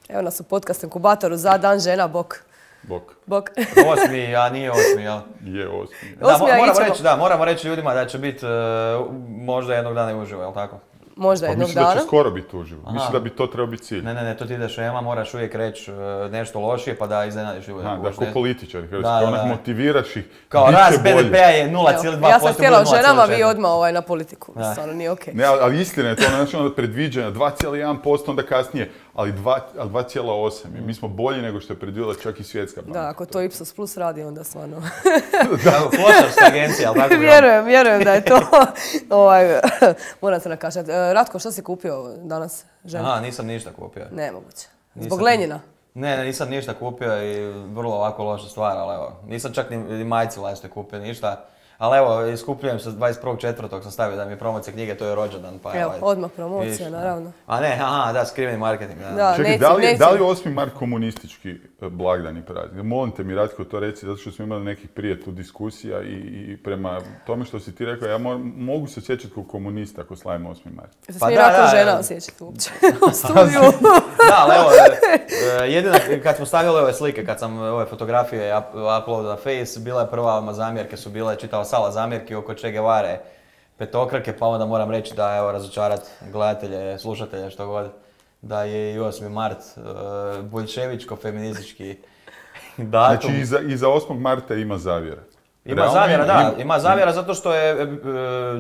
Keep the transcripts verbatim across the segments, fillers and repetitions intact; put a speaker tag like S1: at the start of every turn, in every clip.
S1: Evo nas u podcast inkubatoru za dan žena, bok.
S2: Bok.
S1: Bok.
S3: Osmi, a nije osmi, jel?
S2: Je osmi.
S3: Da, mo moramo, reći, da, moramo reći ljudima da će biti uh, možda jednog dana i uživo, jel tako?
S1: Možda
S2: pa
S1: jednog
S2: mislim
S1: dana.
S2: Da će skoro biti uživo. Aha. Mislim da bi to trebao biti cilj.
S3: Ne, ne, ne, to ti ideš ema, moraš uvijek reći uh, nešto lošije pa da iznenadiš ljude.
S2: Da, da, ko političari, da,
S3: da,
S2: onak motiviraš ih.
S3: Kao rast be de pe-a je nula zarez dva posto.
S1: Ja sam htjela o ženama, vi odmah ovaj, na politiku. Da. Stvarno nije okej. Okay.
S2: Ne, ali istina je to, znači onda predviđanja dva zarez jedan posto, onda kasnije, ali dva zarez osam. Mi smo bolji nego što je predvidjela čak i Svjetska banka.
S1: Da, ako to Ipsos Plus radi, onda stvarno...
S3: da, klošarska agencija, ali tako bi...
S1: Vjerujem, vjerujem da je to... ovaj, moram se nakašati. Ratko, što si kupio danas? Žena?
S3: Aha, nisam ništa kupio.
S1: Nemoguće. Zbog Lenjina?
S3: Ne, ne, nisam ništa kupio i vrlo ovako loša stvar, ali evo, nisam čak ni, ni majici vlastite kupio, ništa. Ali evo, iskupljujem se dvadeset prvog četvrtog sam stavio da mi je promocija knjige, to je rođendan, pa
S1: evo,
S3: ovaj,
S1: odmah promocija, viš, naravno.
S3: A ne, aha, da, skriveni marketing. Da.
S1: Da,
S2: čekaj,
S1: neću,
S2: da li,
S1: neću.
S2: da li osmi mart komunistički blagdani praznik? Molim te mi, Ratko, to reci, zato što smo imali nekih prije tu diskusija i, i prema tome što si ti rekao, ja mo mogu se osjećati kao komunista ako slavimo osmi mart.
S1: Se pa smije Ratko žena osjećati uopće u studiju.
S3: Da, ali evo, jedino kad smo stavili ove slike, kad sam ove fotografije uploadao na Face, bila je prva zamjerke su bile, čitao Sala zamjerki oko Che Guevare, petokrake, pa onda moram reći da, evo, razočarat gledatelje, slušatelje, što god, da je i osmi mart uh, boljševičko-feministički datum.
S2: Znači, iza, iza osmog marta ima zavjera.
S3: Ima Realno, zavjera, ima, da, ima zavjera zato što je e,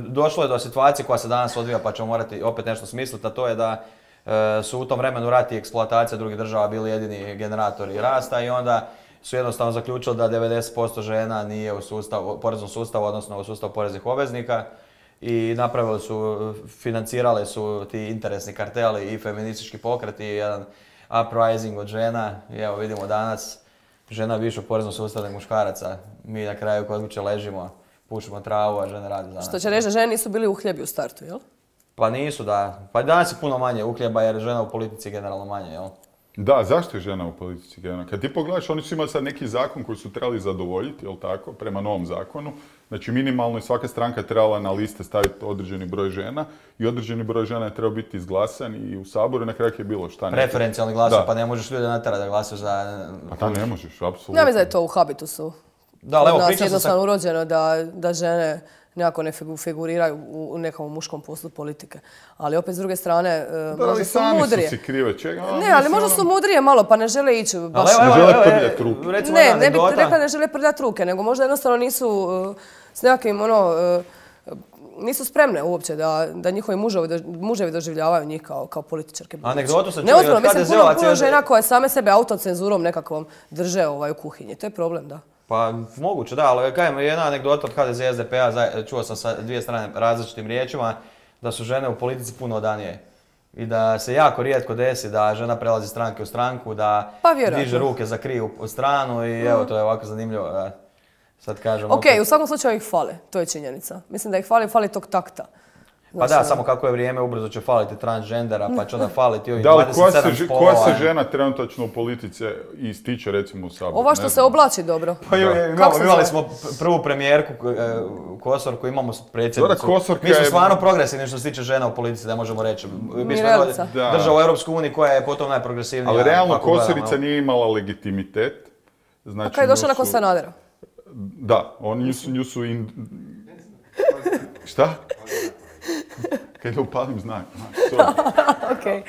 S3: došlo je do situacije koja se danas odvija, pa ćemo morati opet nešto smisliti, a to je da e, su u tom vremenu rat i eksploatacija drugih država bili jedini generatori rasta i onda su jednostavno zaključili da devedeset posto žena nije u sustavu, poreznom sustavu, odnosno u sustavu poreznih obveznika i napravili su, financirali su ti interesni karteli i feministički pokret i jedan uprising od žena i evo vidimo danas žena više u poreznom sustavu nego muškaraca. Mi na kraju kod kuće ležimo, pušimo travu, a žene rade za nas.
S1: Što će reći da žene nisu bili uhljebi u startu, jel?
S3: Pa nisu, da. Pa danas je puno manje uhljeba jer žena u politici je generalno manje, jel?
S2: Da, zašto je žena u politici generalno? Kad ti pogledaš, oni su imali sad neki zakon koji su trebali zadovoljiti, jel tako, prema novom zakonu. Znači minimalno je svaka stranka trebala na liste staviti određeni broj žena i određeni broj žena je trebao biti izglasan i u Saboru na kraju je bilo šta.
S3: Preferencijalni glas, pa ne možeš ljude natjerati da glasuju za...
S2: Pa da, ne možeš, apsolutno.
S1: Ja mislim da je to u habitusu.
S3: Da, ali evo,
S1: pričam jednostavno sa... urođeno da, da žene nekako ne figuriraju u nekom muškom poslu politike. Ali opet s druge strane,
S2: da,
S1: možda su mudrije.
S2: Da, ali sami su si krive, čega?
S1: Ne, ali možda su mudrije malo, pa ne žele ići baš...
S2: Ne žele prljati ruke.
S1: Ne, ne bih rekla ne žele prljati ruke, nego možda jednostavno nisu uh, s nekakvim, ono, uh, nisu spremne uopće da, da njihovi muževi, muževi doživljavaju njih kao, kao političarke.
S3: Anegdotu sam
S1: čuo od ha de ze-ovaca. Mislim, puno, puno žena koje same sebe autocenzurom nekakvom drže ovaj, u kuhinji. To je problem, da.
S3: Pa moguće, da, ali kajem, jedna anegdota od ha de ze i es de pe-a, čuo sam sa dvije strane različitim riječima, da su žene u politici puno odanije. I da se jako rijetko desi da žena prelazi stranke u stranku, da
S1: pa,
S3: diže ruke za krivu stranu i evo, to je ovako zanimljivo. Da, sad kažem,
S1: ok,
S3: opet...
S1: u svakom slučaju ih fale, to je činjenica. Mislim da ih fali, fali tog takta.
S3: Pa da, samo kako je vrijeme, ubrzo će faliti transgendera, pa će onda faliti ovih
S2: da,
S3: dvadeset sedam
S2: se,
S3: spolova.
S2: Koja se žena trenutačno u politici ističe recimo u Saboru?
S1: Ova što ne se znam. Oblači dobro.
S3: Pa imali, imali smo prvu premijerku Kosor koju imamo predsjednicu. Mi smo stvarno je... progresivni što se tiče žena u politici, da možemo reći. Mi smo država u Europskoj uniji koja je potom najprogresivnija.
S2: Ali realno Kosorica nije imala legitimitet.
S1: Znači, a kada je došla nakon Sanadera?
S2: Da, oni nju su... Nju su in... Šta? Kad je upalim znak.
S1: Okej.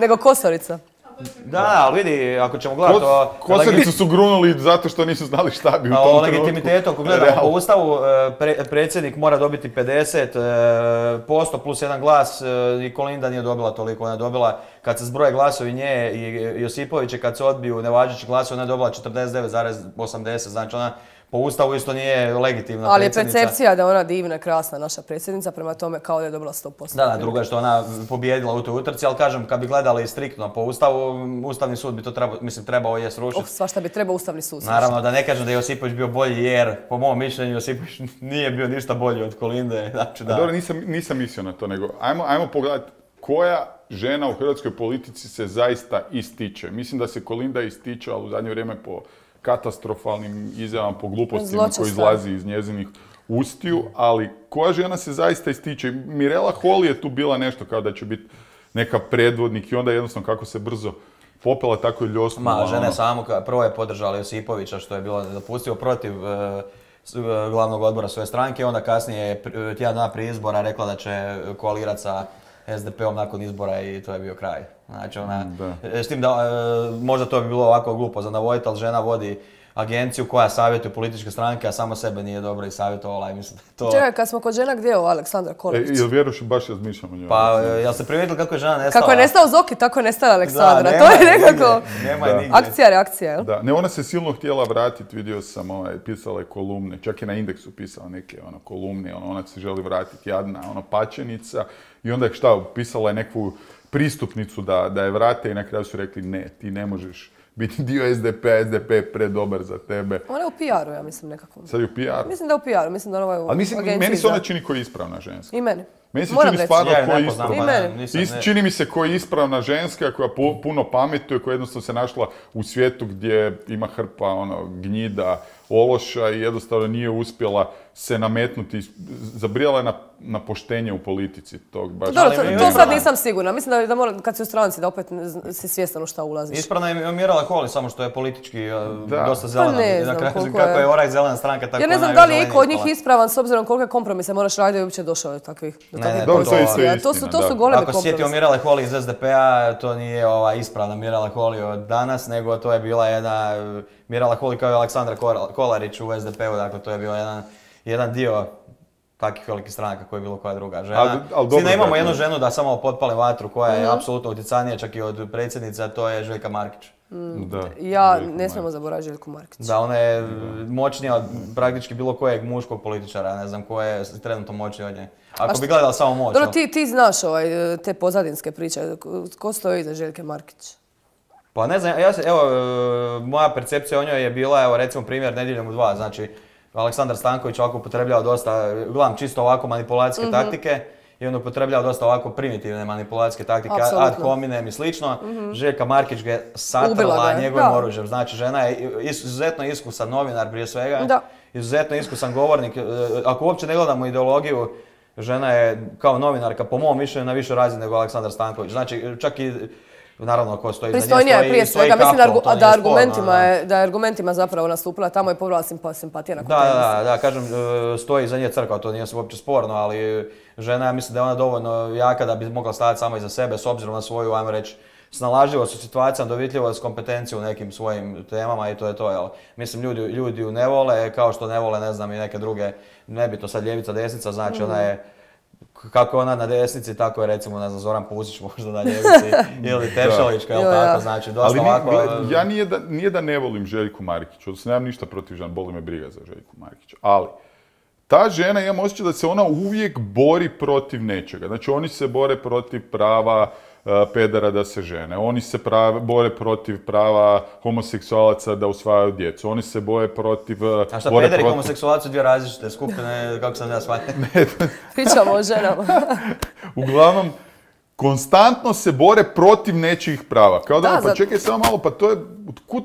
S1: Nego Kosorica.
S3: Da, ali vidi, ako ćemo gledati...
S2: Kos, Kosoricu su grunuli zato što nisu znali šta bi u tom trenutku.
S3: O legitimitetu, ako gledamo po Ustavu, pre, predsjednik mora dobiti pedeset posto plus jedan glas i Kolinda nije dobila toliko. Ona je dobila, kad se zbroje glasovi nje i Josipovića, kad se odbiju nevažeći glasovi, ona je dobila četrdeset devet zarez osamdeset. Znači ona po Ustavu isto nije legitimna
S1: ali
S3: predsjednica.
S1: Ali je percepcija da je ona divna, krasna naša predsjednica, prema tome kao da je dobila sto posto.
S3: Da, da, drugo je što ona pobjedila u toj utrci, ali kažem, kad bi gledali striktno po Ustavu, Ustavni sud bi to trebao, mislim, trebao je srušiti.
S1: Oh, svašta bi trebao Ustavni sud srušiti.
S3: Naravno, da ne kažem da je Josipović bio bolji, jer po mom mišljenju Josipović nije bio ništa bolji od Kolinde. Znači, da.
S2: Dobro, nisam, nisam mislio na to, nego ajmo, ajmo pogledati koja žena u hrvatskoj politici se zaista ističe. Mislim da se Kolinda ističe, ali u zadnje vrijeme po katastrofalnim izjavama, po glupostima koji izlazi iz njezinih ustiju, ali koja žena se zaista ističe? Mirela Holy je tu bila nešto kao da će biti neka predvodnik i onda jednostavno kako se brzo popela tako i ljosku.
S3: Ma, žene samo prvo je podržala Josipovića što je bilo nedopustivo protiv glavnog odbora svoje stranke, onda kasnije je tjedan dana prije izbora rekla da će koalirati sa S D P-om nakon izbora i to je bio kraj. Znači ona, s tim da možda to bi bilo ovako glupo za navoditi, ali žena vodi agenciju koja savjetuje političke stranke, a samo sebe nije dobro i savjetovala i mislim da to...
S1: Čekaj, kad smo kod žena, gdje je ovo Aleksandra Kolačić?
S2: E, jel vjeruš baš razmišljam o njoj?
S3: Pa, jel ste primijetili kako je žena nestala?
S1: Kako je nestao Zoki, tako je nestala Aleksandra.
S3: Da,
S1: to je nekako...
S3: Nema je nigdje.
S1: Akcija, reakcija, jel?
S2: Da, ne, ona se silno htjela vratiti, vidio sam, ovaj, pisala je kolumne, čak i na Indeksu pisala neke ono, kolumne, ono, ona se želi vratiti, jadna, ono, pačenica, i onda je šta, pisala je neku pristupnicu da, da je vrate i na kraju su rekli ne, ti ne možeš biti dio S D P-a, S D P je predobar za tebe.
S1: Ona je u P R-u, ja mislim, nekako.
S2: Sad je u P R-u?
S1: Mislim da je u P R-u, mislim da ona je u
S2: ali mislim,
S1: agenciji.
S2: meni se ona
S1: za...
S2: čini koji je ispravna ženska.
S1: I meni.
S2: Meni se
S1: Moram
S2: čini
S1: reći.
S2: stvarno
S3: Ja
S2: koji je
S3: nepoznam,
S2: ispravna.
S1: I meni.
S3: nisam, ne.
S2: Čini mi se koji je ispravna ženska koja pu, puno pametuje, koja jednostavno se našla u svijetu gdje ima hrpa ono, gnjida, ološa i jednostavno nije uspjela se nametnuti, zabrijala je na, na poštenje u politici tog baš.
S1: Dobro, to,
S3: Ali
S1: to
S3: mi-
S1: sad nisam sigurna. Mislim da, da mora, kad si u stranci, da opet ne- si svjestan u šta ulaziš.
S3: Ispravna je Mirela Holy, samo što je politički uh,
S2: Da.
S3: dosta zelena.
S1: Pa ne
S3: I na
S1: znam
S3: kraju,
S1: koliko
S3: kako
S1: je-
S3: je Oraj zelena stranka, tako
S1: Ja ne
S3: je
S1: znam da li je
S3: najzelenija
S1: iko od njih
S3: ispala.
S1: ispravan s obzirom kolike kompromise moraš raditi da bi uopće došao do takvih, do
S3: Ne,
S1: takvih
S3: ne,
S2: dobro, to je isto
S1: pozicija. To su,
S2: istina,
S1: to su
S2: da.
S1: golemi
S3: Ako se sjetio
S1: kompromisi.
S3: Mirele Holy iz S D P-a, to nije ova ispravna Mirela Holy od danas, nego to je bila jedna uh, Mirela Holy kao i Aleksandra Kol- Kolarić u S D P-u, dakle to je bio jedan, jedan dio takvih velikih stranaka koji je bilo koja druga žena.
S2: Ali- ali dobro,
S3: Svi ne imamo
S2: dakle-
S3: jednu ženu da samo potpale vatru koja je apsolutno utjecajnija čak i od predsjednice, a to je Željka Markić.
S2: Da.
S1: Ja
S2: Željko
S1: ne smijemo
S2: Markić.
S1: zaboraviti Željku Markić.
S3: Da, ona je moćnija od praktički bilo kojeg muškog političara, ne znam ko je trenutno moćniji od nje. Ako bi gledala samo moć.
S1: Dobro,
S3: no.
S1: ti, ti znaš ovaj, te pozadinske priče. Ko stoji iza Željke Markić?
S3: Pa ne znam, ja se, evo, e, moja percepcija o njoj je bila, evo recimo primjer Nedjeljom u dva, znači Aleksandar Stanković ovako upotrebljava dosta, gledam čisto ovako manipulacijske taktike i on upotrebljava dosta ovako primitivne manipulacijske taktike, ad
S1: Apsolutno.
S3: hominem i slično. Željka Markić ga je
S1: Ubila
S3: satrla
S1: ga je,
S3: njegovim
S1: da.
S3: oružjem, znači žena je izuzetno iskusan novinar prije svega,
S1: Da.
S3: izuzetno iskusan govornik, e, ako uopće ne gledamo ideologiju, žena je kao novinarka po mom mišljenju na višoj razini nego Aleksandar Stanković, znači čak i naravno ko stoji iza nje
S1: Pristojnija je
S3: stoji,
S1: prije
S3: stoji
S1: svega. Mislim da,
S3: Kaptol,
S1: argu-
S3: to
S1: a
S3: nije
S1: da,
S3: sporno,
S1: argumentima
S3: da.
S1: je, da je argumentima zapravo nastupila tamo je pobrala simpa, simpatija nakon
S3: Da,
S1: toga.
S3: da, da, kažem, e, stoji iza nje crkva, to nije uopće sporno, ali žena, ja mislim da je ona dovoljno jaka da bi mogla stajati samo iza sebe s obzirom na svoju, ajmo reći, snalažljivost u situacijama, dovitljivost, kompetenciju u nekim svojim temama i to je to, jel? Mislim, ljudi, ljudi ju ne vole, kao što ne vole, ne znam, i neke druge, nebitno sad ljevica, desnica, znači ona je, kako je ona na desnici, tako je recimo, ne znam, Zoran Pusić možda na ljevici, ili Tešalićka, jel
S1: Jo,
S3: tako,
S1: ja.
S3: znači, dosta
S2: Ali ni-
S3: ovako...
S2: gle, ja nije da, nije da ne volim Željku Markić, odnosno nemam ništa protiv žena, boli me briga za Željku Markić, ali ta žena, imam osjećaj da se ona uvijek bori protiv nečega. Znači oni se bore protiv prava uh, pedera da se žene, oni se prave, bore protiv prava homoseksualaca da usvajaju djecu, oni se boje protiv... uh,
S3: A šta,
S2: bore
S3: pederi i
S2: protiv-
S3: homoseksualci su dvije različite skupine, kako sam ja shvatio?
S1: Pričamo o ženama.
S2: Uglavnom, konstantno se bore protiv nečijih prava. Kao da,
S1: Da,
S2: pa
S1: zato-
S2: čekaj samo malo, pa to je, otkud,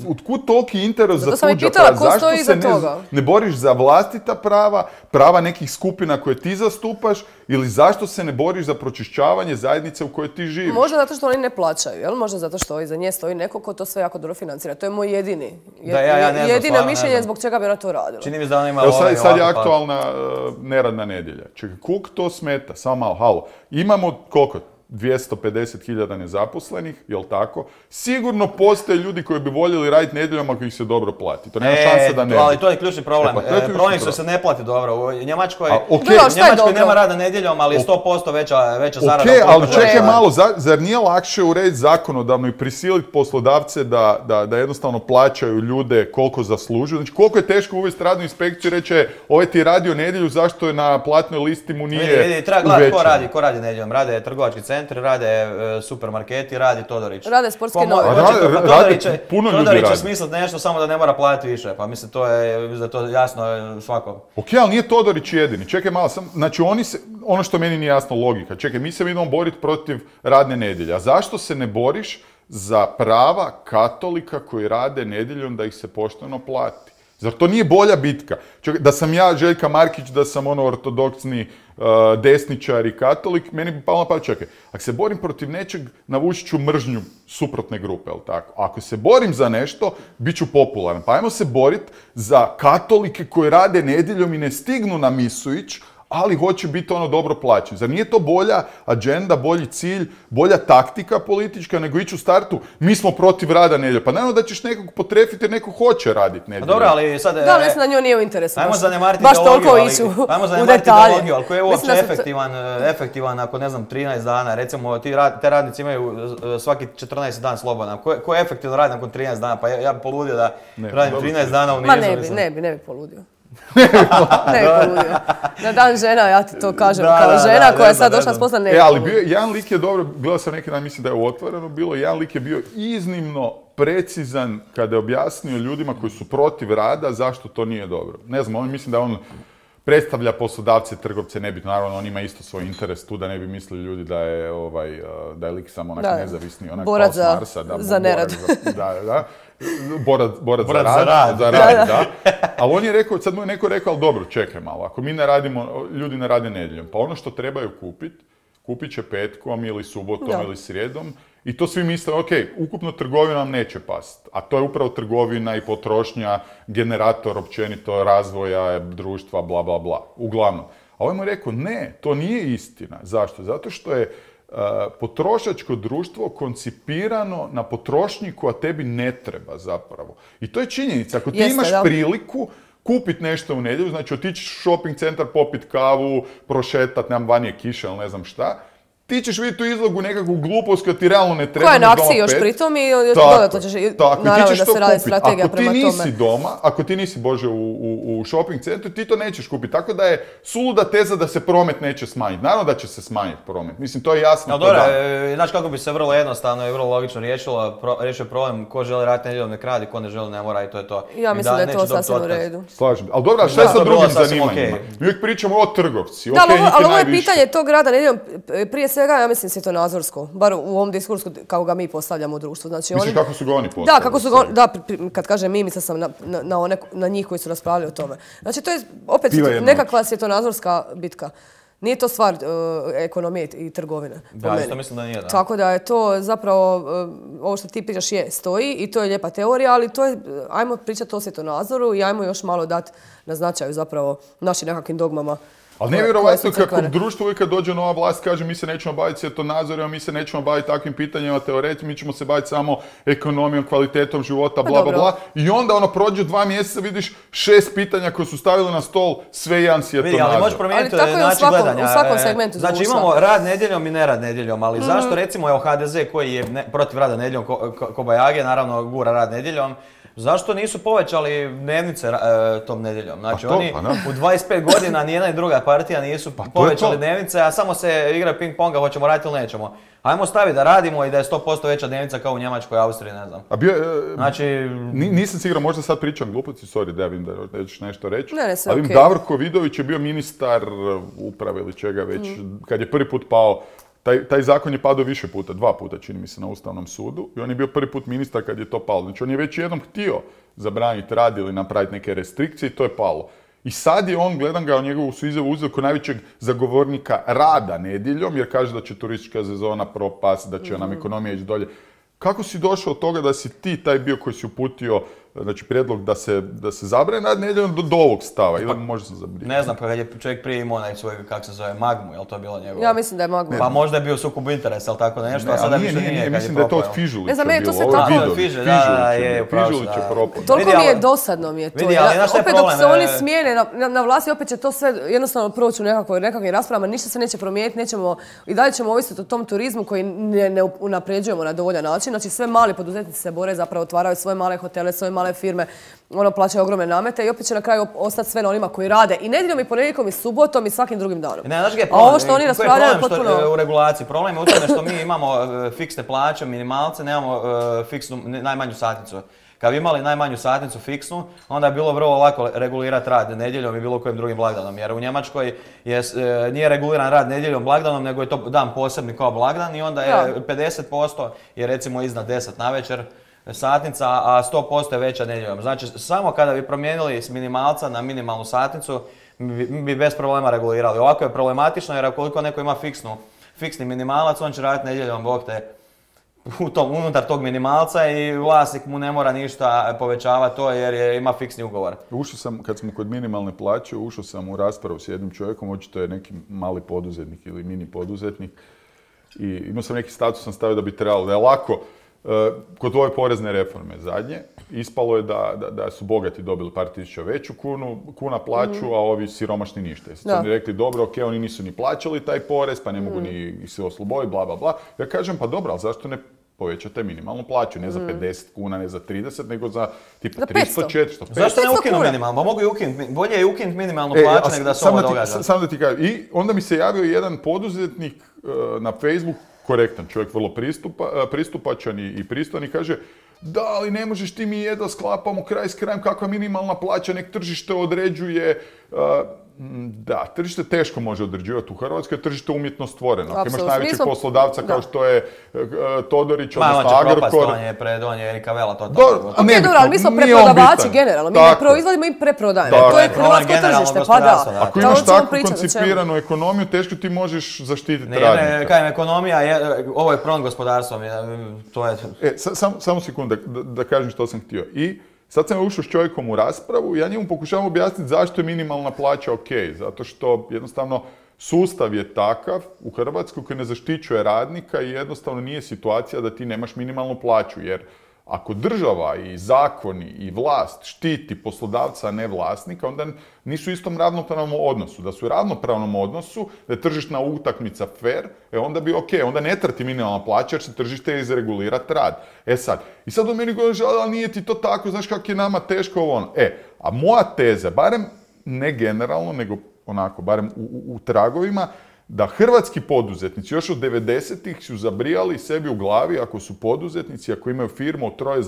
S2: otkud toliki interes za
S1: Zato sam i
S2: tuđa
S1: pitala
S2: prava?
S1: ko
S2: Zašto
S1: stoji
S2: se
S1: iza
S2: ne,
S1: toga?
S2: ne boriš za vlastita prava, prava nekih skupina koje ti zastupaš, ili zašto se ne boriš za pročišćavanje zajednice u kojoj ti živiš?
S1: Možda zato što oni ne plaćaju, jel? Možda zato što iza nje stoji neko ko to sve jako dobro financira. To je moj jedini. je-
S3: Da, ja- ja ne znam,
S1: jedino
S3: stvarno ne
S1: mišljenje
S3: znam.
S1: zbog čega bi ona to radila.
S3: Čini mi se da ona ima
S2: Evo
S3: ovaj
S2: sad, sad je
S3: ovako, pa-
S2: aktualna uh, neradna nedjelja. Čekaj, koliko to smeta? Samo malo, halo. Imamo koliko? dvjesto pedeset hiljada nezaposlenih, jel tako? Sigurno postoje ljudi koji bi voljeli raditi nedjeljom ako ih se dobro plati. To nema
S3: E,
S2: šanse da ne.
S3: ali to je ključni problem.
S2: E, pa to je
S3: E,
S2: ključni
S3: problem je što
S2: problem.
S3: se ne plati dobro. U Njemačkoj,
S2: A, okej.
S3: u
S1: Dobro, šta je
S3: Njemačkoj
S1: dobro?
S3: nema rada nedjeljom, ali je sto posto veća, veća zarada.
S2: Ok,
S3: ukoliko
S2: ali
S3: želiš
S2: čekaj
S3: raditi.
S2: malo, za- zar nije lakše urediti zakonodavno i prisiliti poslodavce da, da, da jednostavno plaćaju ljude koliko zaslužuju? Znači, koliko je teško uvesti radnu inspekciju i reći, ovaj ti je radio nedjelju, zašto je na platnoj listi mu nije
S3: Vidi, vidi, treba gledati ko
S2: uvećano?
S3: radi, ko radi nedjeljom. Rade trgovački centri, rade e, supermarketi, radi Todorić.
S1: Rade sportske
S3: Po mo-
S1: novine.
S3: hoće to-
S2: Rade-
S3: pa
S2: rade,
S3: Todorić će-
S2: puno ljudi
S3: Todorić će
S2: radi.
S3: smisliti nešto samo da ne mora platiti više. Pa mislim, to je, mislim da je to jasno e, svakom.
S2: Ok, ali nije Todorić jedini. Čekaj malo, sam, znači oni se, ono što meni nije jasno logika. Čekaj, mi se idemo boriti protiv radne nedjelje. A zašto se ne boriš za prava katolika koji rade nedjeljom da ih se pošteno plati? Zar to nije bolja bitka? Čekaj, da sam ja Željka Markić, da sam ono ortodoksni uh, desničar i katolik, meni bi palo na pamet, čekaj, ako se borim protiv nečeg, navučit ću mržnju suprotne grupe, jel tako? Ako se borim za nešto, bit ću popularan. Pa ajmo se boriti za katolike koji rade nedjeljom i ne stignu na misu ić, ali hoće biti ono dobro plaćen. Zar nije to bolja agenda, bolji cilj, bolja taktika politička nego ići u startu? Mi smo protiv rada nedjeljom. Pa naravno da ćeš nekog potrefiti jer neko hoće raditi nedjeljom.
S3: Dobro, ali sad...
S1: Da, mislim da njoj nije u interesu.
S3: Ajmo zanemariti
S1: baš
S3: ideologiju,
S1: toliko
S3: ali,
S1: iću
S3: ajmo
S1: u
S3: zanemariti
S1: detalje.
S3: ideologiju, ali koji je uopće
S1: Mislim da se-
S3: efektivan, efektivan ako ne znam trinaest dana, recimo ti rad, te radnici imaju uh, svaki četrnaesti dan slobodan. Ko, ko je efektivno radi nakon trinaest dana? Pa ja, ja bi poludio da
S2: Ne,
S3: radim
S2: dobro.
S3: trinaest dana u nizu.
S1: Ma ne bi,
S3: mislim.
S1: ne bi, ne bi poludio. ne bi poludio. Na dan žena, ja ti to kažem,
S3: Da,
S1: kao
S3: da,
S1: žena
S3: da,
S1: koja je
S3: ne
S1: sad
S3: znam,
S1: došla
S3: ne
S1: s posla, ne
S2: E,
S1: bi
S2: ali
S1: poludio.
S2: bio, jedan lik je dobro, gledao sam neki dan, mislim da je u Otvoreno bilo, jedan lik je bio iznimno precizan kada je objasnio ljudima koji su protiv rada zašto to nije dobro. Ne znam, on mislim da on predstavlja poslodavce, trgovce, nebitno, naravno on ima isto svoj interes tu, da ne bi mislili ljudi da je, ovaj, da je lik samo onak
S1: Da.
S2: nezavisni, onak
S1: Borac
S2: pao s
S1: za-
S2: Marsa, da,
S1: za nerad.
S2: borac za- da, da. Borac, borac,
S3: Borac
S2: za
S3: za
S2: rad,
S3: rad.
S2: za
S1: Da,
S2: rad,
S1: da.
S2: da. Ali on je rekao, sad mu je neko rekao, ali dobro, čekaj malo, ako mi ne radimo, ljudi ne rade nedjeljom, pa ono što trebaju kupiti, kupit će petkom ili subotom
S1: Da.
S2: ili srijedom i to svi misle, ok, ukupno trgovina nam neće past, a to je upravo trgovina i potrošnja, generator općenito razvoja društva, bla, bla, bla. Uglavnom. A ovaj mu je rekao, ne, to nije istina. Zašto? Zato što je uh, potrošačko društvo koncipirano na potrošnji koja tebi ne treba zapravo. I to je činjenica. Ako ti
S1: Jeste,
S2: imaš
S1: da.
S2: priliku kupiti nešto u nedjelju, znači otići u shopping centar, popit kavu, prošetat, nemam vanje kiše, ali ne znam šta, ti ćeš vidjeti tu izlogu nekakvu glupost koja ti realno ne treba.
S1: Koja je na
S2: možda
S1: akciji
S2: ono
S1: još
S2: pet.
S1: pritom i još
S2: Tako,
S1: dodatno ćeš, i-
S2: tako, i ti
S1: naravno
S2: ćeš
S1: da
S2: to
S1: se radi
S2: kupiti.
S1: strategija
S2: Ako
S1: prema
S2: ti nisi
S1: tome.
S2: doma, ako ti nisi, Bože, u, u, u shopping centru, ti to nećeš kupiti. Tako da je suluda teza da se promet neće smanjiti. Naravno da će se smanjiti promet. Mislim, to je jasno.
S3: No
S2: ko
S3: dobro,
S2: dan.
S3: e, znaš kako bi se vrlo jednostavno i vrlo logično riješilo, pro, riješio problem ko želi raditi nedjeljom nek radi, ko ne želi ne mora i to je to.
S1: Ja
S3: I
S1: mislim da je
S3: neće
S1: to
S3: dobiti
S1: sasvim u
S3: otkaz.
S1: redu.
S2: Slažem. Ali dobro, a šta je
S3: Da,
S2: sa
S3: to bi bilo
S2: drugim
S3: sasvim
S2: zanimanjima?
S3: okej.
S2: Mi uvijek pričamo o trgovci.
S1: Da, ali,
S2: Okej,
S1: ovo-
S2: njih je
S1: ali ovo je
S2: najviše.
S1: pitanje tog rada nedjeljom, prije svega ja mislim svjetonazorsko, bar u ovom diskursu kako ga mi postavljamo u društvu. Znači,
S2: Misliš
S1: oni,
S2: kako su ga oni postavili?
S1: da, kako su ga, da, pri- pri- kad kažem mi, mislila sam na, na, na, one, na njih koji su raspravljali o tome. Znači, to je opet
S2: Piva jedno
S1: nekakva svjetonazorska bitka. Nije to stvar uh, ekonomije i trgovine. po
S3: Da,
S1: meni.
S3: isto mislim da nije, da.
S1: Tako da je to zapravo, uh, ovo što ti pričaš je, stoji i to je lijepa teorija, ali to je, uh, ajmo pričati o svjetonazoru i ajmo još malo dati na značaju zapravo našim nekakvim dogmama.
S2: Ali
S1: koje- koje
S2: nevjerovatno
S1: su
S2: kako
S1: crkvene.
S2: društvo uvijek kad dođe nova vlast kaže mi se nećemo baviti svjetonazorima, mi se nećemo baviti takvim pitanjima, teoretima, mi ćemo se baviti samo ekonomijom, kvalitetom života, bla, bla,
S1: dobro.
S2: bla. I onda ono prođe dva mjeseca, vidiš šest pitanja koje su stavili na stol, sve jedan svjetonazor.
S3: Vidi, ali možeš promijeniti
S1: Ali tako je u
S3: način
S1: svakom-
S3: gledanja.
S1: u svakom
S3: E,
S1: segmentu
S3: Znači
S1: društva.
S3: imamo rad nedjeljom i nerad nedjeljom, ali zašto recimo evo H D Z koji je ne- protiv rada nedjeljom, ko, ko, Kobajage naravno gura rad nedjeljom, zašto nisu povećali dnevnice e, tom nedjeljom? Znači
S2: Pa to,
S3: oni
S2: pa da.
S3: u dvadeset pet godina ni jedna ni druga partija nisu
S2: to je
S3: povećali
S2: to.
S3: dnevnice, a samo se igra ping ponga, hoćemo raditi ili nećemo. Ajmo staviti da radimo i da je sto posto veća dnevnica kao u Njemačkoj, Austriji, ne znam.
S2: A bio, e,
S3: Znači,
S2: Ni- nisam siguran, možda sad pričam gluposti, sorry da vidim da nećeš nešto reći.
S1: Ne, ne, sve
S2: ali
S1: okej.
S2: Davorko Vidović je bio ministar uprave ili čega već, kad je prvi put pao, taj, taj zakon je padao više puta, dva puta čini mi se na Ustavnom sudu i on je bio prvi put ministar kad je to palo. Znači on je već jednom htio zabraniti rad ili napraviti neke restrikcije i to je palo. I sad je on, gledam ga, njegovu su izjavu uzeo kao najvećeg zagovornika rada nedjeljom, jer kaže da će turistička sezona propast, da će nam ekonomija ići dolje. Kako si došao od toga da si ti taj bio koji si uputio, znači prijedlog da se, da se zabrane rad nedjeljom do, do ovog stava, ili možda sam zabrio?
S3: ne znam, kad je čovjek prije imao onaj svoj, kako se zove, magmu, je li to bilo njegovo?
S1: Ja mislim da je magma.
S3: Pa možda je bio sukob interesa, ali tako nešto,
S2: Ne,
S3: a sada
S2: ali nije,
S3: više
S2: nije,
S3: nije,
S2: nije,
S3: kad
S2: mislim
S3: je
S2: da je to
S3: propao.
S2: od Fižulića
S1: Ne znam, meni je to
S2: bilo,
S1: sve
S2: ovo je
S1: tako-
S2: Vidović,
S3: Fižulj, da,
S2: Fižulić
S3: je,
S2: je,
S3: upravo si,
S2: Fižulić je
S3: da.
S2: propao.
S1: Toliko
S3: Vidi,
S1: mi je
S3: ali-
S1: dosadno mi je to.
S3: Vidi, ali
S1: Ja-
S3: znaš šta je
S1: opet
S3: problem,
S1: dok se oni
S3: e-
S1: smijene na, na, na vlasti, opet će to sve jednostavno proći u nekakvoj, nekakvim raspravama, ništa se neće promijeniti, nećemo, i dalje ćemo ovisiti o tom turizmu koji ne, ne unapređujemo na dovoljan način. Znači sve mali poduzetnici se bore, zapravo otvaraju svoje male hotele, svoje male firme, ono plaćaju ogromne namete i opet će na kraju ostati sve na onima koji rade i nedjeljom i ponedjeljkom i subotom i svakim drugim danom.
S3: Ne, znaš gdje je
S1: A
S3: problem?
S1: ovo što oni
S3: Koji je
S1: raspravljaju je
S3: problem što,
S1: potpuno...
S3: e, u regulaciji. Problem je u tome što mi imamo e, fiksne plaće, minimalce, nemamo e, fiksnu, ne- najmanju satnicu. Kad bi imali najmanju satnicu fiksnu, onda je bilo vrlo lako regulirati rad nedjeljom i bilo kojim drugim blagdanom. Jer u Njemačkoj je, e, nije reguliran rad nedjeljom blagdanom, nego je to dan posebni kao blagdan i onda je
S1: Da.
S3: pedeset posto je recimo iznad deset navečer. satnica, a sto posto je veća nedjeljom. Znači, samo kada bi promijenili s minimalca na minimalnu satnicu, bi, bi bez problema regulirali. Ovako je problematično jer ukoliko neko ima fiksnu, fiksni minimalac, on će raditi nedjeljom, bog te, u tom, unutar tog minimalca i vlasnik mu ne mora ništa povećavati to jer je, ima fiksni ugovor.
S2: Ušao sam, kad smo kod minimalne plaće, ušao sam u raspravu s jednim čovjekom, očito je neki mali poduzetnik ili mini poduzetnik i imao sam neki status, sam stavio da bi trebalo, da je lako. Kod ove porezne reforme zadnje, ispalo je da, da, da su bogati dobili par tisuća veću kunu, kuna plaću, mm. a ovi siromašni ništa. Sad su mi rekli, dobro, ok, oni nisu ni plaćali taj porez, pa ne mogu mm. ni se osloboditi, bla, bla, bla. Ja kažem, pa dobro, ali zašto ne povećate minimalnu plaću? Ne za pedeset kuna, ne za trideset, nego za tipa tristo, četiristo, petsto.
S3: Zašto ne ukinu minimalnu? Pa mogu i ukinuti. Bolje je ukinuti minimalnu plaću e, nego da se ovo događa.
S2: Samo da ti kažem. I onda mi se javio jedan poduzetnik uh, na Facebook, korektan čovjek, vrlo pristupa, pristupačan i, i pristojan i kaže da, ali ne možeš ti mi jedva sklapamo kraj s krajem, kakva minimalna plaća, nek tržište određuje. Uh, da, tržište teško može određivati u Hrvatskoj, je tržište umjetno stvoreno. Ako imaš najvećeg smo... poslodavca kao da. što je uh, Todorić,
S3: Ma,
S2: odnosno Agrokor. Ma, on će propast,
S3: on je pred, on je Erika Vela, to je
S1: tako. Ok, dobro, ali mi smo preprodavači generalno, mi ne proizvodimo i preprodajemo. To je hrvatsko tržište, pa da.
S2: Ako imaš takvu koncipiranu ekonomiju, teško ti možeš zaštititi radnika.
S3: Ne, ne, kajem, ekonomija, je, ovo je promn gospodarstvo, to je...
S2: E, sam, samo sekund da, da kažem što sam htio. I sad sam ušao s čovjekom u raspravu i ja njemu pokušavam objasniti zašto je minimalna plaća ok. Zato što jednostavno sustav je takav u Hrvatskoj koji ne zaštićuje radnika i jednostavno nije situacija da ti nemaš minimalnu plaću. Jer ako država i zakoni i vlast štiti poslodavca, a ne vlasnika, onda nisu u istom ravnopravnom odnosu. Da su u ravnopravnom odnosu, da je tržišna utakmica fair, e onda bi ok, onda ne trati minimalna plaća jer će tržište izregulirati rad. E sad, i sad od meni govoriš, ali nije ti to tako, znaš kako je nama teško ovo ono. E, a moja teza, barem ne generalno, nego onako, barem u, u, u tragovima, da hrvatski poduzetnici još od devedesetih su zabrijali sebi u glavi, ako su poduzetnici, ako imaju firmu od troje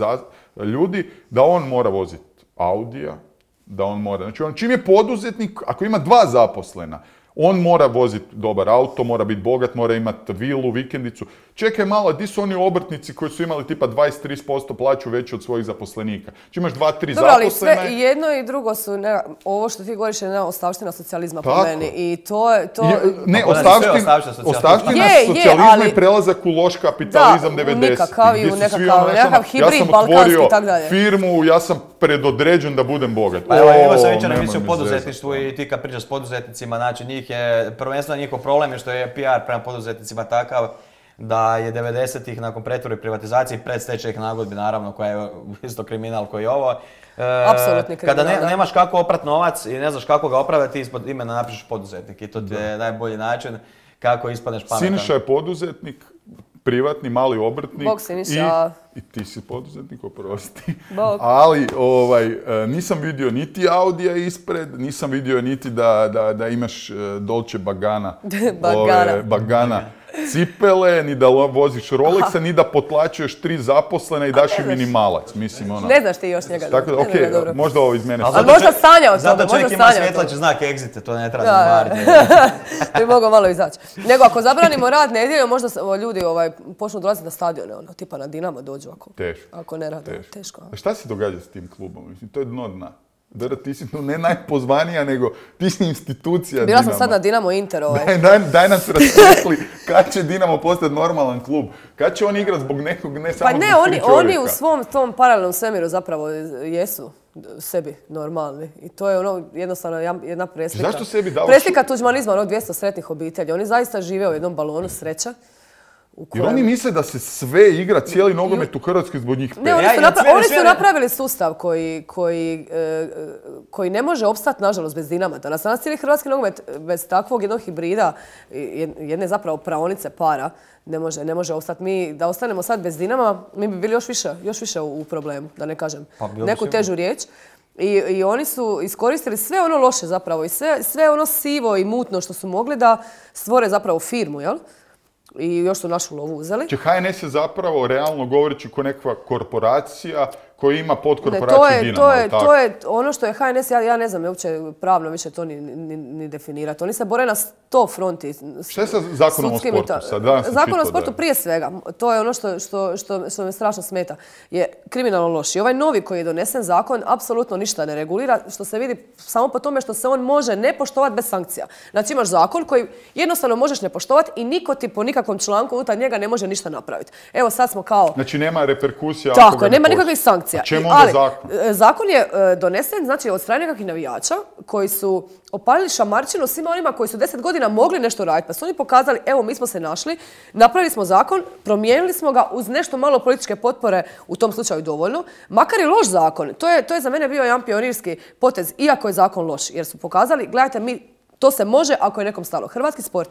S2: ljudi, da on mora voziti Audija, da on mora... Znači, on čim je poduzetnik, ako ima dva zaposlena, on mora voziti dobar auto, mora biti bogat, mora imati vilu, vikendicu. Čekaj malo, di su oni obrtnici koji su imali tipa dvadeset do trideset posto plaću veću od svojih zaposlenika? Či imaš dva, tri zaposlene...
S1: Dobro, ali sve, i jedno i drugo su, ne, ovo što ti govoriš je jedna ostavština socijalizma po meni. I to je... To...
S2: Je, ne, ostavština, ostavština je, socijalizma je, ali... i prelazak u loš kapitalizam devedesetih. Da,
S1: nikakav i u nekakav, nekakav hibrid balkanski i tako dalje.
S2: Ja sam otvorio firmu, ja sam predodređen da budem bogat.
S3: Pa evo, imao sam jučer emisiju o poduzetništvu i ti kad pričaš s poduzetnicima, znači njih je, prvenstveno njihov problem je što je P R prema poduzetnicima takav da je devedesetih nakon pretvorbe i privatizacije i predstečajnih nagodbi, naravno, koja je isto kriminal koji je ovo.
S1: Apsolutni kriminal.
S3: Kada ne, nemaš kako oprat novac i ne znaš kako ga opraviti, ispod imena napišeš poduzetnik i to ti je najbolji način kako ispadneš pametan.
S2: Siniša je poduzetnik, privatni, mali obrtnik.
S1: Bog Siniša.
S2: I, i ti si poduzetnik, oprosti. Bog. Ali ovaj, nisam vidio niti Audija ispred, nisam vidio niti da, da, da imaš Dolce Bagana.
S1: Bagana.
S2: Ove, Bagana. Cipele, ni da voziš Rolexa, ni da potlačuješ tri zaposlene i daš im minimalac. Mislim, ono...
S1: Ne znaš ti još njega.
S2: Tako da, okej, okay, možda ovo iz mene...
S1: Ali možda sanja o tome,
S3: zato čovjek ima svjetlači znak exit, to ne treba zamariti.
S1: To bi mogao malo izaći. Nego ako zabranimo rad nedjeljom, možda ljudi ovaj, počnu dolaziti na stadione, ono, tipa na Dinamo dođu ako,
S2: teško,
S1: ako ne rade.
S2: Teško.
S1: Teško.
S2: A šta se događa s tim klubom? Mislim, to je dno dna. Dara, ti si ne najpozvanija, nego ti si institucija
S1: Bila
S2: Dinama.
S1: sam sad na Dinamo Inter ovaj.
S2: Daj, daj, daj nam se rasvetli kad će Dinamo postati normalan klub. Kad će on igrati zbog nekog, ne samo
S1: pa ne,
S2: zbog
S1: oni,
S2: tri čovjeka.
S1: oni u svom tom paralelnom svemiru zapravo jesu sebi normalni. I to je ono jednostavno jedna preslika.
S2: Zašto sebi davaš...
S1: Preslika tuđmanizma, ono dvjesto sretnih obitelji. Oni zaista žive u jednom balonu sreća.
S2: Jer oni misle da se sve igra, cijeli nogomet u Hrvatskoj zbog njih pet.
S1: Ne, oni su, napra- oni su napravili sustav koji, koji, e, koji ne može opstati, nažalost, bez Dinama. Danas, danas cijeli hrvatski nogomet bez takvog jednog hibrida, jedne zapravo praonice para, ne može, ne može opstati. Mi, da ostanemo sad bez Dinama, mi bi bili još više, još više u, u problemu, da ne kažem pa, neku težu riječ. I, I oni su iskoristili sve ono loše zapravo i sve, sve ono sivo i mutno što su mogli da stvore zapravo firmu, jel? I još su našu lovu uzeli.
S2: Če H N S je zapravo, realno govoreći, ko nekakva korporacija koji ima
S1: Ne,
S2: podkorporaciju
S1: to je,
S2: Dinamo.
S1: to je,
S2: tako?
S1: to je ono što je H N S, ja, ja ne znam uopće pravno više to ni, ni, ni definirati. Oni se bore na sto fronti.
S2: Šta je sa zakonom o
S1: sudskim i
S2: sportu?
S1: ta-
S2: Sad, danas sam
S1: Zakon o
S2: čitao
S1: sportu
S2: da je.
S1: prije svega, to je ono što, što, što, što me strašno smeta, je kriminalno loš. I ovaj novi koji je donesen zakon apsolutno ništa ne regulira, što se vidi samo po tome što se on može ne poštovati bez sankcija. Znači imaš zakon koji jednostavno možeš ne poštovati i niko ti po nikakvom članku unutar njega ne može ništa napraviti. Evo sad smo kao...
S2: Znači nema reperkusija ako
S1: Tako
S2: ga
S1: je,
S2: ne
S1: nema
S2: poštuju.
S1: nikakvih sankcija.
S2: A čemu
S1: I-
S2: onda
S1: ali,
S2: zakon?
S1: e, Zakon je e, donesen, znači, od strane nekakvih navijača koji su opalili šamarčinu svima onima koji su deset godina mogli nešto raditi. Pa su oni pokazali, evo, mi smo se našli, napravili smo zakon, promijenili smo ga uz nešto malo političke potpore, u tom slučaju dovoljno. Makar i loš zakon, to je, to je za mene bio jedan pionirski potez, iako je zakon loš, jer su pokazali, gledajte, mi, to se može ako je nekom stalo. Hrvatski sport,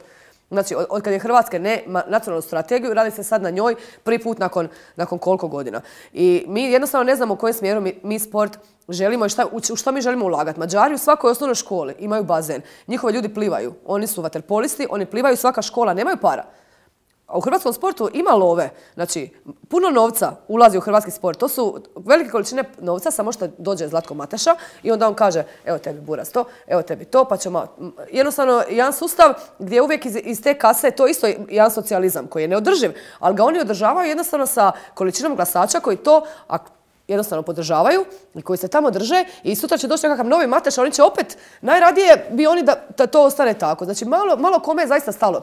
S1: znači, od, od kad je Hrvatske ne ma- nacionalnu strategiju, radi se sad na njoj prvi put nakon, nakon koliko godina. I mi jednostavno ne znamo u kojem smjeru mi, mi sport želimo i šta, u, u što mi želimo ulagati. Mađari u svakoj osnovnoj školi imaju bazen. Njihovi ljudi plivaju. Oni su vaterpolisti, oni plivaju, svaka škola, nemaju para. A u hrvatskom sportu ima love. Znači, puno novca ulazi u hrvatski sport. To su velike količine novca, samo što dođe Zlatko Mateša i onda on kaže, evo tebi buraz to, evo tebi to, pa ćemo... Jednostavno, jedan sustav gdje uvijek iz, iz te kase, to je isto jedan socijalizam koji je neodrživ, ali ga oni održavaju jednostavno sa količinom glasača koji to... a jednostavno podržavaju i koji se tamo drže i sutra će doći nekakav novi Mateš, a oni će opet, najradije bi oni da, da to ostane tako. Znači, malo, malo kome je zaista stalo.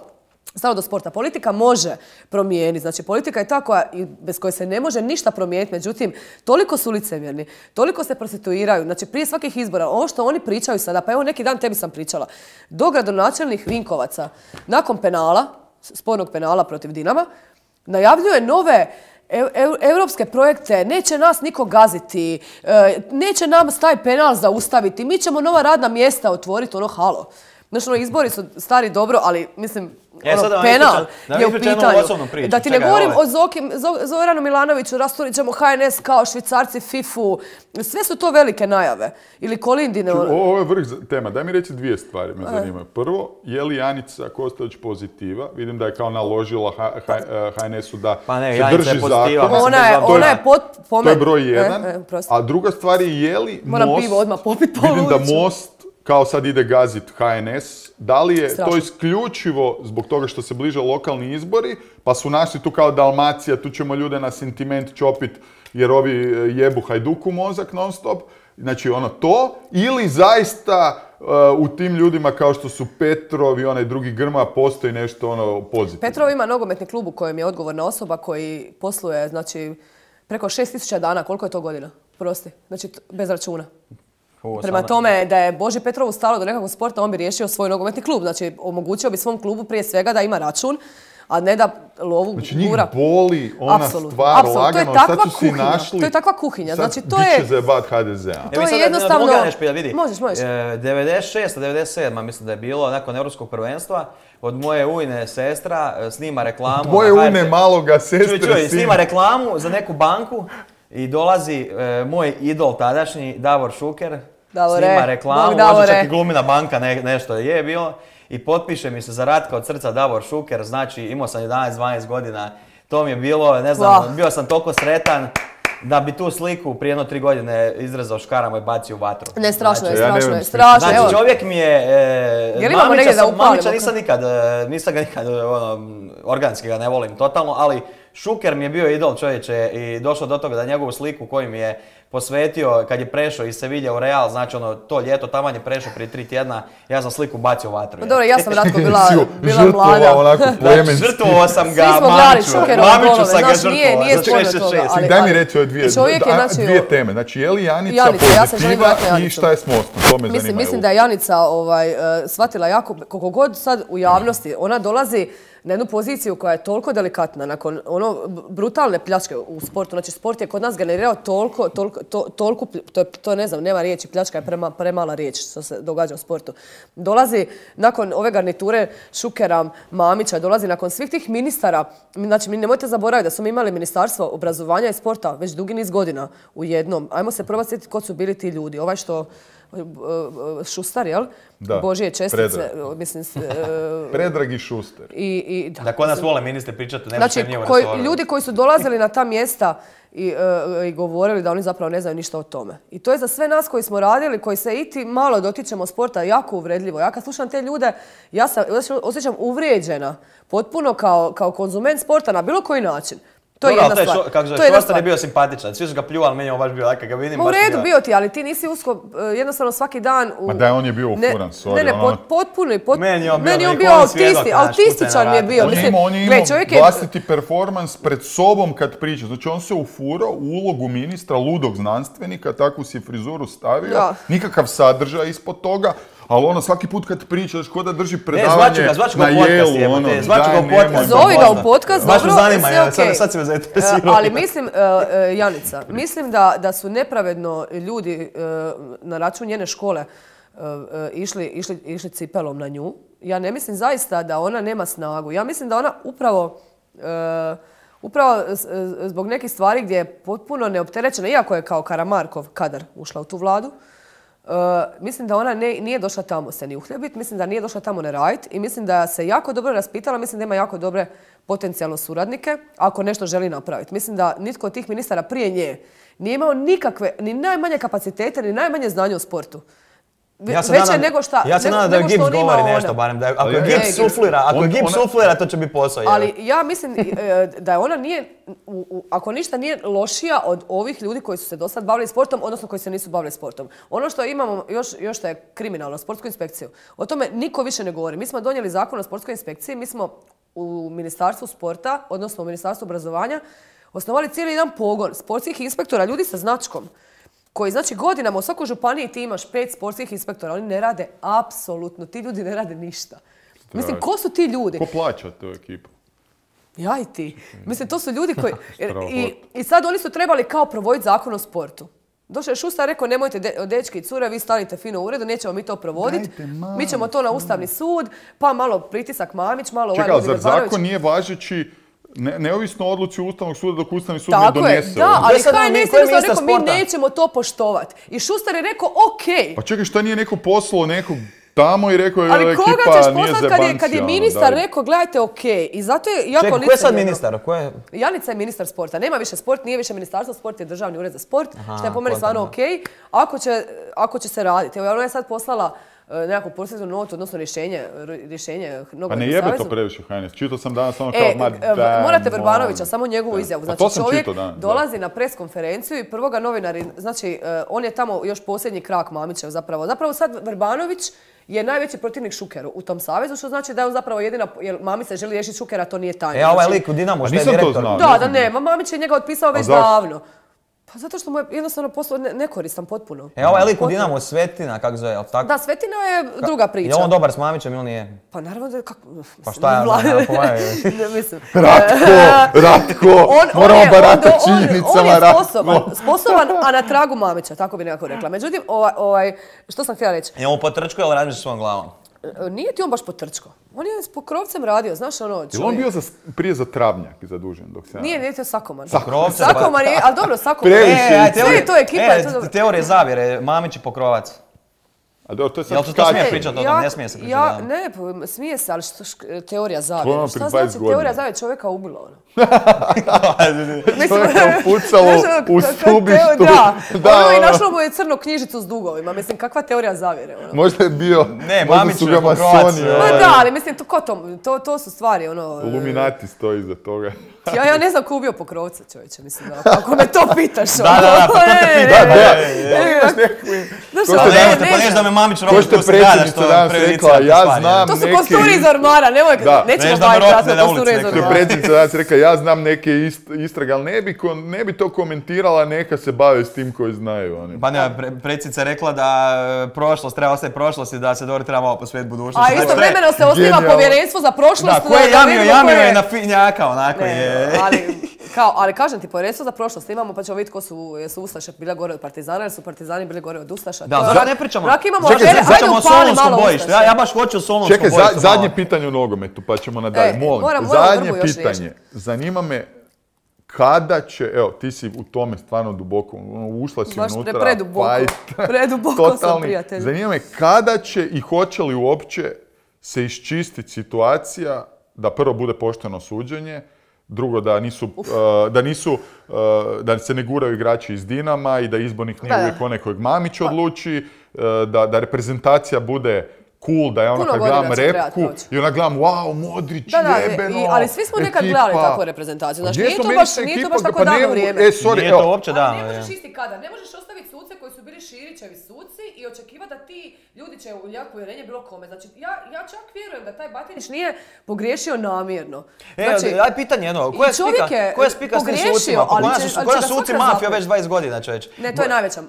S1: Stalo do sporta. Politika može promijeniti. Znači, politika je ta koja, bez koje se ne može ništa promijeniti. Međutim, toliko su licemjerni, toliko se prostituiraju. Znači, prije svakih izbora, ovo što oni pričaju sada, pa evo neki dan tebi sam pričala, do gradonačelnih Vinkovaca, nakon penala, spornog penala protiv Dinama, najavljuje nove Eu- eu- europske projekte, neće nas niko gaziti, e, neće nam taj penal zaustaviti, mi ćemo nova radna mjesta otvoriti, ono halo. Znači, ono, izbori su stari dobro, ali mislim,
S3: E,
S1: ono,
S3: sad da vam
S1: penal
S3: ispričam- da vam
S1: je u
S3: ispričam jednu
S1: pitanju.
S3: osobnu priču.
S1: Da ti ne
S3: Čekaj,
S1: govorim
S3: ovo
S1: o Zoki, Zo- Zoranu Milanoviću, rasturit ćemo H N S kao Švicarci, Fifu, sve su to velike najave. Ili Kolindine. ono-
S2: Ovo je vrh za- tema. Daj mi reći dvije stvari me zanimaju. Prvo, je li Janica Kostović pozitiva? Vidim da je kao naložila H- H- H N S-u da
S3: Pa ne,
S2: se
S3: Janica je
S2: drži
S3: pozitiva,
S2: zakona.
S3: mislim,
S1: Ona je,
S3: bez obzira.
S1: ona je pot, po
S2: To je
S1: meni-
S2: broj jedan.
S1: E, e, prosti.
S2: A druga stvar je je li
S1: Moram
S2: Most...
S1: pivo odmah popit po
S2: Vidim da
S1: ulicu.
S2: Most kao sad ide gazit H N S. Da li je
S1: Strašno.
S2: to isključivo zbog toga što se bliže lokalni izbori, pa su našli tu kao Dalmacija, tu ćemo ljude na sentiment čopit jer ovi e, jebu Hajduku mozak non stop. Znači ono to, ili zaista e, u tim ljudima kao što su Petrov i onaj drugi Grmoja postoji nešto ono pozitivno.
S1: Petrov ima nogometni klub u kojem je odgovorna osoba koji posluje, znači, preko šest tisuća dana. Koliko je to godina? Prosti. Znači, t- bez računa.
S3: U,
S1: Prema
S3: sada-
S1: tome, da je Boži Petrovu stalo do nekakvog sporta, on bi riješio svoj nogometni klub. Znači, omogućio bi svom klubu prije svega da ima račun, a ne da lovu
S2: Znači njih
S1: gura.
S2: boli ona
S1: Apsolutno,
S2: stvar
S1: apsolutno. To je
S2: lagano,
S1: takva
S2: sad su si
S1: kuhinja,
S2: našli...
S1: to je takva kuhinja,
S2: sad
S1: znači, to
S2: bit će
S1: je-
S2: zajebat H D Z-a.
S1: To
S3: Evo
S1: je
S3: sad
S1: jednostavno-
S3: druga nešto pitati, vidi.
S1: Možeš, možeš.
S3: E, devedeset šesta devedeset sedma mislim da je bilo, nakon Europskog prvenstva, od moje ujne sestra e, snima reklamu.
S2: Moje
S3: na
S2: ujne
S3: H R T.
S2: maloga sestre
S3: Čuj, čuj,
S2: sina.
S3: snima reklamu za neku banku i dolazi e, moj idol tadašnji, Davor Šuker,
S1: Davore,
S3: snima reklamu,
S1: Bog
S3: možda
S1: Davore.
S3: čak i glumina banka ne- nešto je bilo. I potpiše mi se za Ratka od srca Davor Šuker, znači imao sam jedanaest dvanaest godina, to mi je bilo, ne znam,
S1: Vah.
S3: bio sam toliko sretan da bi tu sliku prije jedno tri godine izrezao škarama i bacio u vatru.
S1: Ne, strašno je,
S2: Znači, ja ne
S1: strašno je,
S2: vem,
S1: strašno.
S3: Znači,
S1: Evo,
S3: čovjek mi je... E,
S1: Jel imamo
S3: Mamića
S1: negdje da
S3: sam-
S1: upalimo?
S3: Mamića nisam nikad, e, nisam ga nikad, e, ono, organski ga ne volim totalno, ali Šuker mi je bio idol čovječe i došao do toga da njegovu sliku koju mi je posvetio kad je prešao iz Sevilje u Real, znači ono, to ljeto, taman je prešao prije tri tjedna, ja sam sliku bacio u vatru.
S1: pa dobro, ja sam Ratko bila,
S2: Si ju
S1: bila
S2: žrtvovao
S1: mlada.
S2: onako plemenski.
S3: Žrtvovao sam ga
S1: Svi smo gledali
S3: Mamiću,
S1: Šukerove
S3: Mamiću
S1: golove,
S3: sam ga
S1: znaš, nije-
S3: žrtvovao
S1: nije
S3: za
S1: sporno
S3: šest šest
S1: toga,
S3: šest.
S1: ali-
S2: Daj mi reći ove dvije,
S1: Čovjek je,
S2: da-
S1: znači,
S2: dvije
S1: o-
S2: teme. Znači, je li Janica,
S1: Janica, ja sam želim
S2: pozitiva
S1: vratiti na
S2: i
S1: Janicu.
S2: šta je s Mostom? To me zanima.
S1: Mislim, mislim
S2: evo.
S1: da je Janica ovaj, e, shvatila jako, koliko god sad u javnosti, ona dolazi na jednu poziciju koja je toliko delikatna, nakon ono b- brutalne pljačke u sportu. Znači, sport je kod nas generirao toliko, toliko, to, toliko plj- to, je, to je, ne znam, nema riječi, pljačka je prema, premala riječ što se događa u sportu. Dolazi nakon ove garniture Šukera, Mamića, dolazi nakon svih tih ministara. Znači, mi nemojte zaboraviti da smo mi imali ministarstvo obrazovanja i sporta već dugi niz godina u jednom. Ajmo se probati sjetiti ko su bili ti ljudi. Ovaj što Šustar, jel?
S2: Da,
S1: Božije čestice,
S2: Predrag.
S1: mislim...
S2: Predrag i Šuster.
S1: I, i, da,
S3: Da kod nas vole ministri pričati, ne
S1: znači,
S3: nije u
S1: koji,
S3: resoru.
S1: ljudi koji su dolazili na ta mjesta i, uh, i govorili da oni zapravo ne znaju ništa o tome. I to je za sve nas koji smo radili, koji se iti malo dotičemo sporta, jako uvredljivo. Ja kad slušam te ljude, ja sam osjećam uvrijeđena potpuno kao, kao konzument sporta na bilo koji način. To je
S3: Dobro,
S1: jedna
S3: to je
S1: stvar.
S3: šo, kako zove,
S1: To je jedna
S3: Šostar je
S1: stvar.
S3: bio simpatičan, svi su ga pljuvali, meni je on baš bio, kad ga vidim,
S1: Ma u
S3: baš mi
S1: redu
S3: ga-
S1: bio ti, ali ti nisi usko, jednostavno svaki dan... U...
S2: Ma da, on je bio ufuran, sorry,
S1: Ne, ne,
S2: ono-
S1: pot, potpuno, pot...
S3: Meni je on bio
S1: meni je on
S3: neki
S1: bio
S3: on svjedok,
S1: autisti,
S3: znaš,
S1: autističan mi je
S3: kucaj na
S1: bio.
S2: On je
S1: Mislim,
S2: imao, on je
S1: gle,
S2: imao
S1: čovjek je...
S2: vlastiti performans pred sobom kad priča. Znači on se ufurao u ulogu ministra, ludog znanstvenika, takvu si frizuru stavio,
S1: Da.
S2: nikakav sadržaj ispod toga, ali ono svaki put kad pričaš, ko da drži
S3: Ne,
S2: predavanje
S3: zvaću ga, zvaću ga
S2: na
S3: u podcast,
S2: Yale-u,
S3: jebote,
S2: ono,
S3: zvaću ga
S2: daj,
S3: u podcast.
S2: nemoj.
S1: Zovi ga u podcast,
S3: Baš me
S1: dobro,
S3: zanima,
S1: sve
S3: ja,
S1: okej.
S3: sad, sad si me zainteresirao.
S1: E, ali mislim, uh, uh, Janica, mislim da, da su nepravedno ljudi uh, na račun njene škole uh, uh, išli, išli, išli cipelom na nju. Ja ne mislim zaista da ona nema snagu. Ja mislim da ona upravo... Uh, Upravo zbog nekih stvari gdje je potpuno neopterećena, iako je kao Karamarkov kadar ušla u tu vladu, uh, mislim da ona ne, nije došla tamo se ni uhljebit, mislim da nije došla tamo ne radit i mislim da se jako dobro raspitala, mislim da ima jako dobre potencijalno suradnike ako nešto želi napraviti. Mislim da nitko od tih ministara prije nje nije imao nikakve, ni najmanje kapacitete, ni najmanje znanja u sportu.
S3: Ja se
S1: Veće
S3: nadam,
S1: nego šta,
S3: ja se
S1: nego,
S3: nadam da je
S1: nego što
S3: Gibbs
S1: on ima
S3: govori nešto,
S1: ona.
S3: barem da je, ako je
S2: Ali-
S3: Gibbs
S1: E,
S3: suflira, ako je
S2: on-
S3: Gibbs
S2: ona-
S3: suflira, to će biti posao. je.
S1: Ali ja mislim e, da ona nije, u, u, ako ništa nije lošija od ovih ljudi koji su se do sad bavili sportom, odnosno koji se nisu bavili sportom. Ono što imamo još, još što je kriminalno, sportsku inspekciju, o tome niko više ne govori. Mi smo donijeli zakon o sportskoj inspekciji, mi smo u Ministarstvu sporta, odnosno u Ministarstvu obrazovanja, osnovali cijeli jedan pogon sportskih inspektora, ljudi sa značkom, koji znači godinama u svakoj županiji ti imaš pet sportskih inspektora, oni ne rade apsolutno, ti ljudi ne rade ništa. Mislim, ko su ti ljudi?
S2: Ko plaća tu ekipu?
S1: Ja i ti. Mislim, to su ljudi koji...
S2: Strahotno.
S1: I, I sad oni su trebali kao provoditi zakon o sportu. Došao je Šustar, rekao, nemojte de, dečki i cure, vi stanite fino u uredu, nećemo mi to provoditi.
S2: Dajte, malo.
S1: Mi ćemo to na Ustavni sud, pa malo pritisak Mamić, malo ovaj
S2: Čekaj, ali
S1: Ludvig
S2: zar
S1: Barbanović.
S2: zakon nije važeći ne, neovisno o odluci Ustavnog suda dok Ustavni sud
S1: Tako
S2: ne
S1: je,
S2: donese?
S1: da,
S2: ovo?
S1: ali
S3: Gdje sad on,
S1: H N S
S3: ko je
S1: jednostavno
S3: ministar
S1: rekao, mi
S3: sporta?
S1: nećemo to poštovati. I Šustar je rekao, okej.
S2: Pa čekaj, šta nije neko poslao nekog tamo i rekao je
S1: Ali
S2: ekipa
S1: koga ćeš
S2: nije
S1: poslati kad je, kad je
S2: zebancija, ono,
S1: ministar
S2: daj.
S1: rekao, gledajte, okej. I zato je jako
S3: Čekaj, ko je sad
S1: licemjerno.
S3: ministar? Ko je...
S1: Janica je ministar sporta. Nema više sport, nije više ministarstvo, sport je državni ured za sport,
S3: Aha,
S1: što je po meni
S3: kontam,
S1: stvarno
S3: da.
S1: okej. Ako će, ako će se raditi. Evo, ona je sad poslala uh, nekakvu procesnu notu, odnosno rješenje, rješenje
S2: Pa
S1: Nogometnom
S2: ne jebe
S1: savezu.
S2: to previše H N S. Čitao sam danas ono kao,
S1: E,
S2: ma
S1: e,
S2: daj,
S1: morate
S2: molim.
S1: Vrbanovića, samo njegovu izjavu.
S2: Pa
S1: Znači,
S2: to sam
S1: čovjek
S2: čitao danas, da.
S1: dolazi na pres konferenciju i prvoga novinari, znači, e, on je tamo još posljednji krak Mamićev zapravo. Zapravo sad Vrbanović je najveći protivnik Šukeru u tom savezu, što znači da je on zapravo jedina, jer Mamić se želi riješiti Šukera, to nije tajna.
S3: E, a ovaj
S1: Znači,
S3: lik u Dinamu,
S2: A
S3: što je
S2: nisam to
S3: direktor.
S2: znao.
S1: da, da nema. Mamić je njega otpisao već
S2: zašto?
S1: davno. Pa zato što mu je jednostavno posao ne- nekoristan potpuno.
S3: E, ovaj lik u
S1: Potpuno.
S3: Dinamu, Svetina, kako zove, jel tako?
S1: Da, Svetina je druga priča.
S3: Je on dobar s Mamićem ili nije?
S1: Pa naravno da je kako...
S3: Pa šta je,
S1: Vla-
S3: ono, pa je-
S1: Ne, mislim.
S2: Ratko, Ratko,
S1: On, on
S2: moramo
S1: je, on,
S2: baratati
S1: on, on
S2: činjenicama,
S1: je
S2: Ratko.
S1: sposoban, sposoban, a na tragu Mamića, tako bi nekako rekla. Međutim, ovaj, ovaj, što sam htjela reći,
S3: Je on potrčko ili razmišlja svojom glavom?
S1: nije ti on baš potrčko. On je s pokrovcem radio, znaš ono, čovjek.
S2: Jel on bio za, prije za travnjak zadužen dok se...
S1: Nije, nije to Sakoman.
S3: Pokrovcem,
S1: Sakoman je, ali dobro, Sakoman.
S2: Previše
S1: E,
S2: je
S1: sve je to ekipa, je to
S3: e,
S1: dobro.
S3: teorije zavjere, Mamić i Pokrovac.
S2: A dobro, to je
S3: Jel
S2: sad
S3: se to smije
S2: skače.
S3: pričati o tom? Ne smije se pričati,
S1: Ja,
S3: da.
S1: ne, pa, smije se, ali što, šk- teorija
S2: To je
S1: zavjere.
S2: ono
S1: Šta
S2: pred
S1: znači
S2: dvadeset godina.
S1: teorija zavjere čovjeka ubilo ono?
S2: To je pucalo
S1: Znaš, ono,
S2: u
S1: ka- ka-
S2: stubištu.
S1: teo- Da,
S2: Da,
S1: ono i
S2: ono.
S1: našlo mu je crnu knjižicu s dugovima. Mislim, kakva teorija zavjere, ono.
S2: Možda je bio,
S3: Ne,
S2: možda
S3: Mamić
S2: su
S3: je
S2: ga
S3: Pokrovac,
S2: masoni,
S3: e.
S1: Ma
S2: ovaj,
S1: da, ali mislim, to, ko to, to, to su stvari, ono...
S2: Illuminati stoji iza toga.
S1: Ja, ja ne znam ko je ubio Pokrovca, čovječe, mislim, da, ako me to pitaš.
S3: Da, da, da, pa to te
S1: E,
S3: pitam.
S1: e,
S2: Da,
S1: e, e, Znaš,
S2: To
S1: ono,
S2: ste
S1: ne,
S2: danas-
S1: ne
S3: Pa neš da
S1: znam.
S3: me Mamić
S2: To
S3: robi
S2: što je
S3: tu se gada,
S2: predsjednica
S3: što
S2: danas
S3: prejudicira
S2: rekla,
S3: te
S2: ja
S3: stvari.
S2: znam
S1: To su
S2: neke
S1: kosturi iz
S2: ist-
S1: ormara, nemoj,
S2: Da.
S1: nećemo
S3: Neš da me
S1: baviti
S3: rotne
S1: sad
S3: na
S1: kosturi
S3: ulici
S1: iz
S3: neko.
S2: To je
S1: ormara.
S2: predsjednica danas rekla, ja znam neke ist, istrage, ali ne bi, kon- ne bi to komentirala, neka se bave s tim koji znaju. Oni.
S3: Pa ne, pre, predsjednica je rekla da e, prošlost treba ostati prošlost i da se dobro treba malo posvetiti budućnosti.
S1: A istovremeno se osniva
S2: Genijalno.
S1: povjerenstvo za prošlost.
S3: Da, ko je
S1: da
S3: jamio,
S1: vidimo ko
S3: jamio
S1: je-
S3: je na finjaka, onako
S1: Ne,
S3: je.
S1: ali, kao, ali kažem ti, povjerenstvo za prošlost imamo, pa ćemo vidjeti ko su, jesu Ustaše bile gore od Partizana, jer su Partizani bili gore od Ustaša.
S3: Da,
S1: To-
S3: zašto ne pričamo?
S1: Rak imamo
S2: Čekaj,
S1: afere,
S2: za-
S1: hajde
S3: Pričamo o
S1: upali
S3: Solonskom
S1: malo
S3: bojištu.
S1: Ustaše.
S3: Ja, ja baš hoću o Solonskom
S2: Čekaj, za-
S3: bojištu.
S2: zadnje
S3: malo.
S2: pitanje u nogometu, pa ćemo nadalje.
S1: E,
S2: Molim,
S1: moram- moram
S2: zadnje
S1: Vrbu još
S2: pitanje.
S1: riješiti.
S2: Zanima me kada će, evo, ti si u tome stvarno duboko, ušla si
S1: baš
S2: unutra,
S1: pre, preduboko, preduboko sam, prijatelj.
S2: Zanima me kada će i hoće li uopće se iščistiti situacija da prvo bude pošteno suđenje, drugo da nisu, uh, da nisu, uh, da se ne guraju igrači iz Dinama i da izbornik nije uvijek onaj kojeg Mamić odluči, uh, da, da reprezentacija bude cool, da je ona kad gledam repku i ona gledam, wow, Modrić,
S1: da, da,
S2: jebeno,
S1: i, ali svi smo nekad
S2: ekipa.
S1: Gledali takvu reprezentaciju. Znači, nije to baš, nije to baš tako
S2: pa
S1: davno vrijeme.
S2: E, sorry,
S3: nije to uopće davno.
S1: Ali ne možeš isti kada. Ne možeš ostaviti suce koji su bili Širićevi suci i očekivati da ti ljudi će uljati povjerenje bilo kome. Znači, ja, ja čak vjerujem da taj Batinić nije pogriješio namjerno.
S3: Znači, e, aj pitanje jedno, koja je spika, koja je spika s tim sucima? Pa koja su suci mafija već dvadeset godina, čovječ?
S1: Ne, to je najveća.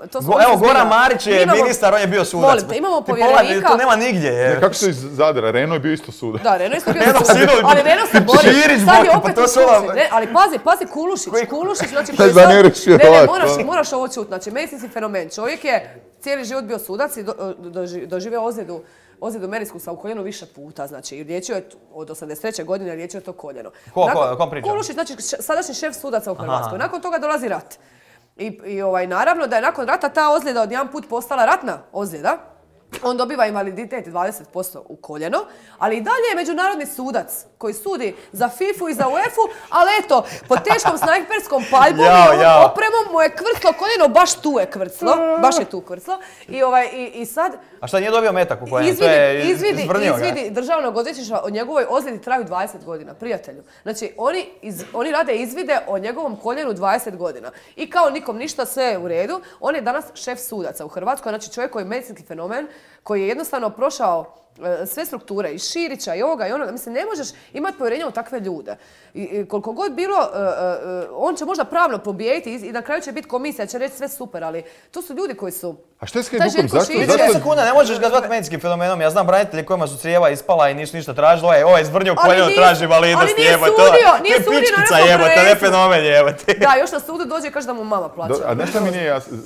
S3: Evo, Goran Marić je ministar, on je bio sudac.
S1: Volite, imamo povjerenika.
S3: To nema nigdje.
S2: Kako su iz Zadra? Reno je bio isto sudac.
S1: Da, Reno je isto bio sudac. Ali Reno se bori. Sad je opet u suci. Ali pazi, pazi, Kulušić. Kulušić, znači koji sad... Ne, ne, moraš, moraš ovo čuti. Znači, medicinski fenomen. Čovjek je cijeli život bio sudac i doživio ozljedu ozljedu meniskusa u koljenu više puta. Znači, liječio je od osamdeset treće godine liječio je to koljeno.
S3: Ko, ko, kom priča?
S1: Kulušić, znači sadašnji šef sudaca u Hrvatskoj. Nakon toga dolazi rat. I, i ovaj, naravno da je nakon rata ta ozljeda odjedan put postala ratna ozljeda. On dobiva invaliditet dvadeset posto u koljeno, ali i dalje je međunarodni sudac koji sudi za fifu i za uefu, ali eto, po teškom snajperskom paljbom i ovom opremom mu je kvrclo koljeno, baš tu je kvrclo, baš je tu kvrclo. I, ovaj, i, i sad...
S3: A šta, nije dobio metak u koljenu?
S1: Izvidi, izvidi, izvidi državnog odvjetništva o njegovoj ozljedi traju dvadeset godina, prijatelju. Znači, oni, iz, oni rade izvide o njegovom koljenu dvadeset godina. I kao nikom ništa, sve je u redu. On je danas šef sudaca u Hrvatskoj, znači čovjek koji je medicinski fenomen, koji je jednostavno prošao e, sve strukture, i Širića, i ovoga, i onoga. Mislim, ne možeš imati povjerenja u takve ljude. I, i koliko god bilo, e, e, on će možda pravno pobijediti i, i na kraju će biti komisija, će reći sve super, ali to su ljudi koji su...
S2: A što je s Hajdukom? Zašto?
S3: trideset sekunda, ne možeš ga zvati medicinskim fenomenom. Ja znam branitelji kojima su crijeva ispala i nisu ništa tražili. Ovo je izvrnio koljeno, traži validnost,
S1: ali nije
S3: jebote.
S1: sudio, nije sudio na nekom
S3: jebote, ne fenomen, jebote.
S1: Da, još na sudu dođe i kaže da mu mama plaća.
S2: A nešto mi nije jasno.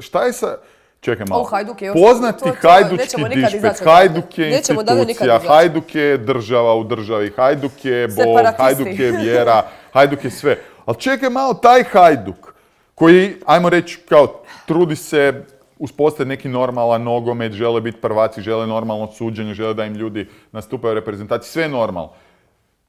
S2: Šta je sa... Čekaj malo.
S1: Hajduk je
S2: poznati to, to, hajdučki dišpet, Hajduk je institucija, Hajduk je država u državi, Hajduk je Bog, Hajduk je vjera, Hajduk je sve. Ali čekaj malo, taj Hajduk koji, ajmo reći, kao trudi se uspostaviti neki normalan nogomet, žele biti prvaci, žele normalno suđenje, žele da im ljudi nastupaju u reprezentaciji, sve je normalno.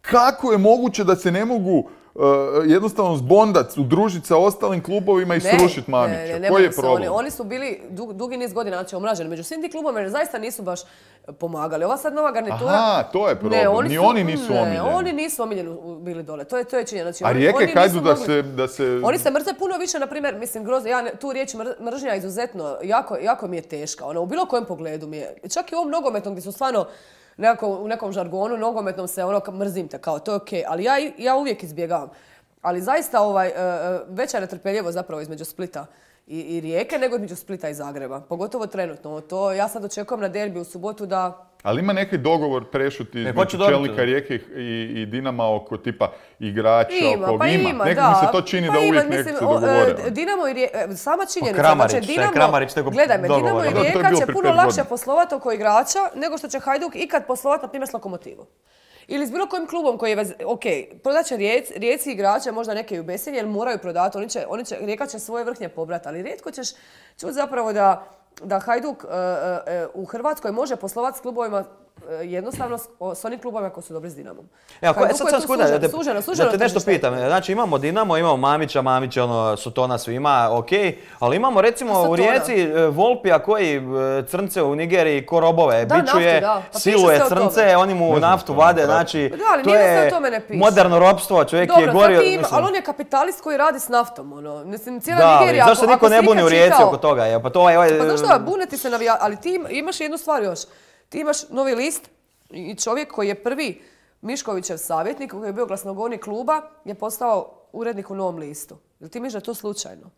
S2: Kako je moguće da se ne mogu Uh, jednostavno zbondat, udružiti sa ostalim klubovima i srušiti Mamića?
S1: Ne, ne, ne,
S2: koji je problem?
S1: Oni, oni su bili dug, dugi niz godina znači, omraženi. Među svim tim klubovima jer zaista nisu baš pomagali. Ova sad nova garnitura...
S2: Aha, to je problem. Ne, oni Ni su, oni nisu ne, omiljeni.
S1: Oni nisu omiljeni bili dole. To je, to je činjenica. Znači,
S2: A
S1: oni,
S2: Rijeke
S1: oni
S2: hajdu da
S1: mogli,
S2: se, da se...
S1: Oni se mrze puno više, na primjer, mislim, grozno. Ja tu riječ mr, mržnja izuzetno, jako, jako mi je teška. Ona, u bilo kojem pogledu mi je. Čak i u ovom nogometnom gdje su stvarno nekako, u nekom žargonu nogometnom se ono mrzim te kao, to je okej. Okay. Ali ja, ja uvijek izbjegavam. Ali zaista ovaj, veća netrpeljivost zapravo između Splita i, i Rijeke nego između Splita i Zagreba. Pogotovo trenutno. To, ja sad očekujem na derbi u subotu da...
S2: Ali ima neki dogovor prešuti između čelnika Rijeke i, i Dinama oko tipa igrača,
S1: ima,
S2: oko
S1: pa
S2: ima.
S1: ima,
S2: Nekako
S1: da.
S2: mi se to čini
S1: pa
S2: da uvijek
S1: ima,
S2: nekako se
S1: mislim,
S2: dogovore.
S1: Dinamo i Rijeka, sama činjenica.
S3: Kramarić,
S1: znači, Dinamo,
S3: Kramarić tego
S1: gledaj me, Dinamo i Rijeka će puno lakše
S2: godina.
S1: poslovati oko igrača nego što će Hajduk ikad poslovati, na primjer, s Lokomotivom. Ili s bilo kojim klubom koji je, vez... ok, prodat će rijec, Rijeci igrače, možda neke i u besilje, jer moraju prodati, oni će, oni će, Rijeka će svoje vrhnje pobrati, ali rijetko ćeš čuti zapravo da, da Hajduk uh, uh, u Hrvatskoj može poslovati s klubovima jednostavno s onim klubovima koji su dobri s Dinamom.
S3: Evo, sad sam skuda, da te, suženo, suženo da te nešto pitam. Znači imamo Dinamo, imamo Mamića, Mamić ono, Sotona svima, ok, ali imamo recimo Sotona. U Rijeci Volpija koji crnce u Nigeriji ko robove
S1: da,
S3: bičuje,
S1: naftu, pa
S3: siluje crnce, oni mu naftu vade, znači
S1: da, ali
S3: to je moderno ropstvo, čovjek
S1: Dobro,
S3: je gorio.
S1: Dobro, ali on je kapitalist koji radi s naftom, ono, mislim, cijela
S3: da,
S1: Nigerija.
S3: Da, zašto se niko ne buni u Rijeci
S1: čitao,
S3: oko toga, je, pa to je... Ovaj,
S1: pa znaš što, buneti se navija, ali ti imaš jednu stvar još. Ti imaš Novi list i čovjek koji je prvi Miškovićev savjetnik, koji je bio glasnogovornik kluba, je postao urednik u Novom listu. Jel ti misliš da je to slučajno?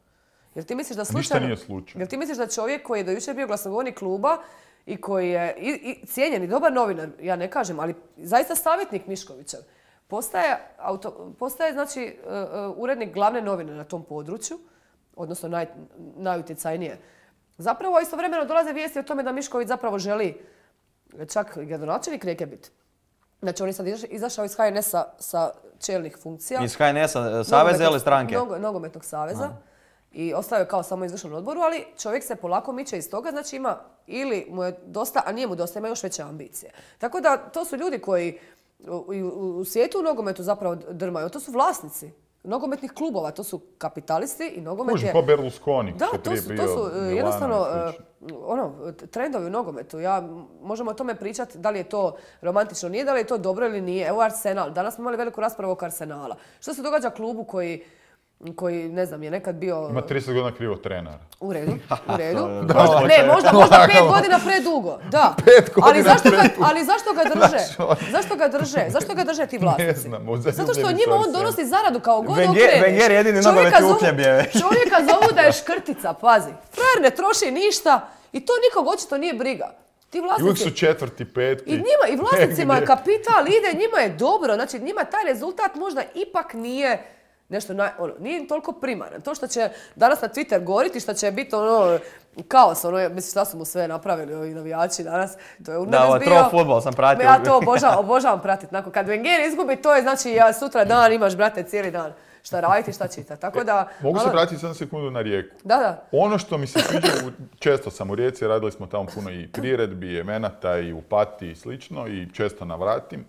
S1: Jel ti misliš da slučajno...
S2: Ništa nije slučajno.
S1: Jel ti misliš da čovjek koji je do jučer bio glasnogovornik kluba i koji je i, i cijenjen i dobar novinar, ja ne kažem, ali zaista savjetnik Miškovićev, postaje, auto, postaje znači, uh, urednik glavne novine na tom području, odnosno naj, najutjecajnije. Zapravo istovremeno dolaze vijesti o tome da Mišković zapravo želi čak gradonačelnik Rijeke biti. Znači on je sad izašao iz ha en es a sa čelnih funkcija.
S3: Iz H N S-a saveza ili stranke?
S1: Nogo, nogometnog saveza. Aha. I ostao je kao samo izvršnom odboru, ali čovjek se polako miče iz toga, znači ima ili mu je dosta, a nije mu dosta, ima još veće ambicije. Tako da to su ljudi koji u, u, u svijetu u nogometu zapravo drmaju, to su vlasnici nogometnih klubova, to su kapitalisti i nogomet
S2: Kuži,
S1: je...
S2: ko Berlusconi.
S1: Da, to su, to su jednostavno uh, ono, trendovi u nogometu. Ja, možemo o tome pričati da li je to romantično, nije, da li je to dobro ili nije. Evo Arsenal, danas smo imali veliku raspravu oko Arsenala. Što se događa klubu koji koji, ne znam, je nekad bio...
S2: Ima trideset godina krivo trenera.
S1: U redu, u redu. Možda, ne, možda, možda pet godina predugo, da.
S2: Pet godina
S1: ali zašto ga,
S2: predugo.
S1: Ali zašto ga drže? Zašto ga drže? Zašto ga drže ti vlasnici?
S2: Ne znam,
S1: zato što njima on donosi zaradu kao god
S3: Wenger,
S1: okreneš.
S3: Wenger jedini nogometni uhljeb je.
S1: Čovjeka zovu da je škrtica, pazi. Frajer ne troši ništa i to nikog očito nije briga. Ti vlasnici...
S2: I uvijek su četvrti, petki.
S1: I njima, i vlasnicima kapital ide, njima je dobro. Znači njima taj rezultat možda ipak nije... Nešto naj, ono, nije toliko primaran. To što će danas na Twitter goriti, što će biti ono kaos, ono, mislim šta su mu sve napravili ovi navijači danas, to je u
S3: Da, ovo tro fudbal sam pratio.
S1: Ja to obožavam, obožavam pratiti. Nakon, kad Wenger izgubi, to je znači ja sutra dan imaš, brate, cijeli dan šta raditi, šta čitati. Tako da...
S2: Mogu
S1: ali...
S2: se vratiti samo sekundu na Rijeku.
S1: Da, da.
S2: Ono što mi se sviđa, često sam u Rijeci, radili smo tamo puno i priredbi, i evenata, i u Pati i slično, i često navratim.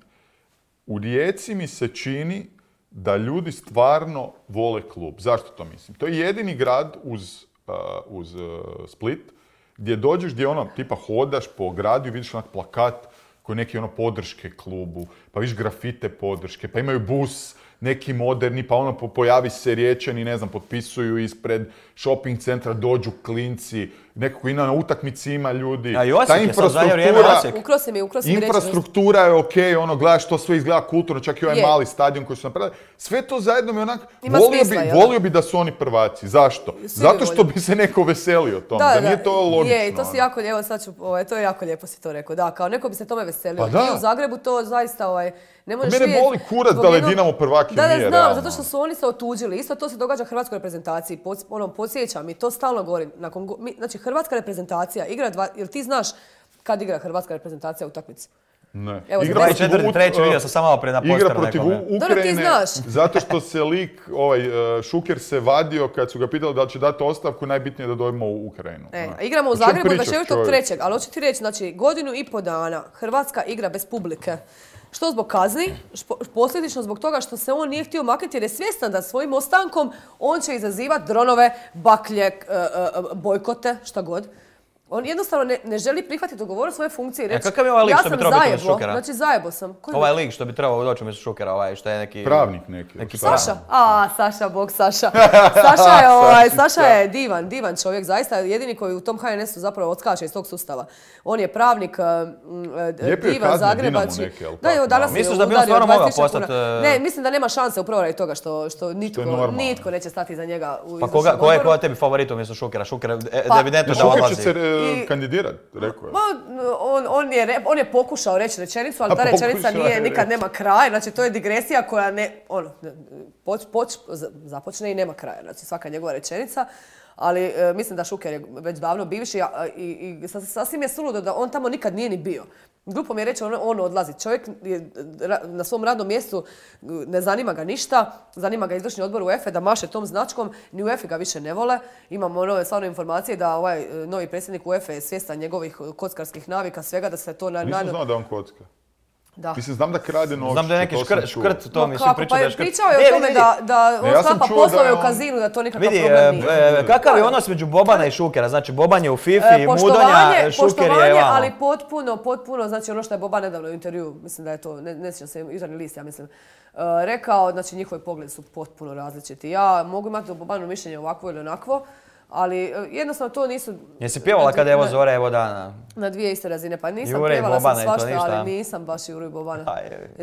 S2: U Rijeci mi se čini da ljudi stvarno vole klub. Zašto to mislim? To je jedini grad uz, uh, uz uh, Split gdje dođeš, gdje ono, tipa hodaš po gradu i vidiš onak plakat koji neki ono podrške klubu, pa vidiš grafite podrške, pa imaju bus neki moderni, pa ono pojavi se Riječani, ne znam, potpisuju ispred shopping centra, dođu klinci, nekako i na utakmici ima ljudi.
S3: A i Osijek je sad zadnje vrijeme Osijek.
S1: Ukrosi mi, ukrosi mi reći.
S2: Infrastruktura je okej, ono, gledaš, to sve izgleda kulturno, čak i ovaj je. mali stadion koji su napravili. Sve to zajedno mi onak, volio, smisla, bi, volio bi da su oni prvaci. Zašto? Svi Zato što bi se neko veselio tome, da, da, da nije to logično.
S1: Je, i to si jako lijepo, sad ću, ovaj, to je jako lijepo si to rekao. Da, kao neko bi se tome veselio. Pa da. I u Zagrebu to zaista, ovaj, ne možeš
S2: vidjeti. Mene boli kurac da li Dinamo prvaki
S1: da, da,
S2: nije,
S1: znam,
S2: realno.
S1: Zato što su oni se otuđili. Isto to se događa hrvatskoj reprezentaciji. Pod, ono, podsjećam i to stalno govorim. Nakon, mi, znači, hrvatska reprezentacija igra dva... Jel ti znaš kad igra hrvatska reprezentacija utakmicu?
S2: Ne.
S1: Evo,
S3: igra protiv četvrti, treći, vidio sam samo malo pred na posteru.
S2: Igra protiv Ukrajine,
S1: da,
S2: zato što se lik, ovaj, Šuker se vadio kad su ga pitali da li će dati ostavku, najbitnije da dojmo u Ukrajinu.
S1: E, igramo u Zagrebu dvadeset četvrtog trećeg ali hoću ti reći, znači, godinu i po dana Hrvatska igra bez publike. Što zbog kazni, posljedično zbog toga što se on nije htio maknuti jer je svjestan da svojim ostankom on će izazivati dronove, baklje, bojkote, šta god. On jednostavno ne, ne želi prihvatiti dogovor svoje funkcije i reći,
S3: e, kakav je ovaj lik
S1: ja
S3: što bi trebao biti
S1: zajebo,
S3: Šukera?
S1: Znači zajebo sam. Koji
S3: ovaj lik što bi trebao doći umjesto Šukera, ovaj što je neki...
S2: Pravnik neki.
S3: neki
S1: Saša? A, Saša, bog Saša. Saša je, ovaj, Saša je divan, divan čovjek, zaista jedini koji u tom H N S-u zapravo odskače iz tog sustava. On je pravnik, uh, divan, Zagrebači. Da, evo, danas
S3: misliš da bi on stvarno mogao postati...
S1: Ne, mislim da nema šanse upravo radi toga što, što nitko, što nitko neće stati za njega u
S3: pa koga, ko je, ko je tebi favorit umjesto Šukera? Šuker
S1: pa,
S3: evidentno da odlazi.
S2: Šuker će se kandidirati. Rekao je.
S1: On, on, je, on je pokušao reći rečenicu, ali ta rečenica nije, nikad nema kraja. Znači, to je digresija koja ne, ono, poč, poč, započne i nema kraja. Znači, svaka njegova rečenica. Ali e, mislim da Šuker je već davno bivši a, i, i sasvim je suludo da on tamo nikad nije ni bio. Glupo mi je reći, on, on odlazi. Čovjek je na svom radnom mjestu, ne zanima ga ništa, zanima ga izvršni odbor U E F E da maše tom značkom, ni U E F E ga više ne vole. Imamo nove stvarno informacije da ovaj novi predsjednik U E F E je svjestan njegovih kockarskih navika, svega da se to na...
S2: Nisam znao da on kocka.
S1: Da.
S2: Mislim, znam da krade novčiće.
S3: Znam da je neki škrt, škrt to mislim pričao da je škrt.
S1: Pričao je o tome da, da on sklapa poslove u kazinu, da to nikakav
S3: vidi,
S1: problem nije.
S3: E, kakav je odnos među Bobana i Šukera? Znači, Boban je u Fifi, e, Mudonja, Šuker je
S1: Poštovanje,
S3: vamo.
S1: ali potpuno, potpuno, znači ono što je Boban nedavno u intervju, mislim da je to, ne, ne sjećam se, Jutarnji list, ja mislim, uh, rekao, znači njihovi pogledi su potpuno različiti. Ja mogu imati o Bobanu mišljenje ovakvo ili onakvo, ali jednostavno to nisu...
S3: Jesi pjevala kada evo zore, evo dana?
S1: Na dvije iste razine, pa nisam
S3: Jure
S1: pjevala sam
S3: Bobana,
S1: svašta, ali nisam baš Juru i Bobana.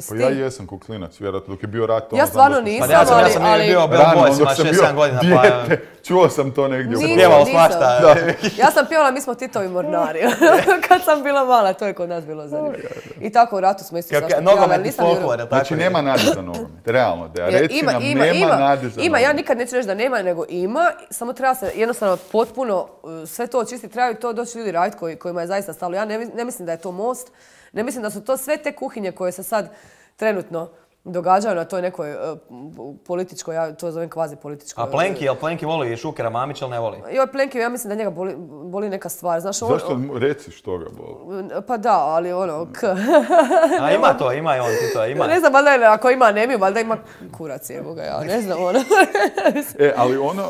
S2: Pa ja jesam ko klinac, vjerojatno dok je bio rat.
S1: Ja stvarno nisam,
S3: pa ja sam, ja sam ali... bio Bell Boysima šest sedam godina, pa...
S2: Čuo sam to negdje.
S3: Nisam pjevala svašta.
S1: Ja sam pjevala, mi smo Titovi mornari. Kad sam bila mala, to je kod nas bilo zanimljivo. I tako u ratu smo isto svašta pjevala.
S3: Nogometni folklor, tako.
S2: Znači nema nade za nogomet, realno. Reci nam, nema nade za nogomet.
S1: Ima, ja nikad neću reći da nema, nego ima. Samo treba se jednostavno potpuno sve to očistiti. Trebaju to doći ljudi raditi koji, kojima je zaista stalo. Ja ne, ne mislim da je to Most. Ne mislim da su to sve te kuhinje koje se sad trenutno događaju na toj nekoj uh, političkoj, ja to zovem kvazi političkoj.
S3: A Plenki, jel Plenki voli Šukera Mamića ili ne voli?
S1: Joj, Plenki, ja mislim da njega boli, boli neka stvar. Znaš, on,
S2: Zašto reci što ga boli?
S1: Pa da, ali ono, k.
S3: A ima to, ima i on ti to, ima.
S1: Ne znam, valjda je, ako ima anemiju, valjda ima kurac, evo ga, ja ne znam, ono.
S2: E, ali ono...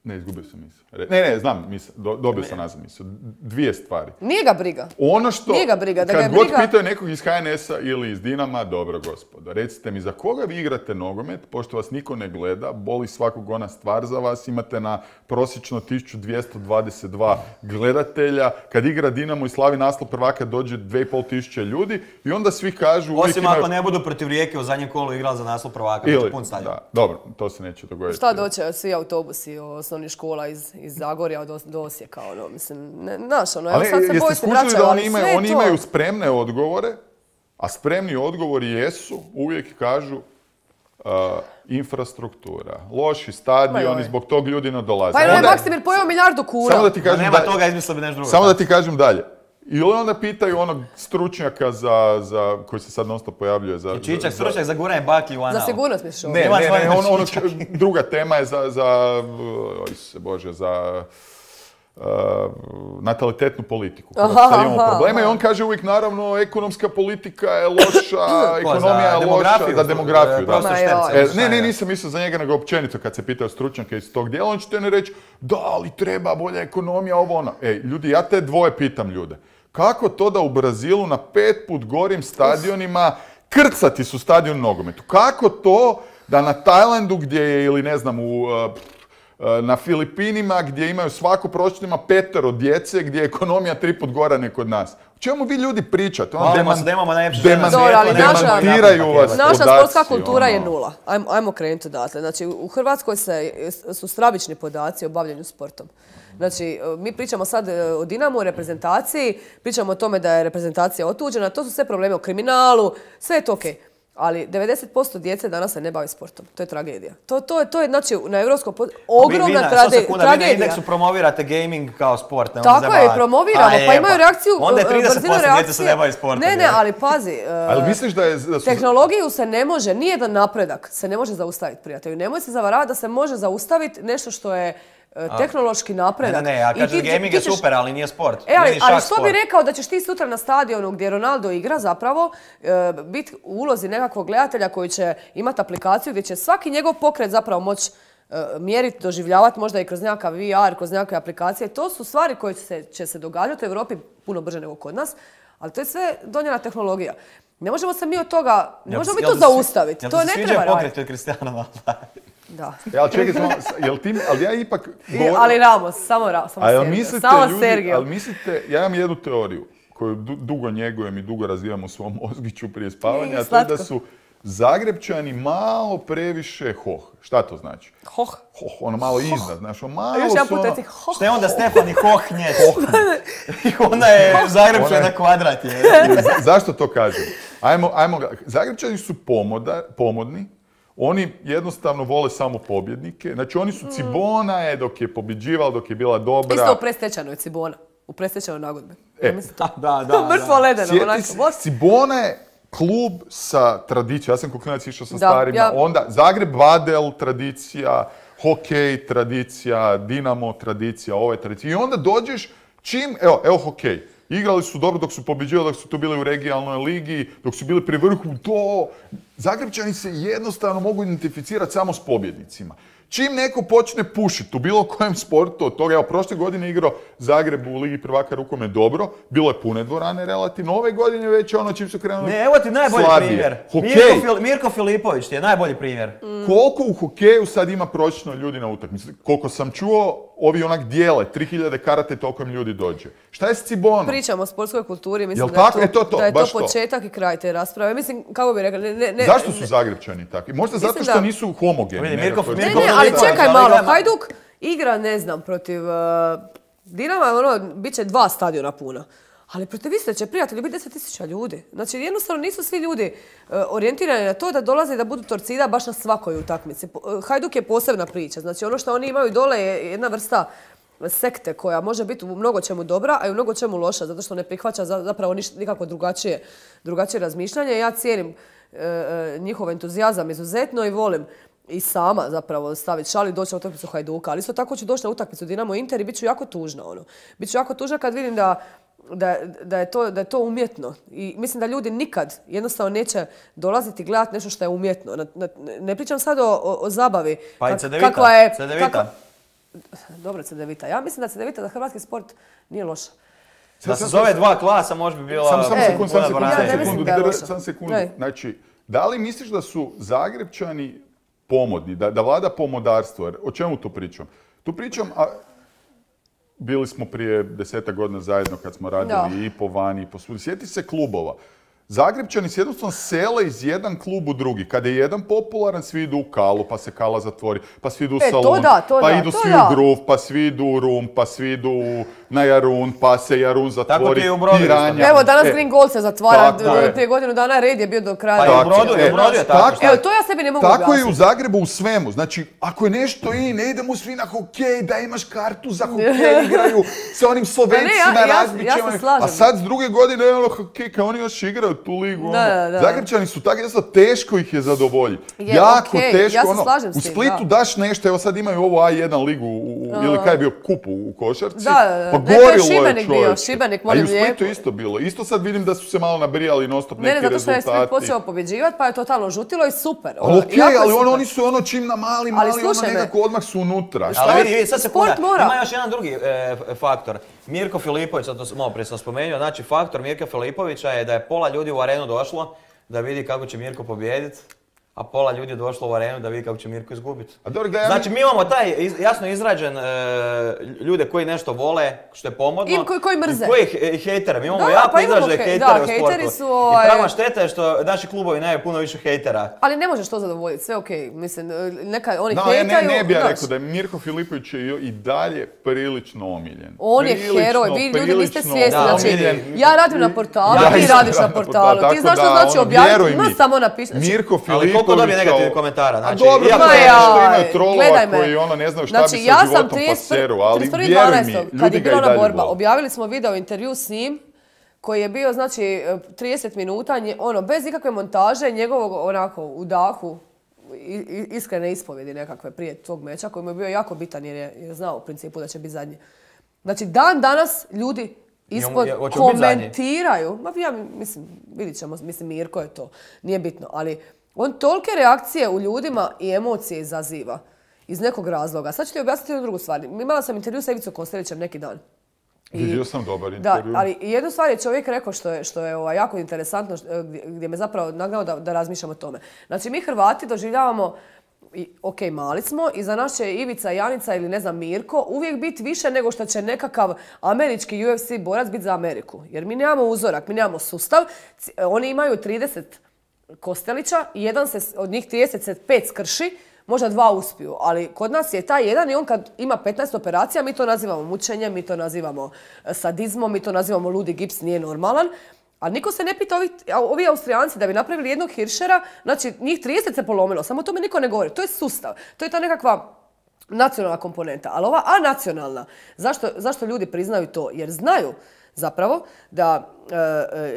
S2: Ne, izgubio sam misao. Ne, ne, znam misao, do, dobio sam nazad misao. Dvije stvari.
S1: Nije ga briga.
S2: Ono što,
S1: Nije ga briga, da
S2: kad
S1: ga je
S2: god
S1: briga...
S2: pitaju nekog iz H N S-a ili iz Dinama, dobro gospodo, recite mi za koga vi igrate nogomet, pošto vas niko ne gleda, boli svakog ona stvar za vas, imate na prosječno tisuću dvjesto dvadeset dva gledatelja, kad igra Dinamo i slavi naslov prvaka dođe dvije i pol tisuće ljudi i onda svi kažu...
S3: Osim ako ne budu protiv Rijeke u zadnjem kolu igrali za naslov prvaka, ili, pun stadion.
S2: Da, dobro, to se neće dogoditi.
S1: Šta doće, svi autobusi osnovnih škola iz, iz Zagorja do, do Osijeka, ono, mislim, ne, znaš, ono, evo sad se boji se vraćaju,
S2: da
S1: ali
S2: oni imaju,
S1: sve
S2: oni
S1: to...
S2: imaju spremne odgovore, a spremni odgovori jesu, uvijek kažu, uh, infrastruktura, loši stadioni, zbog tog ljudi ne dolaze.
S1: Pa je Maksimir pojeo milijardu kuna.
S2: Samo da ti kažem
S3: nema
S2: da,
S3: toga, izmislio bi nešto drugo.
S2: Samo da ti kažem dalje. Ili onda pitaju onog stručnjaka za, za, koji se sad non stop pojavljuje za...
S3: I Čičak,
S2: za,
S3: stručnjak za guranje baklji u anal.
S1: Za sigurnost misliš ovo?
S2: Ne, ne, ne, on, ono, druga tema je za, za oj se Bože, za uh, natalitetnu politiku.
S1: Aha,
S2: Sad imamo
S1: aha,
S2: problema
S1: aha.
S2: i on kaže uvijek, naravno, ekonomska politika je loša, ekonomija je loša, za demografiju. Da. E, ne, ne, nisam mislio za njega, nego općenito kad se pitao stručnjaka iz tog dijela, on će te ne reći, da, ali treba bolja ekonomija, ovo ono. Ej, ljudi, ja te dvoje pitam ljude. Kako to da u Brazilu na pet put gorim stadionima krcati su stadion u nogometu? Kako to da na Tajlandu gdje je, ili ne znam, u, na Filipinima gdje imaju svako prosječno petero djece, gdje je ekonomija tri put gora nek kod nas? O čemu vi ljudi pričate?
S3: Ono deman, se da imamo najljepše žene na
S1: svijetu, ali
S2: demantiraju vas
S1: naša
S2: podaci,
S1: sportska kultura
S2: ono.
S1: je nula. Ajmo, ajmo krenuti odatle. Znači, u Hrvatskoj se, su stravični podaci o bavljenju sportom. Znači, mi pričamo sad o Dinamu, o reprezentaciji, pričamo o tome da je reprezentacija otuđena, to su sve probleme o kriminalu, sve je to okej. Ali devedeset posto djece danas se ne bavi sportom. To je tragedija. To, to, to je, znači, na europskom pod... ogromna vi, vi na, trade... sekunda, tragedija. Vi
S3: na indeksu promovirate gaming kao sport. Ne
S1: tako je, promoviramo. A, pa imaju reakciju,
S3: onda je trideset posto djece se ne bavi sportom.
S1: Ne, ne, ali pazi.
S2: Ali misliš da je... Da su...
S1: Tehnologiju se ne može, nijedan napredak se ne može zaustaviti, prijatelju. Nemoj se zavaravati da se može zaustaviti nešto što je tehnološki napredak.
S3: Ne, ne, ja kažem gaming je super, ali nije sport.
S1: E, ali, ali što bi rekao da ćeš ti sutra na stadionu gdje Ronaldo igra zapravo e, biti u ulozi nekakvog gledatelja koji će imati aplikaciju gdje će svaki njegov pokret zapravo moći e, mjeriti, doživljavati možda i kroz nekakav V R, kroz nekakve aplikacije. To su stvari koje će se, će se događati u Europi puno brže nego kod nas, ali to je sve donijela tehnologija. Ne možemo se mi od toga, ne možemo mi to zaustaviti. To ne treba raditi.
S3: Jel ti se pokret od Cristiano Ronaldo?
S1: Da.
S2: Ja, čekaj, samo, jel ti, ali ja ipak... Govor...
S1: Ali Ramos, samo Ramos, samo Sergio.
S2: Mislite,
S1: samo
S2: ljudi,
S1: Sergio.
S2: ali mislite, ja imam jednu teoriju koju du, dugo njegujem i dugo razvijem u svom mozgiću prije spavanja, a to je da su Zagrebčani malo previše hoh. Šta to znači?
S1: Hoh.
S2: Hoh, ono malo iznad, znaš, ono malo
S1: još
S2: su
S1: jedan put
S2: ono...
S1: reci hoh.
S3: Šta je onda Stefani Hohnjec? I ona je Zagrebčani na kvadrat je.
S2: Zašto to kažem? Ajmo, ajmo, Zagrebčani su pomoda, pomodni. Oni jednostavno vole samo pobjednike. Znači, oni su Cibona je dok je pobjeđivala, dok je bila dobra.
S1: Isto u predstečajnoj Cibona. U predstečajnoj nagodbi.
S3: E, da, da, da.
S1: Mrtvo ledeno.
S2: Cibona je klub sa tradicijom. Ja sam koklinac išao sa
S1: da,
S2: starima.
S1: Ja...
S2: Onda Zagreb Vadel, tradicija, hokej, tradicija, Dinamo, tradicija, ova je tradicija. I onda dođeš čim, evo, evo hokej. Igrali su dobro dok su pobjeđivali, dok su tu bili u regionalnoj ligi, dok su bili pri vrhu, to... Zagrebčani se jednostavno mogu identificirati samo s pobjednicima. Čim neko počne pušiti u bilo kojem sportu od toga, evo, prošle godine igrao Zagreb u Ligi prvaka rukomet dobro, bilo je pune dvorane relativno, ove godine već ono čim su krenuli
S3: ne, evo ti najbolji
S2: slabije.
S3: Primjer.
S2: Hokej.
S3: Mirko, Fil- Mirko Filipović ti je najbolji primjer.
S2: Mm. Koliko u hokeju sad ima prosječno ljudi na utakmici? Koliko sam čuo, ovi onak dijele, tri hiljade karate, toliko im ljudi dođe. Šta je s Cibonom?
S1: Pričamo o sportskoj kulturi, mislim
S2: Jel
S1: da je
S2: tako?
S1: to,
S2: E, to, to,
S1: da je to
S2: baš
S1: početak
S2: to.
S1: I kraj te rasprave. Mislim, kako bi rekla, ne, ne, ne,
S2: Zašto su Zagrebčani takvi? Možda
S1: mislim
S2: zato što
S1: da...
S2: nisu homogeni.
S3: Ne,
S2: ne,
S3: Mirko,
S2: to je-
S1: ne,
S3: Mirko
S1: ne, ali
S3: Filipović,
S1: čekaj
S3: ali
S1: malo,
S3: igra-
S1: Hajduk igra, ne znam, protiv uh, Dinama, ono, bit će dva stadiona puna. Ali protiv Istre će, prijatelji, biti deset tisuća ljudi. Znači, jednostavno nisu svi ljudi uh, orijentirani na to da dolaze i da budu torcida baš na svakoj utakmici. Uh, Hajduk je posebna priča. Znači, ono što oni imaju dole je jedna vrsta sekte koja može biti u mnogo čemu dobra, a i u mnogo čemu loša, zato što ne prihvaća zapravo niš, nikako drugačije, drugačije razmišljanje. Ja cijenim e, njihov entuzijazam izuzetno i volim i sama zapravo staviti šal i doći na utakmicu Hajduka. Ali isto tako ću doći na utakmicu Dinamo Inter i bit ću jako tužna. Ono. Bit ću jako tužna kad vidim da, da, da, je to, da je to umjetno. I mislim da ljudi nikad jednostavno neće dolaziti gledati nešto što je umjetno. Na, na, ne pričam sad o, o, o zabavi.
S3: Pa i Cedevita.
S1: Kakva je,
S3: Cedevita.
S1: kakva... Dobro, Cedevita. Ja mislim da Cedevita za hrvatski sport nije loša.
S3: Da se zove dva klasa, možda bi bila...
S2: Samo sam
S1: E,
S2: sekund, sam sekund,
S1: ja
S2: sam
S1: ne mislim
S2: sekundu,
S1: da je
S2: dr-
S1: loša.
S2: sam sekundu.
S1: Ne.
S2: Znači, da li misliš da su Zagrepčani pomodni, da, da vlada pomodarstvo? Jer o čemu tu pričam? Tu pričam, a bili smo prije desetak godina zajedno kad smo radili
S1: Da.
S2: i po vani i po svudi. Sjeti se klubova. Zagrepčani se jednostavno sele iz jedan klub u drugi. Kada je jedan popularan, svi idu u Kalu, pa se Kala zatvori, pa svi idu u
S1: E, to
S2: Salon,
S1: da, to
S2: pa
S1: da,
S2: idu
S1: to
S2: svi
S1: da.
S2: u Gruf, pa svi idu u Rum, pa svi idu u- na Jarun, pa se Jarun zatvori.
S3: Tako ti je u Brodu isto.
S2: Piranja.
S1: Evo, danas
S2: E,
S1: Green Gold se zatvara.
S2: tako je.
S1: Prije godinu dana red je bio do kraja.
S3: Pa i u
S2: Tako,
S3: Brodu, i
S2: e,
S3: u Brodu je tako.
S2: tako.
S3: šta?
S1: Evo, to ja sebi ne mogu
S2: Tako je i u
S1: objasniti.
S2: Zagrebu u svemu. Znači, ako je nešto i ne idemo svi na hokej, da imaš kartu za hokej, igraju sa onim Slovencima,
S1: Pa ne, ja- ja-
S2: razbićemo.
S1: ja se slažem.
S2: A sad s druge godine, ono, hokej, kao oni još igraju tu ligu. Ono.
S1: Da, da, da.
S2: Zagrepčani su tako, jednostavno, teško ih je zadovoljiti.
S1: Je,
S2: jako
S1: okej,
S2: teško.
S1: ja se
S2: ono,
S1: slažem s
S2: u
S1: tim,
S2: Splitu
S1: da.
S2: daš nešto, evo sad imaju ovu A jedan ligu, u, u- ili kaj je bio kup u, u košarci.
S1: Da, da, da.
S2: Pa
S1: Ne, to je
S2: gorilo je
S1: Šibenik bio,
S2: čovječe.
S1: Šibenik,
S2: A i
S1: molim
S2: u Splitu
S1: lijepo.
S2: isto bilo. Isto sad vidim da su se malo nabrijali non stop
S1: Ne,
S2: neki
S1: ne, zato što je
S2: rezultati.
S1: Split počeo pobjeđivati, pa je totalno žutilo i super.
S2: Ali
S1: Ono,
S2: okej,
S1: jako je
S2: ali
S1: super.
S2: ono, oni su ono čim na mali, mali, ono
S1: slušaj me.
S2: nekako odmah su unutra. Šta
S3: Ali
S2: je?
S3: vidi, vidi, sad se
S1: Sport
S3: puna.
S1: mora.
S3: Ima još jedan drugi e, f- faktor. Mirko Filipović, sad to sam- malo prije sam spomenuo, znači faktor Mirka Filipovića je da je pola ljudi u arenu došlo da vidi kako će Mirko pobijediti, a pola ljudi je došlo u arenu da vidi kako će Mirko izgubiti.
S2: A dobro, gledaj,
S3: Znači mi imamo taj iz- jasno izrađen e, ljude koji nešto vole, što je pomodno.
S1: I koji- koji mrze.
S3: I koji he- hejtere. Mi imamo
S1: Da,
S3: jako
S1: pa imamo
S3: izražene
S1: hej-
S3: hejtere
S1: da,
S3: u
S1: hejteri
S3: sportu.
S1: su,
S3: I
S1: ovaj-
S3: prava šteta je što naši klubovi nemaju puno više hejtera.
S1: Ali ne možeš to zadovoljiti, sve okej. Mislim, neka, oni
S2: no, ja
S1: hejtaju,
S2: ne, ne bi ja
S1: znaš.
S2: rekao da je Mirko Filipović je i dalje prilično omiljen.
S1: On je
S2: Prilično,
S1: heroj, vi ljudi niste
S2: prilično
S1: svjesni.
S3: Da,
S1: Znači,
S3: omiljen.
S1: ja radim na portalu,
S2: Ja
S1: ti
S2: isto
S1: radiš na
S2: radim na
S1: portalu.
S2: portalu,
S1: Ti znaš
S2: tako
S1: što
S2: da,
S1: znači
S2: ono,
S1: objaviti,
S2: vjeruj
S1: ma
S2: mi.
S1: samo napiši. Znači,
S2: Mirko Filipović...
S3: Ali koliko dobije
S2: kao-
S3: negativnih komentara?
S2: A
S3: Znači,
S2: dobro,
S3: iako
S2: ma
S3: je-
S2: ja, što
S1: Jaj,
S2: imaju trolova
S1: gledaj me.
S2: koji ono ne znaju šta
S1: Znači,
S2: bi
S1: ja
S2: sa
S1: sam
S2: životom pa
S1: trideset
S2: seru, ali
S1: trideset prvi
S2: vjeruj mi,
S1: dvanaestog kad
S2: ljudi
S1: je
S2: ga i
S1: bila ona
S2: dalje
S1: borba,
S2: vole.
S1: objavili smo video intervju s njim koji je bio, znači, trideset minuta, nje- ono, bez ikakve montaže, njegovog, onako, u dahu, i- i- iskrene ispovjedi nekakve prije tog meča, koji mu je bio jako bitan jer je, jer je znao u principu da će biti zadnji. Znači, dan danas ljudi ispod
S3: je- hoće biti zadnji?
S1: komentiraju, ma ja mislim, vidit ćemo, mislim, Mirko je to, nije bitno, ali on tolike reakcije u ljudima i emocije izaziva iz nekog razloga. Sad ću ti objasniti jednu drugu stvar. Imala sam intervju sa Ivicom Kostelićem neki dan. I-
S2: Vidio sam dobar
S1: Da,
S2: intervju.
S1: ali jednu stvar je čovjek rekao što je, što je ovaj, jako interesantno, što- gdje, gdje me zapravo nagnao da, da razmišljam o tome. Znači, mi Hrvati doživljavamo, i, ok, mali smo, i za nas će Ivica, Janica ili ne znam Mirko uvijek biti više nego što će nekakav američki U F C borac biti za Ameriku. Jer mi nemamo uzorak, mi nemamo sustav. C- Oni imaju trideset Kostelića i jedan se, s- od njih trideset se pet skrši, možda dva uspiju, ali kod nas je taj jedan i on kad ima petnaest operacija, mi to nazivamo mučenjem, mi to nazivamo e, sadizmom, mi to nazivamo ludi gips, nije normalan. A niko se ne pita, ovi, ovi Austrijanci da bi napravili jednog Hirschera, znači njih trideset se polomilo, samo o tome niko ne govori. To je sustav, to je ta nekakva nacionalna komponenta. Ali ova anacionalna, zašto, zašto ljudi priznaju to? Jer znaju zapravo da e,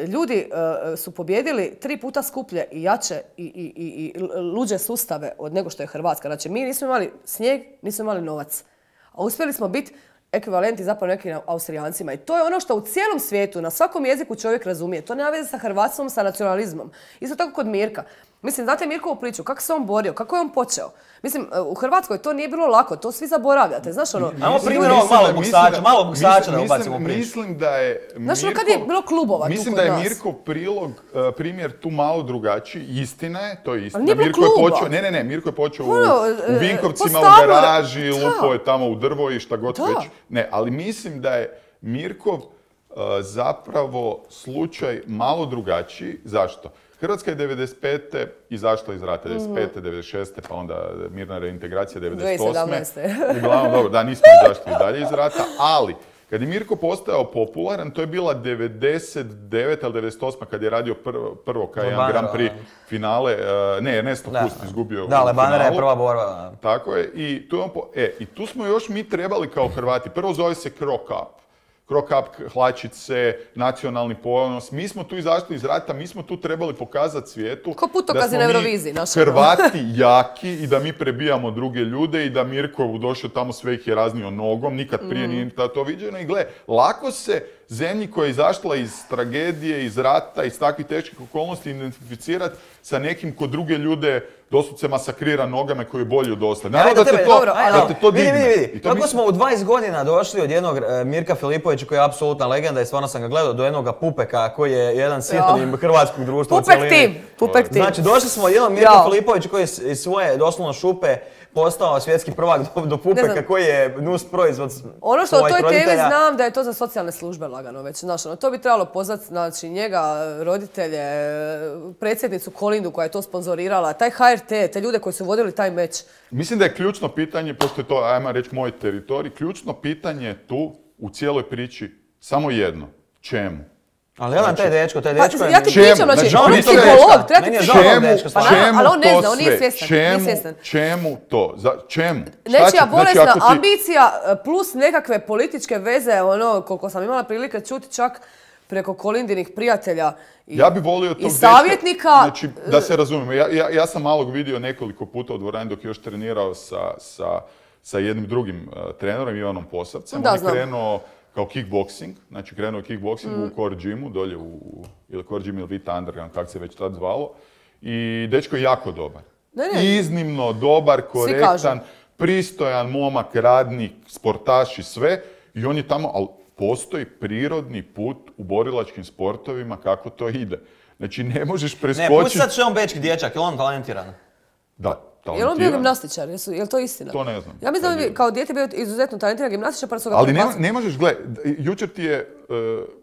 S1: e, ljudi e, su pobjedili tri puta skuplje i jače i, i, i, i luđe sustave od nego što je Hrvatska. Znači, mi nismo imali snijeg, nismo imali novac. A uspjeli smo biti ekvivalenti zapravo nekim Austrijancima. I to je ono što u cijelom svijetu, na svakom jeziku čovjek razumije. To nema veze sa hrvatstvom, sa nacionalizmom. Isto tako kod Mirka. Mislim, znate Mirkovu priču, kako se on borio, kako je on počeo? Mislim, u Hrvatskoj to nije bilo lako, to svi zaboravljate. Znaš ono...
S3: Ajmo
S2: Mislim
S3: primjer
S2: da-
S3: ovog
S2: mislim
S3: malog
S2: da-
S3: boksača,
S2: mislim da-
S3: malog boksača da
S2: mislim-
S3: ubacimo u priču.
S2: Mislim da je
S1: Znaš ono kad je bilo klubova tu
S2: Mislim
S1: kod
S2: da je
S1: nas?
S2: Mirkov prilog, e, primjer tu malo drugačiji. Istina je, to je istina.
S1: Ali nije bilo
S2: Mirko je
S1: kluba.
S2: počeo, ne, ne, ne, Mirko je počeo u,
S1: Ono,
S2: u
S1: e,
S2: Vinkovcima,
S1: po
S2: u
S1: stanu-
S2: garaži,
S1: Da.
S2: lupo je tamo u drvo i šta god
S1: Da.
S2: već. Ne, ali mislim da je Mirkov e, zapravo slučaj malo drugačiji. Zašto? Hrvatska je devedeset pete izašla iz rata, devedeset pete, devedeset šeste pa onda mirna reintegracija devedeset osme
S1: dvije tisuće sedamnaeste.
S2: Uglavnom, dobro, da, nismo izašli i dalje iz rata, ali kad je Mirko postao popularan, to je bila devedeset deveta ili devedeset osma kad je radio prvo, prvo kao jedan
S3: Lebanera,
S2: Grand Prix finale, e, ne, Ernesto
S3: Da,
S2: Kust
S3: da.
S2: izgubio
S3: Da,
S2: u
S3: Lebanera je
S2: finalu.
S3: prva borba.
S2: Tako je, i tu, je on po- e, i tu smo još mi trebali kao Hrvati, prvo zove se Cro Cup. krokap hlačice, nacionalni ponos. Mi smo tu izašli iz rata, mi smo tu trebali pokazati svijetu
S1: ko putokazi na Euroviziji,
S2: da smo mi Hrvati jaki i da mi prebijamo druge ljude i da Mirko došao tamo sve ih je raznio nogom, nikad prije mm. nije to viđeno. I gle, lako se zemlji koja je izašla iz tragedije, iz rata, iz takvih teških okolnosti identificirati sa nekim ko druge ljude doslovce masakrira nogama koji je bolji od ostalih. Naravno da, da te to,
S3: dobro,
S2: da te to digne.
S3: Vidi, vidi, vidi. Kako mislim... smo u dvadeset godina došli od jednog uh, Mirka Filipovića koji je apsolutna legenda i stvarno sam ga gledao, do jednog Pupeka koji je jedan sinonim hrvatskog društva
S1: Pupek u tim, Pupek tim.
S3: Znači došli smo od jednog Mirka Filipovića koji je iz svoje doslovno šupe postao svjetski prvak do, do Pupeka koji je nus proizvod
S1: ono što o toj temi znam da je to za socijalne službe lagano već. Znaš, ono, to bi trebalo pozvati znači, njega, roditelje, predsjednicu Kolindu koja je to sponzorirala, taj H R T, te ljude koji su vodili taj meč.
S2: Mislim da je ključno pitanje, pošto je to, ajmo reći, moj teritorij, ključno pitanje tu u cijeloj priči samo jedno. Čemu?
S3: Ali jedan taj dečko, taj dečko
S1: pa, je... Ja ti pričam, znači, on je psiholog, treba ti pričam.
S2: Čemu
S1: ali on ne
S2: to
S1: zna, on nije
S2: sve?
S1: svjestan.
S2: Čemu, čemu to? Za, čemu?
S1: Nečija bolesna znači, ti... ambicija plus nekakve političke veze, ono, koliko sam imala prilike čuti čak preko Kolindinih prijatelja i,
S2: ja bi volio tog
S1: i savjetnika.
S2: Dečka, znači, da se razumijemo, ja, ja, ja sam malog vidio nekoliko puta u dvorani dok je još trenirao sa, sa, sa jednim drugim uh, trenerom, Ivanom Posavcem.
S1: Da,
S2: on je
S1: znam.
S2: krenuo kao kickboxing, znači krenuo je kickboxing mm. u Core Gymu, dolje u, ili Core Gym ili Vita Underground, kako se već tad zvalo. I dečko je jako dobar.
S1: Ne, ne.
S2: Iznimno dobar, korektan, pristojan momak, radnik, sportaš i sve. I on je tamo, ali postoji prirodni put u borilačkim sportovima kako to ide. Znači ne možeš preskočiti...
S3: Ne, pusti sad što je on bečki dječak, je li on talentiran?
S2: Da.
S1: Je li on bio gimnastičar? Je li to istina?
S2: To ne znam.
S1: Ja mislim da bi kao dijete bio izuzetno talentiran gimnastičar, pa su ga
S2: ali ne, ne možeš, gle, jučer ti je uh,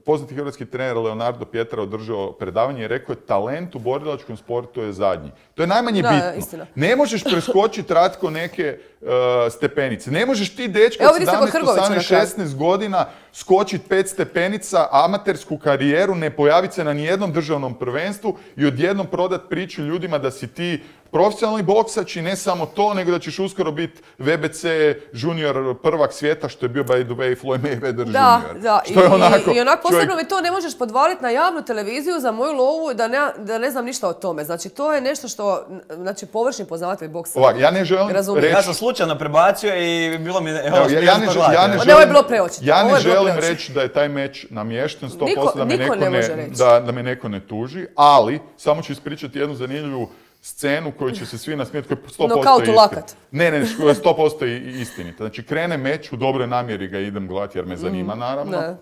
S2: poznati hrvatski trener Leonardo Pietra održao predavanje i rekao je talent u borilačkom sportu je zadnji. To je najmanje
S1: da,
S2: bitno.
S1: Istina.
S2: Ne možeš preskočiti Ratko neke uh, stepenice. Ne možeš ti dečko od sedamnaest, osamnaest, šesnaest godina skočiti pet stepenica, amatersku karijeru, ne pojaviti se na nijednom državnom prvenstvu i odjednom prodat priču ljudima da si ti profesionalni boksač i ne samo to, nego da ćeš uskoro biti V B C junior prvak svijeta, što je bio by the way Floyd Mayweather
S1: da,
S2: junior.
S1: Da,
S2: što je
S1: i,
S2: onako,
S1: i onako posebno
S2: čovjek...
S1: mi to ne možeš podvaliti na javnu televiziju za moju lovu da ne, da ne znam ništa o tome. Znači to je nešto što, znači površni poznavatelj boksa.
S2: Ovak, ja ne želim
S1: razumije.
S2: reći...
S3: Ja sam slučajno prebacio i bilo mi... Evo,
S2: Evo, ja, ja, ne, ja ne želim,
S1: ne, ovo je bilo preočito.
S2: Ja ne želim reći da je taj meč namješten sto posto, da me neko ne, ne, da, da me neko ne tuži, ali samo ću ispričati jednu zanimljivu scenu koju će se svi nasmijeti, koja je sto posto istinita. Ne, ne, koja je sto posto istinita. Znači, krene meč, u dobroj namjeri ga idem gledati jer me zanima, naravno. Ne.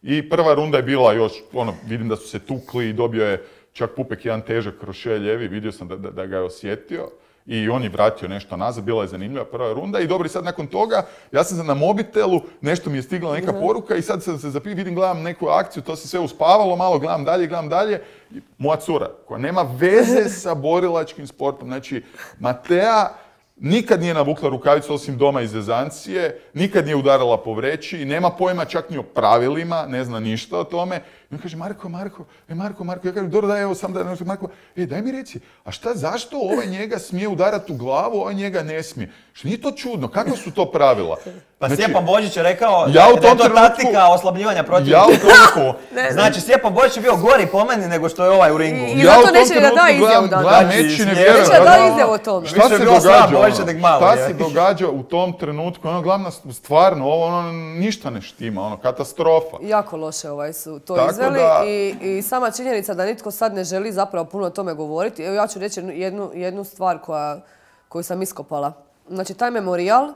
S2: I prva runda je bila još, ono, vidim da su se tukli i dobio je čak Pupek jedan težak krošelj ljevi, vidio sam da, da, da ga je osjetio. I on je vratio nešto nazad, bila je zanimljiva prva runda. I dobro, sad nakon toga, ja sam na mobitelu, nešto mi je stigla neka mm-hmm. poruka i sad se zapiju, vidim, gledam neku akciju, to se sve uspavalo, malo gledam dalje, gledam dalje. I moja cura, koja nema veze sa borilačkim sportom, znači Matea nikad nije navukla rukavicu osim doma iz zezancije, nikad nije udarala po vreći, nema pojma čak ni o pravilima, ne zna ništa o tome. I on kaže, Marko, Marko, e Marko, Marko, ja kažem, dobro, daj, evo sam da nešto, Marko, e, daj mi reci, a šta, zašto ovaj njega smije udarati u glavu, ovaj njega ne smije? Što nije to čudno, kakva su to pravila?
S3: Pa znači, Stjepan Božić je rekao
S2: ja
S3: da je to
S2: trenutku,
S3: taktika oslabljivanja protivnika u trenutku. Znači, Stjepan Božić je bio gori po meni nego što je ovaj u ringu.
S1: I, i zato neće da da izjavu dan.
S2: Gledam meč i ne vjerujem.
S1: Neće da da izjavu o tome.
S2: Šta se događa? Šta se događa u tom trenutku? Ono, glavna stvarno, ovo ono, ništa ne štima, ono, katastrofa.
S1: Jako loše ovaj su to tako izveli da... i, i sama činjenica da nitko sad ne želi zapravo puno o tome govoriti. Evo ja ću reći jednu, jednu stvar koja, koju sam iskopala. Znači, taj memorijal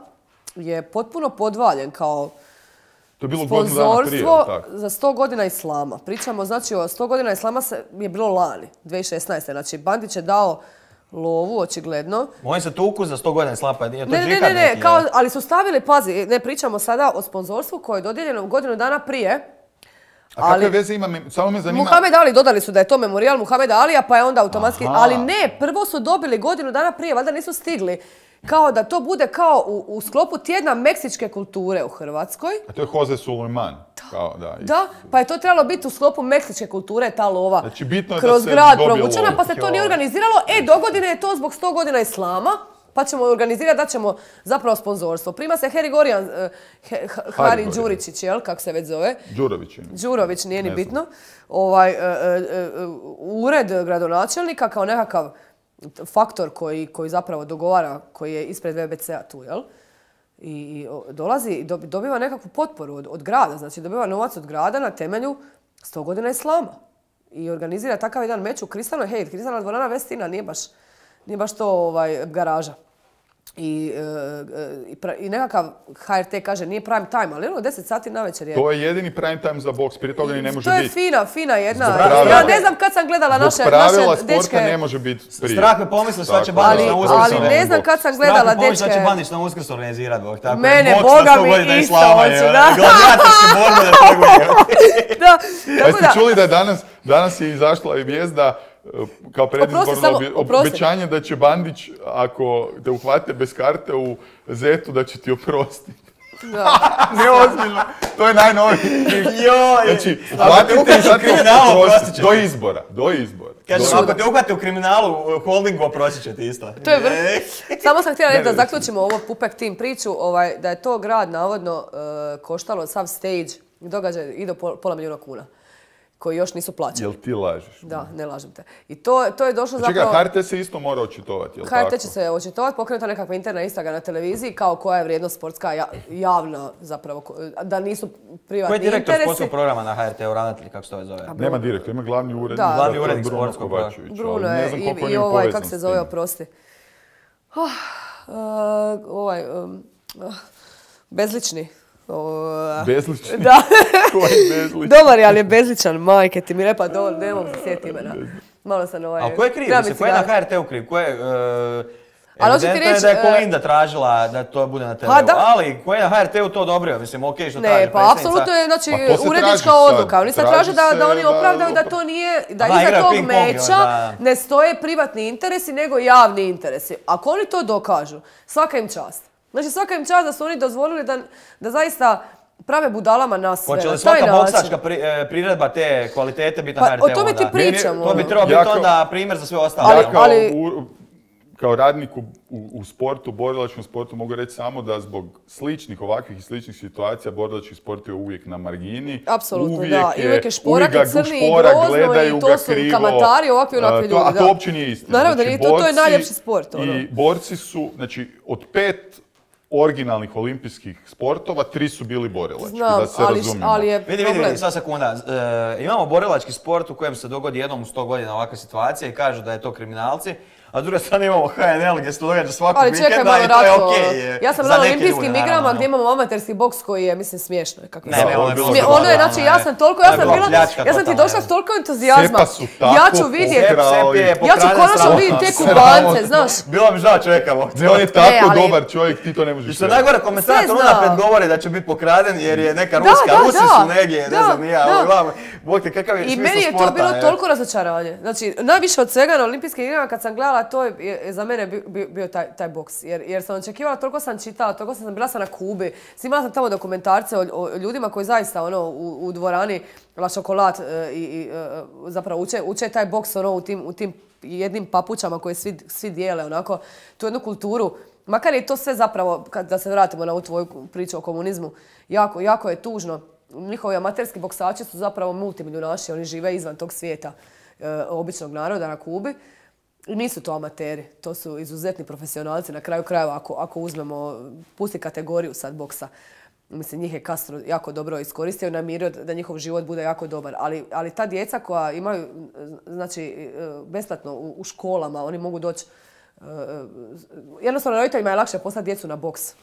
S1: je potpuno podvaljen kao
S2: to je bilo
S1: sponzorstvo
S2: prije,
S1: za sto godina islama. Pričamo, znači, o sto godina islama se, je bilo lani, dvije tisuće šesnaeste. Znači, Bandić je dao lovu, očigledno.
S3: Oni se tuku za sto godina islama, nije to
S1: ne,
S3: džihad
S1: ne, ne, ne,
S3: neki,
S1: kao, ali su stavili, pazi, ne pričamo sada o sponzorstvu koje je dodijeljeno godinu dana prije.
S2: A kakve veze ima, samo me zanima...
S1: Muhamed Ali, dodali su da je to memorijal Muhameda Alija, pa je onda automatski... Aha. Ali ne, prvo su dobili godinu dana prije, valjda nisu stigli. Kao da to bude kao u, u sklopu tjedna meksičke kulture u Hrvatskoj.
S2: A to je Jose Sulejman. Kao, da,
S1: da, pa je to trebalo biti u sklopu meksičke kulture, ta lova.
S2: Znači, bitno je
S1: kroz
S2: da se
S1: grad
S2: dobije
S1: provučena,
S2: lov.
S1: pa se to nije organiziralo. E, do godine je to zbog sto godina islama. pa ćemo organizirati da ćemo zapravo sponzorstvo. Prima se Harry Gorijan, Hari Đuričić, jel, kako se već zove?
S2: Đurović.
S1: Đurović, nije ni bitno. Ovaj, ured gradonačelnika kao nekakav faktor koji, koji zapravo dogovara, koji je ispred V B C-a tu, jel? I dolazi i dobiva nekakvu potporu od, od grada, znači dobiva novac od grada na temelju sto godina islama. I organizira takav jedan meč u Kristalnoj, hej, Kristalna dvorana Vestina, nije baš, nije baš to ovaj, garaža. I, e, i nekakav H R T kaže nije prime time, ali ono deset sati navečer je.
S2: To je jedini prime time za boks, prije toga ni ne može
S1: biti.
S2: biti.
S1: To je fina, fina jedna. Ja ne znam kad sam gledala naše, naše dečke.
S2: Zbog pravila sporta ne može biti prije.
S3: Strah me pomisli šta će Bandić na Uskrs.
S1: Ali ne znam kad sam gledala dečke.
S3: Strah me pomisli šta će Bandić na Uskrs organizirati.
S1: Mene, Boga mi isto hoću, da.
S3: Gladijatorske borbe da trguje.
S1: Da,
S2: tako da. Jeste čuli da je danas, danas je izašla i vijest da kao predizborno obećanje da će Bandić, ako te uhvate bez karte u Zetu, da će ti oprostiti. Neozbiljno. To je najnoviji. Znači, uhvatite i oprostiti. Do izbora. Do izbora.
S3: Kaže, ako te uhvate u kriminalu, holdingu oprostit će ti isto.
S1: To je vrlo. Samo sam htjela reći da zaključimo ovo Pupek Team priču, da je to grad navodno koštalo sav stage događaj i do pola milijuna kuna, koji još nisu plaćeni.
S2: Jel ti lažeš?
S1: Da, ne lažem te. I to, to je došlo zapravo...
S2: Čekaj, H R T se isto mora očitovati, jel tako?
S1: H R T će se očitovati, pokrenuta nekakva interna istraga na televiziji, kao koja je vrijednost sportska javna zapravo, da nisu privatni interesi.
S3: Koji je direktor sportskog programa na H R T-u, ravnatelj, kako se to zove?
S2: Nema direktor, ima glavni urednik.
S1: Da,
S3: glavni urednik sportskog programa.
S1: Bruno je i, i ovaj, kako se zove, oprosti. Oh, uh, ovaj, um, uh, bezlični.
S2: Uh, bezlični?
S1: Da.
S2: Ko je bezlični?
S1: Dobar je, ali je bezličan, majke ti mi repa, do, ne mogu se sjetiti imena. Malo sam ovaj...
S3: Ali ko je kriv? Ko je na H R T-u kriv? Ko je... Uh,
S1: ali hoću ti
S3: reći...
S1: reći...
S3: da je Kolinda tražila da to bude na te veu, ali ko je na H R T-u to odobrio? Mislim, okej, okay, što traži predsjednica.
S1: Ne, pa apsolutno je, znači, pa urednička odluka. Oni se traže da, da oni opravdaju da to nije, da
S3: Aha,
S1: iza tog
S3: ping-pong,
S1: meča
S3: da.
S1: ne stoje privatni interesi, nego javni interesi. Ako oni to dokažu, svaka im čast. Znači, svaka im čast da su oni dozvolili da, da zaista prave budalama nas sve.
S3: Hoće li svaka boksačka pri, e, priredba te kvalitete biti na
S1: pa,
S3: H R T-u?
S1: O tome ti pričamo.
S3: To bi trebao biti onda primjer za sve ostale.
S2: Ja kao, ali, u, kao radnik u, u, u sportu, borilačkom sportu, mogu reći samo da zbog sličnih, ovakvih i sličnih situacija borilački sport je uvijek na margini.
S1: Apsolutno,
S2: uvijek
S1: da. I uvijek je šporak i crni i grozno i to su
S2: krivo,
S1: kamatari, ovakvi onakvi ljudi.
S2: A to uopće nije istina.
S1: Naravno da
S2: znači,
S1: nije, to, to je najljepši sport. Ono.
S2: I borci su, znači, od pet originalnih olimpijskih sportova, tri su bili borilački,
S1: Znam,
S2: da se
S1: ali,
S2: razumijemo.
S1: ali je
S3: vidi, vidi, vidi, sva sekunda. E, imamo borilački sport u kojem se dogodi jednom u sto godina ovakva situacija i kažu da je to kriminalci, a s druge strane imamo H N L gdje se događa svakog vikenda i to je okej. Okay,
S1: ja sam bila na olimpijskim igrama gdje imamo amaterski boks koji je, mislim, smiješno. Kako
S3: ne, ne, ono je bilo
S1: Smije, ono je, znači, ja sam toliko, ja sam bila, ja sam ti došla s toliko entuzijazma. Ja ću vidjeti, ja ću konačno vidjeti te kubance, znaš.
S3: Bilo mi žao čovjeka.
S2: Ne, on je tako dobar čovjek, ti to ne možeš.
S3: I što najgore, komentator unaprijed govori da će biti pokraden jer je neka ruska, Rusi su negdje, ne znam ni ja. Bog te, kakav je smisao sporta. I meni je to bilo toliko razočaranje.
S1: Znači, najviše od svega na olimpijskim igrama kad sam gledala, to je za mene bio, bio taj, taj boks. Jer, jer sam očekivala, toliko sam čitala, toliko sam bila sam na Kubi. Snimala sam tamo dokumentarce o, o ljudima koji zaista ono, u, u dvorani La Chocolat e, i, i e, zapravo uče, uče taj boks ono, u, tim, u tim jednim papučama koje svi, svi dijele. Onako, tu jednu kulturu. Makar je to sve zapravo, kad, da se vratimo na ovu tvoju priču o komunizmu, jako, jako je tužno. Njihovi amaterski boksači su zapravo multimilionaši, oni žive izvan tog svijeta e, običnog naroda na Kubi. Nisu to amateri, to su izuzetni profesionalci. Na kraju krajeva, ako, ako uzmemo, pusti kategoriju sad boksa, mislim, njih je Castro jako dobro iskoristio i namirio da njihov život bude jako dobar. Ali, ali ta djeca koja imaju, znači, besplatno u, u školama, oni mogu doći, jednostavno roditeljima je lakše poslati djecu na boks.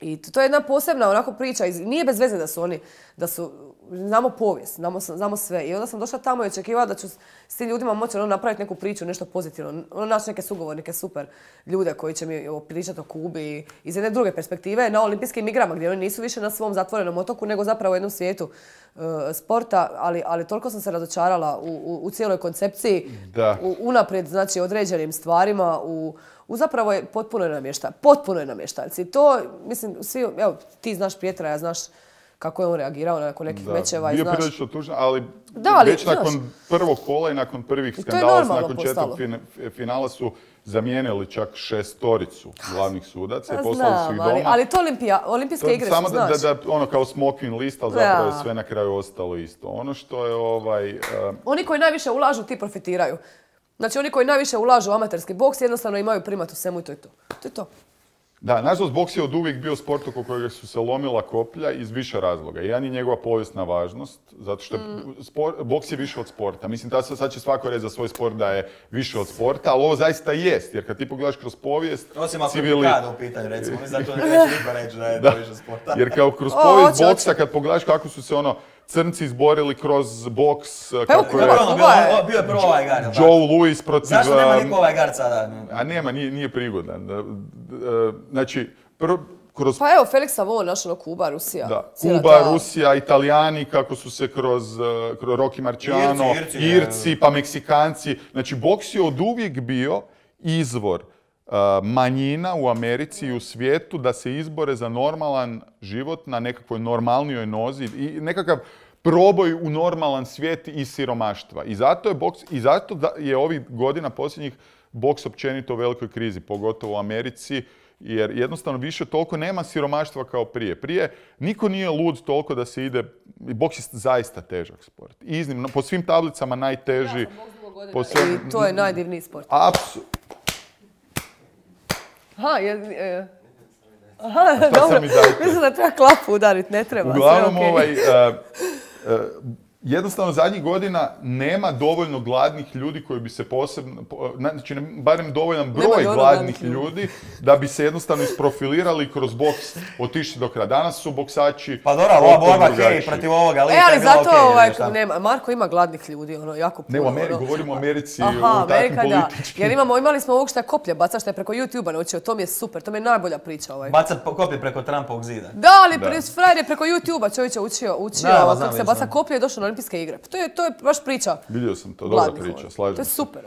S1: I to je jedna posebna onako priča, nije bez veze da su oni, da su, znamo povijest, znamo, znamo sve. I onda sam došla tamo i očekivala da ću s tim ljudima moći ono, napraviti neku priču, nešto pozitivno. Ono, naći neke sugovornike, super ljude koji će mi pričati o Kubi iz jedne druge perspektive na olimpijskim igrama gdje oni nisu više na svom zatvorenom otoku nego zapravo u jednom svijetu uh, sporta, ali, ali toliko sam se razočarala u, u, u cijeloj koncepciji, u, unaprijed znači određenim stvarima, u U zapravo je potpuno je namještaj. Potpuno je namještajci. To, mislim, svi, evo, ti znaš Pjetra, ja znaš kako je on reagirao nakon nekih
S2: Da,
S1: mečeva i
S2: bio
S1: znaš.
S2: prilično tužno, ali,
S1: Da, ali,
S2: već
S1: znaš,
S2: nakon prvog kola i nakon prvih
S1: I to je
S2: skandala,
S1: normalno
S2: nakon četvrtog
S1: postalo.
S2: fin- finala su zamijenili čak šestoricu glavnih sudaca i
S1: Pa
S2: poslali su ih
S1: znam, ali,
S2: doma.
S1: ali to olimpija, olimpijske
S2: To
S1: igre
S2: samo
S1: su,
S2: da,
S1: znaš.
S2: da, da, ono kao smoking list, ali zapravo je
S1: Da.
S2: sve na kraju ostalo isto. Ono što je ovaj... eh,
S1: Oni koji najviše ulažu, ti profitiraju. Znači, oni koji najviše ulažu u amaterski boks jednostavno imaju primat u svemu i to je to. To je to.
S2: Da, nažalost, boks je od uvijek bio sport oko kojega su se lomila koplja iz više razloga. Jedan je njegova povijesna važnost, zato što
S1: Mm.
S2: spor- boks je više od sporta. Mislim, da sad će svako reći za svoj sport da je više od sporta, ali ovo zaista jest, jer kad ti pogledaš kroz povijest...
S3: Osim ako
S2: civili-
S3: je Mikado u pitanju, recimo, mi zato neće niko reći da je to više sporta.
S2: Jer kao kroz
S1: O,
S2: povijest
S1: hoće,
S2: boksa,
S1: hoće.
S2: kad pogledaš kako su se ono crnci izborili kroz boks,
S1: evo,
S2: kako je
S1: Kuba,
S3: Ono, bilo, o, bio je prvo ovaj gar, jel tako?
S2: Joe Louis protiv...
S3: Zašto nema
S2: um,
S3: niko ovaj gar sada?
S2: A nema, nije, nije prigodan. Da, da, Znači, prvo, kroz
S1: Pa evo, Felix Savon, naš ono Kuba, Rusija.
S2: da,
S1: Cijela
S2: Kuba,
S1: ta-
S2: Rusija, Italijani, kako su se kroz, uh, kroz Rocky Marciano,
S3: Irci, Irci,
S2: Irci, pa Meksikanci. Znači, boks je od uvijek bio izvor uh, manjina u Americi i u svijetu da se izbore za normalan život na nekakvoj normalnijoj nozi i nekakav proboj u normalan svijet iz siromaštva. I zato je boks, i zato da je ovih godina posljednjih boks općenito u velikoj krizi, pogotovo u Americi, jer jednostavno više toliko nema siromaštva kao prije. Prije niko nije lud toliko da se ide, boks je zaista težak sport. Iznimno, po svim tablicama najteži. Po svem-
S1: I to je najdivniji sport.
S2: Apsu-
S1: Aha, je... je- Aha,
S2: šta
S1: dobro.
S2: mi dajte?
S1: Mislim da treba klapu udariti, ne treba. sve
S2: Uglavnom,
S1: okej.
S2: ovaj, uh, uh, jednostavno zadnjih godina nema dovoljno gladnih ljudi koji bi se posebno, po- znači ne- barem dovoljan broj
S1: dovoljno
S2: gladnih
S1: gladnih ljudi.
S2: ljudi da bi se jednostavno isprofilirali kroz boks, otišli do kraja. Danas su boksači
S3: Pa dobro, ali ova
S2: potpuno
S3: borba
S2: drugačiji.
S3: hej protiv ovoga lika
S1: E, ali
S3: je bila
S1: zato
S3: okej,
S1: ovaj,
S3: šta?
S1: nema, Marko ima gladnih ljudi, ono, jako puno.
S2: Ne, u Americi,
S1: ono.
S2: govorimo o Americi,
S1: Aha,
S2: o takvim
S1: Amerika, da.
S2: političkim.
S1: Jer imamo, imali smo ovog što je koplje baca, što je preko YouTube-a naučio, to mi je super, to mi je najbolja priča ovaj.
S3: Bacat po- koplje preko Trumpovog zida.
S1: Da, ali
S2: Da.
S1: da. frajer je preko YouTube-a čovječe učio, učio
S3: Da, ma,
S1: kako
S3: znam,
S1: se
S3: vidio
S1: baca
S3: sam.
S1: koplje i došao na olimpijske igre. To je, to je baš priča
S2: Vidio sam to, dobra
S1: gladnih.
S2: priča,
S1: ono.
S2: slažem
S1: To je
S2: se.
S1: super.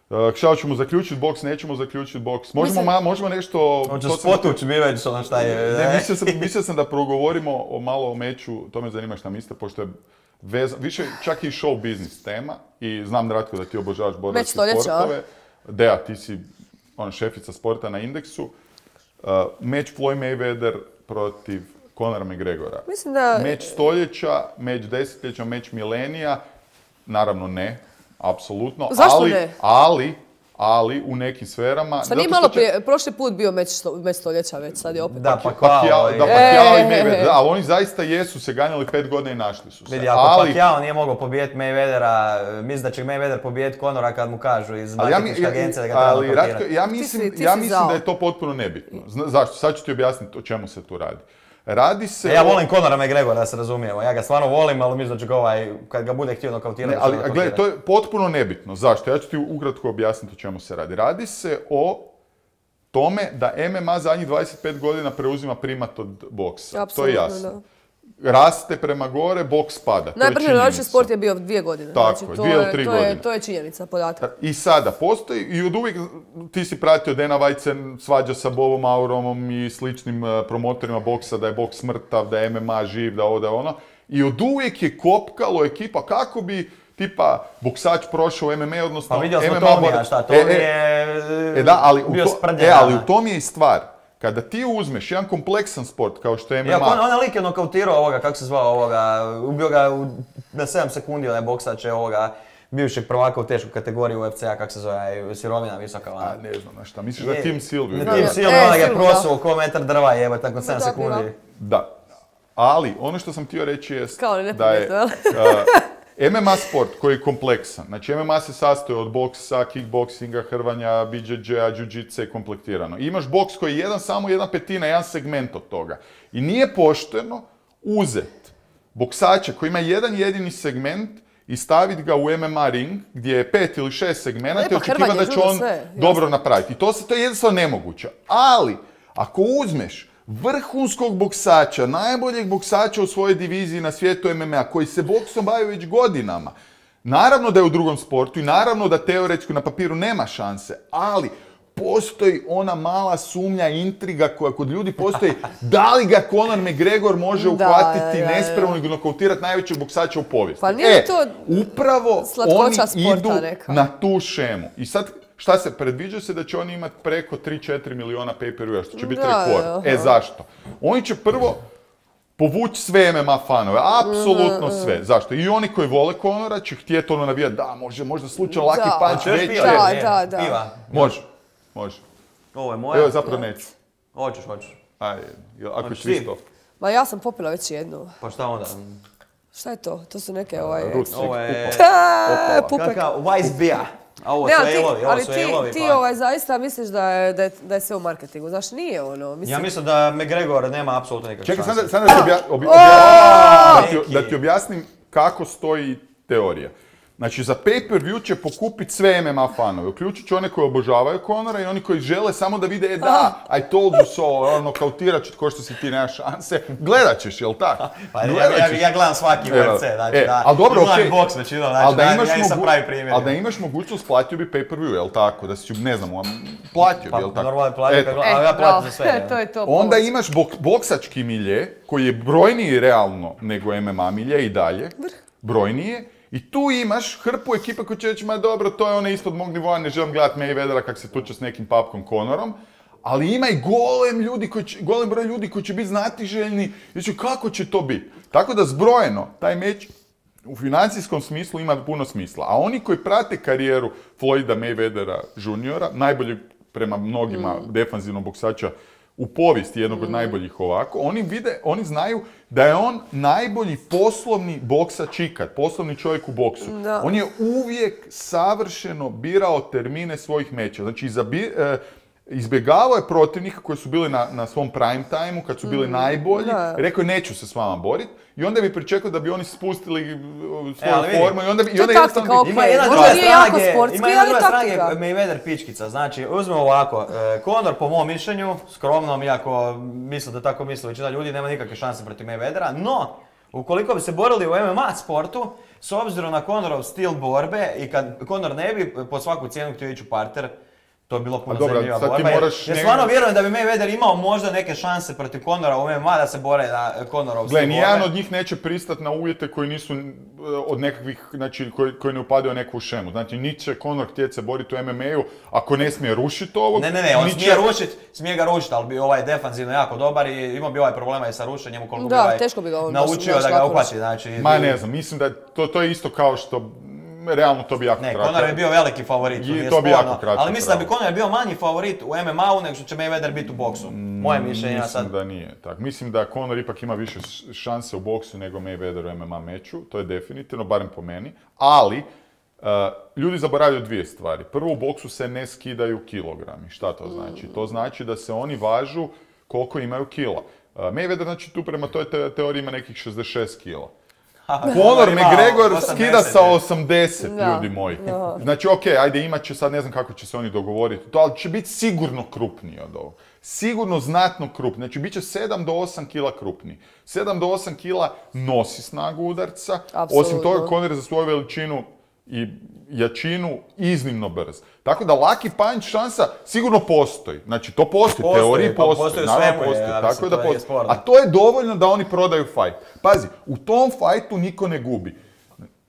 S1: Ono.
S2: Uh, Šta ćemo zaključiti boks, nećemo zaključiti boks. Možemo,
S1: Mislim-
S2: ma, možemo nešto...
S3: Hoću
S2: to sam-
S3: spotuć mi već ono šta je.
S2: Ne, mislio sam, mislio sam da progovorimo o malo o meču, to me zanima šta mislite, pošto je veza, više čak i show business tema i znam, Ratko, da ti obožavaš borbeske
S1: stoljeća, a?
S2: sportove. Dea, ti si ona, šefica sporta na Indeksu. Uh, meč Floyd Mayweather protiv Conora McGregora.
S1: Mislim da...
S2: Meč stoljeća, meč desetljeća, meč milenija, naravno ne, apsolutno.
S1: Zašto
S2: ali,
S1: ne?
S2: Ali, ali u nekim sferama...
S1: Šta nije
S2: zato što
S1: malo
S2: će-
S1: prije, prošli put bio meč, sto- meč stoljeća već, sad je opet.
S3: Da, pa
S2: Pacquiao,
S3: Pacquiao
S2: da,
S3: i-
S2: Pacquiao i
S1: E,
S2: Mayweather,
S1: e, e.
S2: da, ali oni zaista jesu se ganjali pet godina i našli su se.
S3: Vidi, ako
S2: ali,
S3: Pacquiao nije mogao pobijediti Mayweathera, misli da će Mayweather pobijediti Conora kad mu kažu iz
S2: ali ja, mi-
S3: marketinške agencije da ga treba
S2: ali Ratko,
S3: nokautirati.
S2: ja
S1: Ti
S2: mislim,
S1: si- ti
S2: ja
S1: si
S2: mislim
S1: zao.
S2: da je to potpuno nebitno. Zna- zašto? Sad ću ti objasniti o čemu se tu radi. Radi se
S3: E, ja
S2: o-
S3: volim Conora McGregora, da se razumijemo. Ja ga stvarno volim, ali mislim da ću ga ovaj, kad ga bude htio nokautirati,
S2: Ne,
S3: da će
S2: ali
S3: ga
S2: a gledaj,
S3: nokautirati.
S2: to je potpuno nebitno. Zašto? Ja ću ti ukratko objasniti o čemu se radi. Radi se o tome da M M A zadnjih dvadeset pet godina preuzima primat od boksa. To je
S1: Apsolutno,
S2: jasno. Raste prema gore, boks pada. To je
S1: Najbrže različit
S2: činjenica.
S1: sport je bio dvije godine.
S2: Tako
S1: znači,
S2: je,
S1: to
S2: dvije ili
S1: je,
S2: tri
S1: to
S2: godine.
S1: je, to je činjenica, podatak.
S2: I sada postoji, i od uvijek ti si pratio Dana White se svađa sa Bobom Auromom i sličnim uh, promotorima boksa, da je boks mrtav, da je M M A živ, da ovo, da je ono. I od uvijek je kopkalo ekipa kako bi tipa boksač prošao u M M A, odnosno
S3: Pa vidjeli smo
S2: M M A
S3: Tomija,
S2: bor-
S3: šta,
S2: E,
S3: Tomi
S2: e,
S3: je
S2: E da, ali u,
S3: bio
S2: to,
S3: sprdnja
S2: e, ali
S3: dana.
S2: u tom je i stvar. Kada ti uzmeš jedan kompleksan sport kao što je M M A,
S3: Iako on, onaj lik je nokautirao ovoga, kako se zvao ovoga, ubio ga u, na sedam sekundi, onaj boksač je ovoga, bivšeg prvaka u tešku kategoriju U F C-a, kako se zove, sirovina visoka.
S2: a
S3: Ona.
S2: ne znam na šta, misliš da je Tim Silvio?
S3: Na
S1: Da,
S3: Tim
S1: da.
S3: Silvio,
S1: E,
S3: onaj ga je
S1: Silvio, da.
S3: prosuo ko metar drva jebe, tako sedam
S1: Da,
S3: sekundi.
S1: bila.
S2: Da. Ali, ono što sam htio reći je
S1: Kao
S2: da je
S1: neprimjetno, jel?
S2: uh, M M A sport koji je kompleksan. Znači, M M A se sastoji od boksa, kickboksinga, hrvanja, B J J-a, jiu-jitsa kompletirano. I imaš boks koji je jedan, samo jedna petina, jedan segment od toga. I nije pošteno uzet boksača koji ima jedan jedini segment i staviti ga u M M A ring gdje je pet ili šest segmenata
S1: Ne, pa
S2: i očekivati
S1: hrvanje,
S2: da će
S1: judo,
S2: on
S1: sve, jasno.
S2: dobro napraviti. I to, se, to je jednostavno nemoguće. Ali, ako uzmeš vrhunskog boksača, najboljeg boksača u svojoj diviziji na svijetu M M A, koji se boksom bavi već godinama, naravno da je u drugom sportu i naravno da teoretski na papiru nema šanse, ali postoji ona mala sumnja, intriga koja kod ljudi postoji, da li ga Conor McGregor može uhvatiti nespremno i nokautirati najvećeg boksača u povijesti.
S1: Pa nije
S2: e,
S1: to
S2: upravo oni idu
S1: neka.
S2: na tu šemu. I sad, šta se, predviđa se da će oni imati preko tri do četiri miliona pay-per-view, što će biti
S1: da,
S2: rekord. E, zašto? Oni će prvo povući sve M M A fanove, apsolutno sve. Zašto? I oni koji vole Conora će htjeti ono navijati, da, može, možda slučajno Lucky Punch veći.
S1: Da, da, da.
S3: Piva.
S2: Može, može.
S3: Ovo je moja.
S2: Evo, zapravo neću.
S3: Hoćeš, hoćeš.
S2: Ajde, ako ćeš isto.
S1: Ma ja sam popila već jednu.
S3: Pa šta onda?
S1: Šta je to? To su neke ovaj...
S2: Rucnik,
S3: Ovo je...
S1: Pupek.
S3: Kakav Weiss beer. A ovo
S1: Ne,
S3: su
S1: ali ti,
S3: elovi, ovo
S1: ali
S3: su
S1: ti,
S3: elovi.
S1: ti
S3: pa-
S1: ovaj, zaista misliš da je, da, je, da je sve u marketingu. Znaš, nije ono. Mislim...
S3: Ja mislim da McGregor nema apsolutno nikakve
S2: Čekaj,
S3: šanse.
S2: sad da ti obja- obja- obja- da ti- da ti objasnim kako stoji teorija. Znači, za pay-per-view će pokupiti sve M M A fanove, uključujući one koji obožavaju Conora i oni koji žele samo da vide, e da, I told you so, ono, kautirat ću ko što si ti, nema šanse. Gledat ćeš, jel tako?
S3: Pa ja, ja, ja gledam svaki U F C, znači
S2: e,
S3: da,
S2: ali dobro,
S3: gledam
S2: okej.
S3: boks većinom, znači
S2: Ali da
S3: da,
S2: imaš
S3: ja nisam
S2: mogu-
S3: pravi primjer.
S2: ali da imaš mogućnost, platio bi pay-per-view, jel tako? Da si, ne znam, platio
S3: Pa
S2: bi, jel tako?
S3: normalno je platio,
S2: Eto.
S3: kad gledam, ali ja platim za sve.
S1: E, to je to.
S2: Onda
S1: pomoć.
S2: imaš bok, boksački milje, koji je brojniji realno nego M M A milje i dalje, brojniji je, i tu imaš hrpu ekipa koji će reći, ma dobro, to je ono ispod mog nivoa, ne želim gledati Mayweathera kak se tuče s nekim papkom Conorom, ali ima i golem ljudi koji će, golem broj ljudi koji će biti znatiželjni i će kako će to biti. Tako da zbrojeno, taj meč u financijskom smislu ima puno smisla. A oni koji prate karijeru Floyda Mayweathera juniora, najbolji prema mnogima defanzivnog boksača u povijesti, jednog od najboljih ovako, oni vide, oni znaju da je on najbolji poslovni boksač ikad, poslovni čovjek u boksu.
S1: Da.
S2: On je uvijek savršeno birao termine svojih meča. Znači, izabi, e, izbjegavao je protivnika koji su bili na, na svom prime time-u, kad su bili najbolji,
S1: da.
S2: rekao je neću se s vama boriti, i onda bi pričekao da bi oni spustili uh, svoju
S3: E, ali vidi,
S2: formu i onda bi... I
S1: to
S2: onda
S1: je
S2: jednostavno
S1: taktika,
S2: bi-
S3: Ima
S1: okej.
S3: jedna
S1: Možda
S3: druga
S1: nije
S3: strana
S1: jako
S3: gdje-
S1: sportski,
S3: ima jedna
S1: ali
S3: druga strana gdje
S1: taktika.
S3: Mayweather pičkica. Znači, uzmemo ovako, e, Conor po mom mišljenju, skromnom, iako misle da tako misle većina ljudi, nema nikakve šanse protiv Mayweathera, no, ukoliko bi se borili u M M A sportu, s obzirom na Conorov stil borbe i kad Conor ne bi po svaku cijenu htio ići u parter, to bi bilo puno
S2: A dobro,
S3: zanimljiva
S2: sad ti
S3: borba. Jer,
S2: moraš
S3: jer
S2: njega-
S3: stvarno vjerujem da bi Mayweather imao možda neke šanse protiv Conora u M M A da se bore na Conorov stil
S2: Gle, nijedan
S3: borbe.
S2: od njih neće pristati na uvjete koji nisu e, od nekakvih, znači, koji, koji ne upadaju u neku šemu. Znači, niti će Conor htjeti se boriti u M M A-u ako ne smije rušiti ovog.
S3: Ne, ne, ne, on
S2: niti
S3: smije
S2: će-
S3: rušit, smije ga rušiti, ali bi ovaj defanzivno jako dobar i imao bi ovaj problema i sa rušenjem ukoliko
S1: Da,
S3: bi ovaj
S1: teško bi ga on baš-
S3: naučio
S1: baš
S3: da ga
S1: lako
S3: uhvati.
S1: rušio.
S3: Znači,
S2: Ma ne znam, mislim da to, to je isto kao što, m, realno to bi jako
S3: Ne,
S2: kratko.
S3: Conor je bio veliki favorit,
S2: I
S3: nije
S2: to bi
S3: sporno,
S2: jako kratko
S3: ali mislim da bi
S2: trajalo.
S3: Conor bio manji favorit u M M A-u nego što će Mayweather biti u boksu. Moje mišljenje, ja
S2: Mislim
S3: sad...
S2: da nije tako. Mislim da Conor ipak ima više š- šanse u boksu nego Mayweather u M M A meču, to je definitivno, barem po meni. Ali, uh, ljudi zaboravljaju dvije stvari. Prvo, u boksu se ne skidaju kilogrami. Šta to znači? To znači da se oni važu koliko imaju kila. Uh, Mayweather, znači, tu prema toj te- teoriji ima nekih šezdeset šest kila. Conor
S3: ima
S2: McGregor
S3: osamdeset,
S2: skida sa
S3: je.
S2: osamdeset,
S1: Da,
S2: ljudi moji.
S1: da.
S2: Znači, ok, ajde, imat će sad, ne znam kako će se oni dogovoriti, to, ali će biti sigurno krupniji od ovog. Sigurno znatno krupniji. Znači, bit će sedam do osam kila krupniji. sedam do osam kila nosi snagu udarca.
S1: Apsolutno.
S2: Osim toga, Conor je za svoju veličinu i jačinu iznimno brz. Tako da Lucky Punch šansa sigurno postoji. Znači, to postoji,
S3: Postoji,
S2: teoriji
S3: pa
S2: postoji.
S3: postoji u
S2: naravno
S3: svemu,
S2: postoji.
S3: ja
S2: Tako
S3: mislim,
S2: je da
S3: to nije
S2: postoji.
S3: sporno.
S2: A to je dovoljno da oni prodaju fight. Pazi, u tom fajtu niko ne gubi.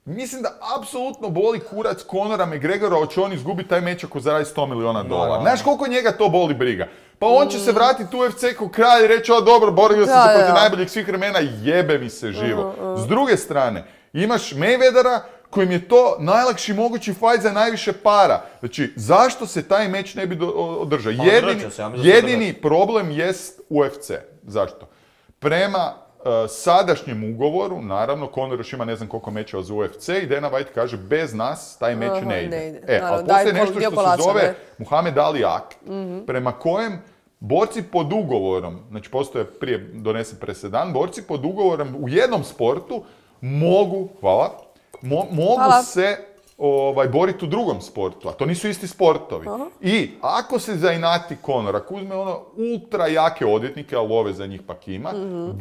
S2: Mislim da apsolutno boli kurac Conora McGregora, hoće on izgubiti taj meč ako zaradi sto miliona dolara.
S3: Naravno.
S2: Znaš koliko njega to boli briga? Pa on će se vratiti u U F C kao kralj i reći, o dobro, borio sam
S1: Da,
S2: se protiv
S1: da.
S2: najboljih svih vremena, jebe mi se živo. S druge strane, imaš Mayweathera kojim je to najlakši mogući fajt za najviše para. Znači, zašto se taj meč ne bi do- održao?
S3: Pa
S2: Jedini,
S3: održat će se, ja mislim da se
S2: jedini problem jest U F C. Zašto? Prema uh, sadašnjem ugovoru, naravno, Conor još ima ne znam koliko mečeva za U F C i Dana White kaže bez nas taj meč
S1: Aha,
S2: ne ide.
S1: ne ide.
S2: E,
S1: Naravno,
S2: ali
S1: daj
S2: postoji
S1: kol-
S2: nešto
S1: dio
S2: što
S1: kolača,
S2: se zove
S1: ne?
S2: Muhammed Ali Akt, prema kojem borci pod ugovorom, znači postoje prije donesen presedan, borci pod ugovorom u jednom sportu mogu, hvala, mo- mogu
S1: Hvala.
S2: se ovaj, boriti u drugom sportu, a to nisu isti sportovi. I ako se zainati Conor, ako uzme ono ultra jake odvjetnike, a love za njih pak ima,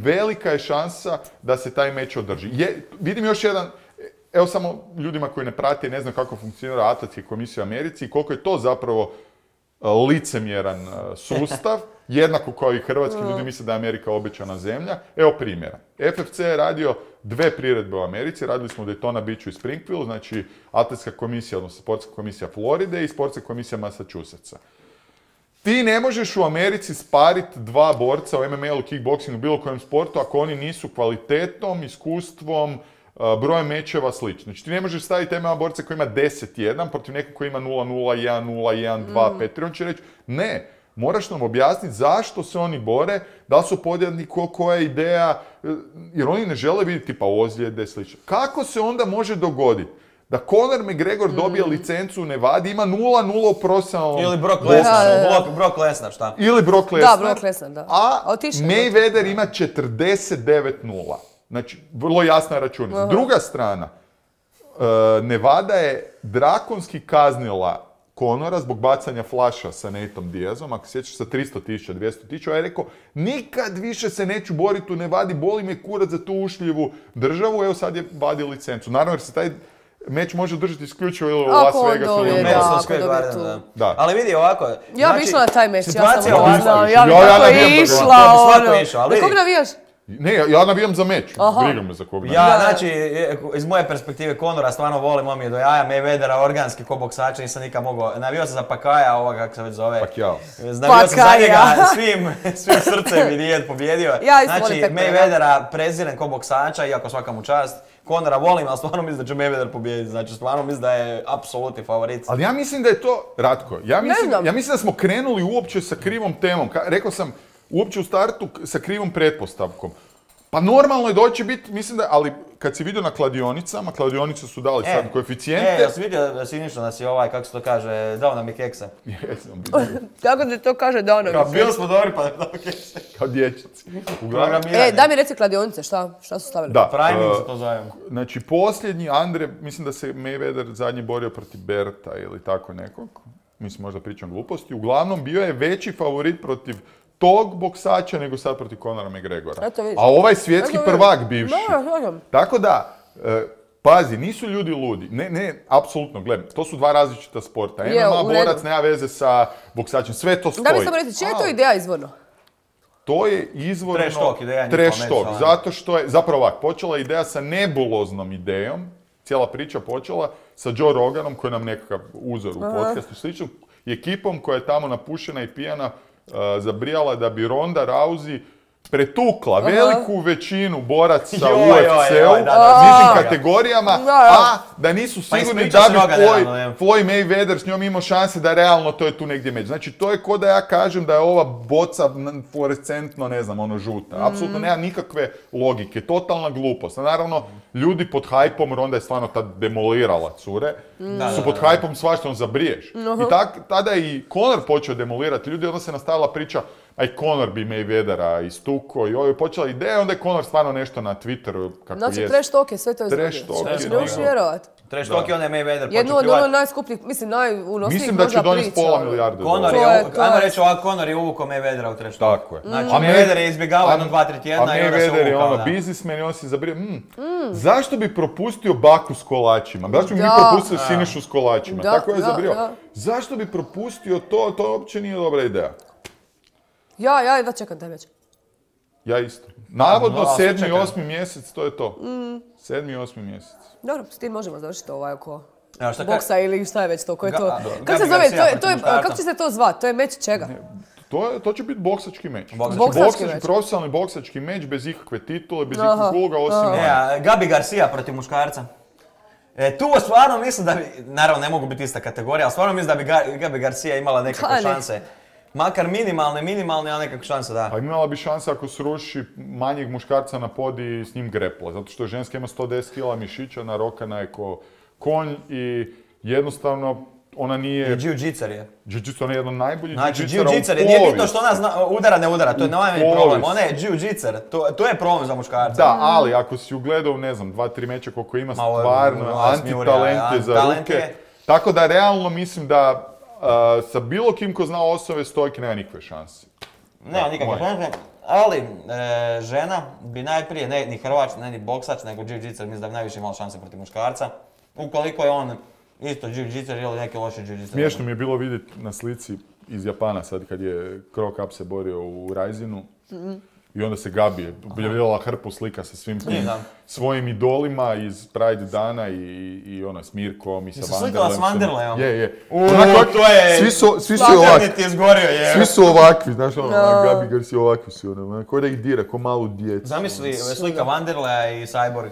S2: velika je šansa da se taj meč održi. Je, vidim još jedan, evo samo ljudima koji ne prate i ne znaju kako funkcionira atletska komisija u Americi i koliko je to zapravo licemjeran sustav, jednako kao i hrvatski ljudi misle da je Amerika obećana zemlja. Evo primjera. F F C je radio dve priredbe u Americi, radili smo u Daytona Beachu i Springfieldu, znači atletska komisija, odnosno sportska komisija Floride i sportska komisija Massachusettsa. Ti ne možeš u Americi spariti dva borca u M M A-u, kickboxingu, bilo kojem sportu, ako oni nisu kvalitetom, iskustvom, brojem mečeva, slično. Znači ti ne možeš staviti M M A borca koji ima deset jedan protiv nekog koji ima nula nula, jedan nula, jedan dva, pet tri. On će reći, ne, moraš nam objasniti zašto se oni bore, da li su podjedni, ko, koja je ideja, jer oni ne žele vidjeti tipa ozljede, slično. Kako se onda može dogoditi da Conor McGregor dobije mm. licencu u Nevadi, ima nula nula u profesionalnom...
S3: Ili Brock Lesnar, Brock Lesnar, šta?
S2: Ili Brock Lesnar.
S1: Da, Brock Lesnar, da.
S2: A Mayweather ima četrdeset devet nula. Znači, vrlo jasna računica. Uh-huh. Druga strana, uh, Nevada je drakonski kaznila Conora zbog bacanja flaša sa Nateom Diazom, ako sjećaš, sa tristo tisuća, dvjesto tisuća, a je rekao, nikad više se neću boriti u Nevadi, boli me kurac za tu ušljivu državu, evo sad je vadi licencu. Naravno, jer se taj meč može držati isključivo ili u Las Vegasu ili u
S3: Madisonu. Da. Ali vidi ovako...
S1: Ja znači, bi išla na taj meč, ja sam
S3: ovako.
S1: Ja bi tako i išla, ono. Na kog navijaš?
S2: Ne, ja navijam za meč. Briga me za kog navijam.
S3: Ja, znači, iz moje perspektive Conora stvarno volim, on mi je do jaja, Mayweathera, organski ko boksača, nisam nikad mogao. Navio sam za Pakaja, ovoga kako se već zove.
S2: Pakjao.
S3: Navio sam za njega svim, svim srcem i nije pobjedio.
S1: Ja
S3: znači, Mayweathera prezirem ko boksača, iako svaka mu čast. Conora volim, ali stvarno mislim da će Mayweather pobijediti. Znači, stvarno mislim da je apsolutni favorit.
S2: Ali ja mislim da je to, Ratko, ja mislim, ja mislim da smo krenuli uopće sa krivom temom. Ka, rekao sam, uopće u startu sa krivom pretpostavkom. Pa normalno je doći biti, mislim da, ali kad si vidio na kladionicama, kladionice su dali e, sad koeficijente.
S3: E, ja sam vidio da si ništa, da si ovaj, kako se to kaže, dao nam je keksa.
S2: Jesam vidio.
S1: Kako se to kaže, dao nam je keksa?
S3: Bili smo dobri pa dao keksa.
S2: Kao dječnici.
S1: E, daj mi reci kladionice, šta, šta su stavili?
S2: Da.
S3: Priming se to zove.
S2: Znači, posljednji Andre, mislim da se Mayweather zadnji borio protiv Berta ili tako nekog. Mislim, možda pričam gluposti. Uglavnom, bio je veći favorit protiv tog boksača nego sad protiv Conora McGregora. A ovaj svjetski prvak bivši. Tako da, e, pazi, nisu ljudi ludi. Ne, ne, apsolutno, gledaj, to su dva različita sporta. M M A borac nema veze sa boksačem, sve to stoji.
S1: Da mi samo reći, čija je to ideja izvorno?
S2: To je izvorno...
S3: Trash talk ideja.
S2: Trash talk, zato što je, zapravo ovak, počela je ideja sa nebuloznom idejom, cijela priča počela sa Joe Roganom, koji je nam nekakav uzor u podcastu, slično, i ekipom koja je tamo napušena i pijana, Uh, zabrijala da bi Ronda Rousey pretukla uh-huh. veliku većinu boraca
S3: joj,
S2: u U F C-u u nižim kategorijama, da, a da nisu sigurni pa da bi Floyd, Floyd Mayweather s njom imao šanse da realno to je tu negdje među. Znači to je ko da ja kažem da je ova boca fluorescentno, ne znam, ono žuta. Mm. Apsolutno nema nikakve logike, totalna glupost. A naravno, ljudi pod hajpom, Ronda je stvarno tad demolirala cure, mm. su pod hajpom svašta on zabriješ. Uh-huh. I tak, tada je i Conor počeo demolirati ljudi, onda se nastavila priča a i Conor bi Mayweathera istuko i ovo je počela ideja, onda je Conor stvarno nešto na Twitteru kako
S1: znači,
S2: jest.
S1: Znači trash talk je sve to izvodio.
S2: Trash talk
S1: znači, ne možeš vjerovat.
S3: Trash talk je onda je Mayweather počeo
S1: jedno od ono najskupljih, mislim najunosnijih možda priča.
S2: Mislim da će donijeti pola milijarde
S3: Conor je, ajmo reći ovako, Conor je uvukao Mayweathera u trash talk.
S2: Tako je.
S3: Znači, a Mayweather je izbjegavao jedno, dva, tri tjedna i onda se uvukao. A Mayweather je ono biznismen i on si zabrio, mm, mm. zašto bi propustio baku s kolačima? Zašto bi mi propustio Sinišu s kolačima?
S1: Da,
S2: tako je
S1: da,
S2: zabrio.
S1: da.
S2: Zašto bi propustio to? To uopće nije dobra ideja.
S1: Ja, ja da čekam taj već.
S2: Ja isto. Navodno no, sedmi, osmi mjesec, to je to. Mm. Sedmi, osmi mjesec.
S1: Dobro, s tim možemo završiti ovaj oko
S3: ja, šta
S1: boksa ka... ili šta je već to, koje je to.
S3: Ga,
S1: kako se zove, to je, to je, kako će se to zvati? To je meč čega?
S2: Ne, to, je, to će biti boksački meč.
S1: Boksački, boksački,
S2: boksački meč. Profesionalni boksački meč bez ikakve titule, bez ikakvog uloga, osim...
S3: Ne, Gabi Garcia protiv muškarca. E, tu stvarno mislim da bi, naravno ne mogu biti ista kategorija, ali stvarno mislim da bi Ga, Gabi Garcia imala nekakve Kane. šanse. Makar minimalne, minimalne, ali nekakve šanse, da.
S2: A imala bi šanse ako sruši manjeg muškarca na podi i s njim grepla, zato što ženska ima sto deset kila mišića, narokana je ko konj i jednostavno ona nije...
S3: I jiu-jitser je.
S2: Jiu-jitser, ona je jedan najbolji
S3: znači,
S2: jiu-jitsera u povijesti.
S3: Znači, jiu-jitser je, nije bitno što ona zna, udara, ne udara, to je najmanji problem. Ona je jiu-jitser, to, to je problem za muškarca.
S2: Da, ali ako si ugledao, ne znam, dva, tri meča koliko ima stvarno antitalente za ruke. Tako da realno mislim da Uh, sa bilo kim ko zna osobe stojke nema nikakve šanse.
S3: Nema nikakve šanse, ali e, žena bi najprije, ne ni Hrvač, ne ni boksač, nego jiu-jitser, mislim da bi najviše imala šanse protiv muškarca. Ukoliko je on isto jiu-jitser ili neki loši jiu-jitser.
S2: Smiješno mi je bilo vidjeti na slici iz Japana sad kad je Crow Cup se borio u Risinu. Mm-hmm. I onda se Gabi objavila hrpu slika sa svim tim svojim idolima iz Pride dana i, i ono, s Mirkom i sa Vanderlem.
S3: Slikala s Vanderlem?
S2: Je, je.
S3: Uuu, to je...
S2: Svi su, svi su ovakvi.
S3: Ti je zgorio, je.
S2: Svi su ovakvi, znaš ono, no. Gabi Garci ovakvi su, ono, ko da ih dira, ko malu djecu.
S3: Zamisli, slika Vanderlea i Cyborg.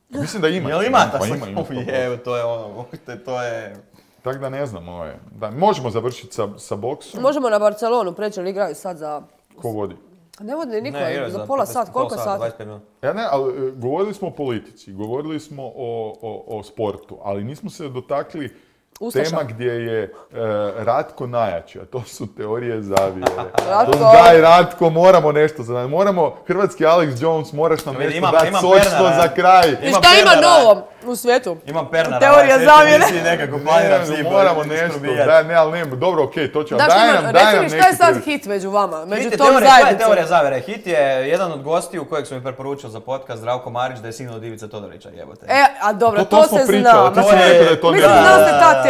S2: Mislim da ima.
S3: Jel ima ta
S2: pa,
S3: slika?
S2: Ima, ima,
S3: je, to je ono, to je...
S2: Tako da ne znam, ovo je. Da, možemo završiti sa, sa boksom.
S1: Možemo na Barcelonu preći, ali igraju sad za...
S2: Ko vodi?
S1: Ne vodi niko,
S3: ne,
S1: za pola sat, koliko sati?
S3: dvadeset pet minuta.
S2: Ja ne, ali govorili smo o politici, govorili smo o, o, o sportu, ali nismo se dotakli Ustaša. Tema gdje je e, Ratko najjači, a to su teorije zavjere.
S1: Ratko.
S2: Daj Ratko, moramo nešto za moramo, hrvatski Alex Jones, moraš nam nešto
S3: imam,
S2: dati
S3: imam
S2: sočno za kraj.
S1: I šta ima novo u svijetu?
S3: Imam Pernara.
S1: Teorija zavjere.
S3: Nekako planiram s njim.
S2: Moramo nešto, daj, ne, ali ne, dobro, okej, okay, to ćemo.
S1: Daš,
S2: daj nam, daj nam neki.
S1: Šta je sad hit među vama, među tom
S3: zajednicom?
S1: Šta
S3: je teorija zavjere? Hit je jedan od gostiju kojeg sam mi preporučio za podcast, Zdravko Marić, da je sin od Ivice Todorića, jebote.
S1: E, a dobro, to,
S2: to, to
S1: se
S2: pričali,
S1: zna.
S2: ti si rekao da je to
S1: Mislim, znao ste ta teorija.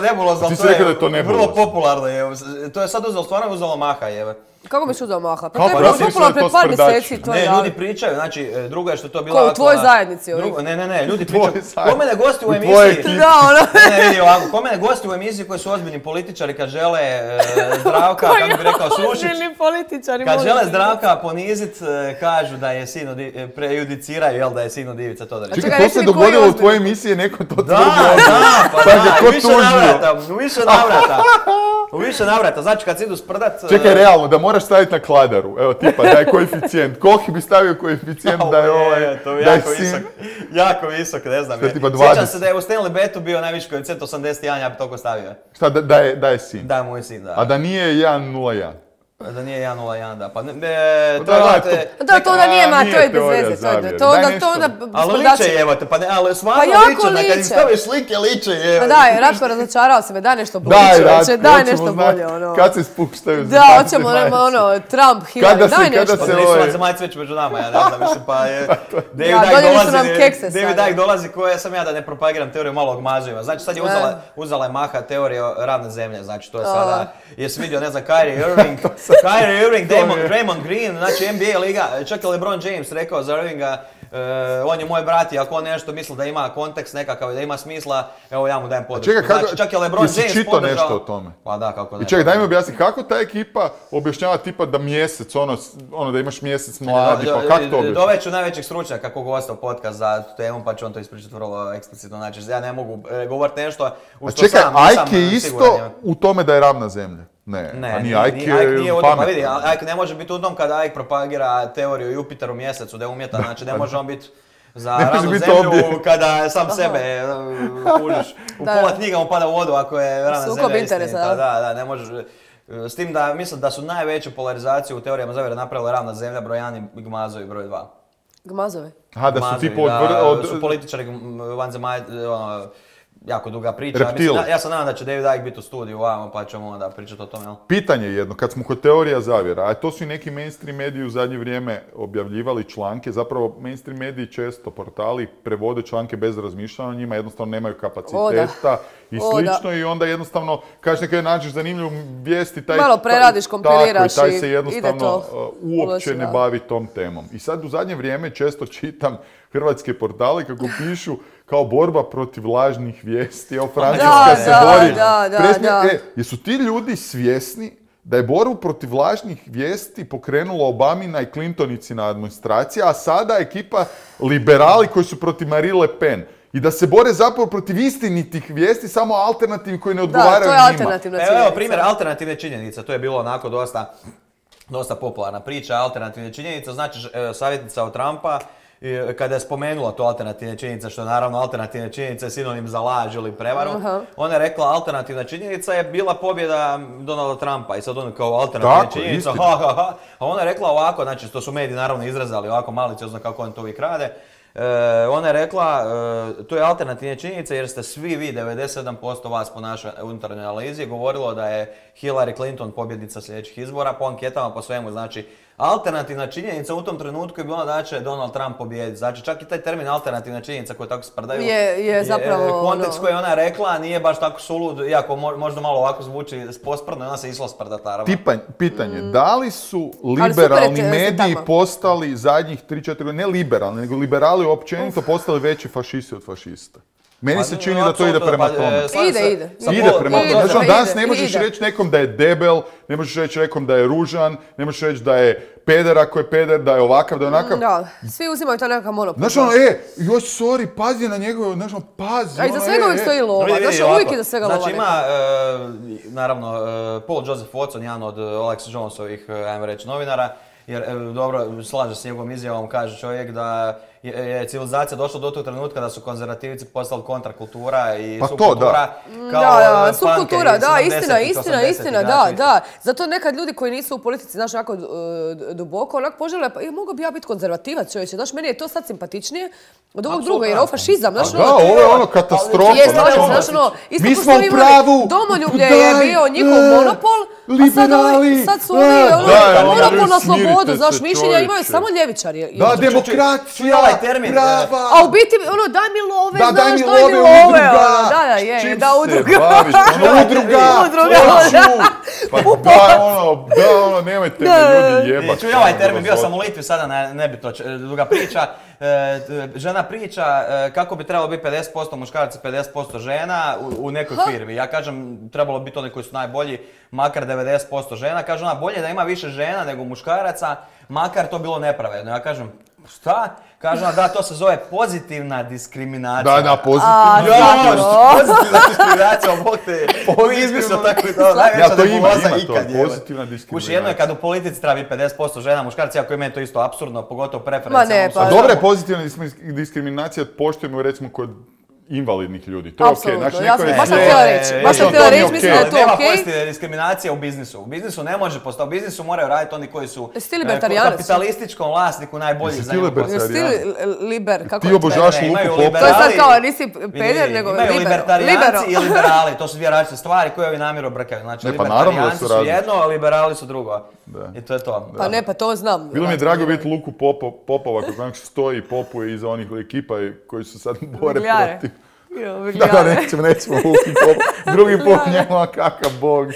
S3: Nebulozno,
S2: ti si rekao da je to nebulozno.
S3: Vrlo popularno je. To je sad uzelo, stvarno uzelo maha, jebe.
S1: Kako biš uzeo maha? Pa
S2: to
S1: je bilo popularno pred par mjeseci.
S3: Ne, ljudi pričaju, znači, drugo je što to bilo...
S1: Ko, u tvojoj zajednici ovih?
S3: Ne, ne, ne, ljudi pričaju. Ko mene gosti u emisiji...
S1: Da, ono.
S3: Ne, vidi ovako, ko mene gosti u emisiji koji su ozbiljni političari kad žele Zdravka, kako bi rekao, srušit...
S1: Ozbiljni političari,
S3: kad žele Zdravka ponizit, kažu da je sin od... prejudiciraju, jel, da je sin od Ivice Todorića.
S2: Čekaj, to se dogodilo u tvojoj emisiji, neko to tvrdio.
S3: Da, da, pa da, u više navrata, u više navrata. U više navrata, znači kad se idu sprdat...
S2: Čekaj, realno, da moraš staviti na kladaru, evo tipa, daj koeficijent, koliki bi stavio koeficijent da je ovaj,
S3: to je
S2: da je
S3: jako
S2: sin...
S3: visok, jako visok, ne znam.
S2: Tipa
S3: sjećam se da je u Stanley Betu bio najviši koeficijent osamdeset jedan, ja bi toliko stavio.
S2: Šta, da, da, je, da je sin?
S3: Da je moj sin, da.
S2: A da nije jedan nula jedan?
S3: Da nije jedan nula jedan, da. Pa ne,
S2: ne,
S3: to je
S2: da,
S3: te,
S1: da, to onda nije, ma, to je bez veze. To onda, to onda...
S3: Ali liče jebate, pa ne, ali stvarno liče, kad im staviš slike liče jebate.
S1: Pa daj, Ratko razočarao se me, daj nešto bolje čovječe, daj nešto bolje, ono.
S2: Kad se spuštaju
S1: da, hoćemo, ono, Trump, Hillary, daj nešto.
S3: Kada se nisu vanzemaljci već među nama, ja ne znam, mislim, pa je... David Icke dolazi, koje sam ja da ne propagiram teoriju malog mazujeva. Znači, sad je uzela je maha teorija ravne zemlje, znači, to je sada, jesi vidio, ne znam, Kyrie Irving, Kyrie Irving, Draymond, Draymond Green, znači N B A liga, čak je LeBron James rekao za Irvinga, uh, on je moj brat i ako on nešto misli da ima kontekst nekakav i da ima smisla, evo ja mu dajem podršku.
S2: Čekaj, kako,
S3: znači, čak je LeBron James podržao...
S2: čitao nešto o tome?
S3: Pa da, kako ne.
S2: I čekaj, daj mi objasni, kako ta ekipa objašnjava tipa da mjesec, ono, ono da imaš mjesec mladi, pa kako to objašnjava?
S3: Doveću najvećeg stručnjaka kako gosta u podcast za tu temu, pa će on to ispričati vrlo eksplicitno, znači ja ne mogu e, govoriti nešto u što
S2: čekaj,
S3: sam nisam
S2: Ike je isto u tome da je ravna zemlja. Ne,
S3: ne,
S2: a
S3: nije
S2: Ike
S3: Ike nije
S2: pametno.
S3: Pa vidi, Ike ne može biti u tom kada Ike propagira teoriju Jupiteru mjesecu da je umjetan, znači ne može on biti za ravnu zemlju obje. Kada sam sebe kužiš. U da, pola knjiga mu pada u vodu ako je ravna
S1: sukob
S3: zemlja
S1: interesa,
S3: istinita. Da, da, ne možeš. S tim da mislim da su najveću polarizaciju u teorijama zavjere napravila ravna zemlja, broj jedan i Gmazovi broj dva.
S1: Gmazovi?
S2: Aha, da su tipo
S3: od...
S2: Da, od...
S3: su političari vanzemaljci, ono, jako duga priča. Mislim, ja, ja sam nadam da će David Icke biti u studiju ovamo pa ćemo onda pričati o tome. Jel?
S2: Pitanje je jedno, kad smo kod teorija zavjera, a to su i neki mainstream mediji u zadnje vrijeme objavljivali članke, zapravo mainstream mediji često, portali, prevode članke bez razmišljanja o njima, jednostavno nemaju kapaciteta i slično o, i onda jednostavno, kažeš nekaj nađeš zanimljivu vijesti, taj,
S1: malo preradiš, kompiliraš
S2: taj, taj se jednostavno
S1: to
S2: uopće
S1: uloži,
S2: ne bavi tom temom. I sad u zadnje vrijeme često čitam hrvatske portale kako pišu kao borba protiv lažnih vijesti, evo Francuska
S1: da,
S2: se
S1: da,
S2: bori.
S1: Da, da,
S2: Presmi,
S1: da.
S2: E, jesu ti ljudi svjesni da je borbu protiv lažnih vijesti pokrenula Obamina i Clintonicina administracija, a sada ekipa liberali koji su protiv Marine Le Pen. I da se bore zapravo protiv istinitih vijesti, samo alternativni koji ne odgovaraju njima.
S1: Da, to je alternativna činjenica.
S3: Evo, evo primjer alternativne činjenice, to je bilo onako dosta, dosta popularna priča, alternativne činjenice, znači savjetnica od Trumpa, kada je spomenula to alternativne činjenice, što je naravno alternativne činjenice sinonim za laž ili prevaru, uh-huh. ona je rekla alternativna činjenica je bila pobjeda Donalda Trumpa i sad on kao alternativna tako, činjenica, ha, ha, ha. A ona je rekla ovako, znači to su mediji naravno izrazali ovako maliciozno kako on to uvijek rade, e, ona je rekla e, to je alternativna činjenica jer ste svi vi, devedeset sedam posto vas po našoj unutarnjoj analizi govorilo da je Hillary Clinton pobjednica sljedećih izbora po anketama, po svemu, znači alternativna činjenica u tom trenutku je bila da će Donald Trump pobijediti. Znači čak i taj termin alternativna činjenica koju tako sprdaju
S1: je, je zapravo
S3: kontekst
S1: ono...
S3: koji je ona rekla nije baš tako sulud, iako možda malo ovako zvuči posprdno i ona se išla sprdat naravno.
S2: Tipanj, pitanje, mm. da li su liberalni mediji postali zadnjih tri četiri godine, ne liberalni, nego liberali općenito Uf. postali veći fašisti od fašista? Meni se čini da to ide prema tome.
S1: Ide, ide.
S2: Ide prema tome. Znači, danas ne možeš reći nekom da je debel, ne možeš reći nekom da je ružan, ne možeš reći da je peder ako je peder, da je ovakav, da je onakav.
S1: Da, svi uzimaju to nekakav monopol.
S2: Znači ono, e, joj, sorry, pazi na njegove, znači ono, pazi.
S1: A iza svega uvijek stoji lova, znači uvijek iza svega lova.
S3: Znači ima, naravno, Paul Joseph Watson, jedan od Alex Jonesovih, ajmo reći, novinara, jer, dobro, slaže s njegovom izjavom, kaže čovjek da je civilizacija došla do tog trenutka da su konzervativci postali kontrakultura i
S2: pa
S3: subkultura.
S1: Da, da, subkultura, da, istina, istina, istina, da, da. Zato nekad ljudi koji nisu u politici, znaš, onako duboko, onako požele, pa mogu bi ja biti konzervativac, čovječe, znaš, meni je to sad simpatičnije od ovog druga, jer ovo fašizam, znaš,
S2: ono... Da, ovo je ono katastrofa.
S1: Je, znaš, ono, isto
S2: mi smo u pravu,
S1: domoljublje je bio njihov monopol, a sad su ovi, ono, monopol na slobodu, znaš, mišljenja imaju samo ljevičari.
S2: Da, demokracija, prava.
S1: A u biti, ono, daj mi love,
S2: da,
S1: znaš,
S2: daj mi
S1: daj mi
S2: love,
S1: love.
S2: udruga.
S1: Da, da, je, da, udruga.
S2: Čim se baviš, ono, udruga,
S1: udruga,
S2: pa da, ono, da, ono, nemojte me ljudi jebat.
S3: Čuj ovaj termin, bio sam u Litvi sada, ne bi to duga priča. Žena priča kako bi trebalo biti pedeset posto muškaraca, pedeset posto žena u nekoj firmi. Ja kažem, trebalo biti oni koji su najbolji, makar devedeset posto žena. Kaže ona, bolje da ima više žena nego muškaraca, makar to bilo nepravedno. Ja kažem, šta? Kaže ona, da, to se zove pozitivna diskriminacija.
S2: Da, da, pozitivna.
S3: Ja, pozitivna diskriminacija, bog te, izmislio tako i to, najveća nebuloza ikad je.
S2: Pozitivna diskriminacija.
S3: Kuši, jedno je kad u politici treba biti pedeset posto žena, muškarci, ako je meni to isto apsurdno, pogotovo preferencijalno.
S1: Pa
S2: A dobra je pozitivna diskriminacija, poštujemo recimo kod invalidnih ljudi. To je okej. Znači,
S1: ja sam baš sam htjela reći. Baš sam htjela reći, mislim da je to okej.
S3: Nema pozitivne diskriminacije u biznisu. U biznisu ne može postati. U biznisu moraju raditi oni koji su kapitalističkom vlasniku najbolji za njegu posao.
S1: Jesi ti liber?
S2: Ti obožavaš Luku Popa.
S1: To je sad kao, nisi peder, nego liber.
S3: Imaju libertarijanci i liberali. To su dvije različite stvari koje ovi namjerno brkaju. Znači, libertarijanci su jedno, a liberali su drugo. I to je to.
S1: Pa ne, pa to znam.
S2: Bilo mi je drago vidjeti Luku Popova kako stoji i popuje iza onih ekipa koji su sad bore protiv. Da, da, nećemo, nećemo Luki Pop. Drugi pop njema, kakav bog.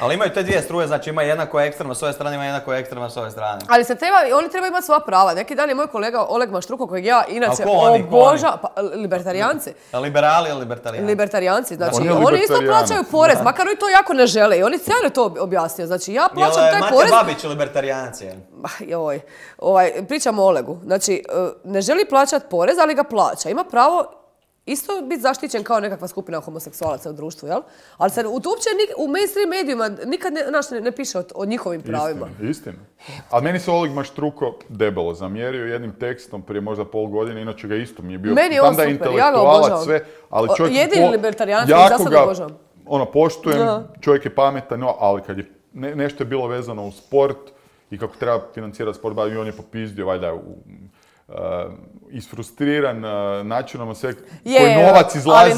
S3: Ali imaju te dvije struje, znači ima jedna koja je ekstremna s ove strane, ima jedna koja je ekstremna s ove strane.
S1: Ali se treba, oni trebaju imati svoja prava. Neki dan je moj kolega Oleg Maštruko, kojeg ja inače obožavam, pa libertarijanci.
S3: Liberali ili libertarijanci?
S1: Libertarijanci, znači oni, oni isto plaćaju porez, makar oni to jako ne žele i oni cijelo to objasnio. Znači ja plaćam taj
S3: Mate
S1: porez...
S3: Mate Babić libertarijanci?
S1: Joj, ovaj, pričamo o Olegu. Znači, ne želi plaćati porez, ali ga plaća. Ima pravo isto biti zaštićen kao nekakva skupina homoseksualaca u društvu, jel? Ali sad, uopće u mainstream medijima nikad ne, naš, ne, ne piše o, o njihovim pravima.
S2: Istina, istina. Ali meni se Oleg Maštruko debelo zamjerio jednim tekstom prije možda pol godine, inače ga isto mi je bio...
S1: Meni je on super, ja ga obožavam.
S2: Sve, ali čovjek
S1: jedini libertarijanac koji za sad obožavam.
S2: Ono, poštujem, da. Čovjek je pametan, no, ali kad je ne, nešto je bilo vezano u sport i kako treba financirati sport, i on je popizdio, valjda, u... Uh, isfrustriran uh, načinom sve koji novac izlazi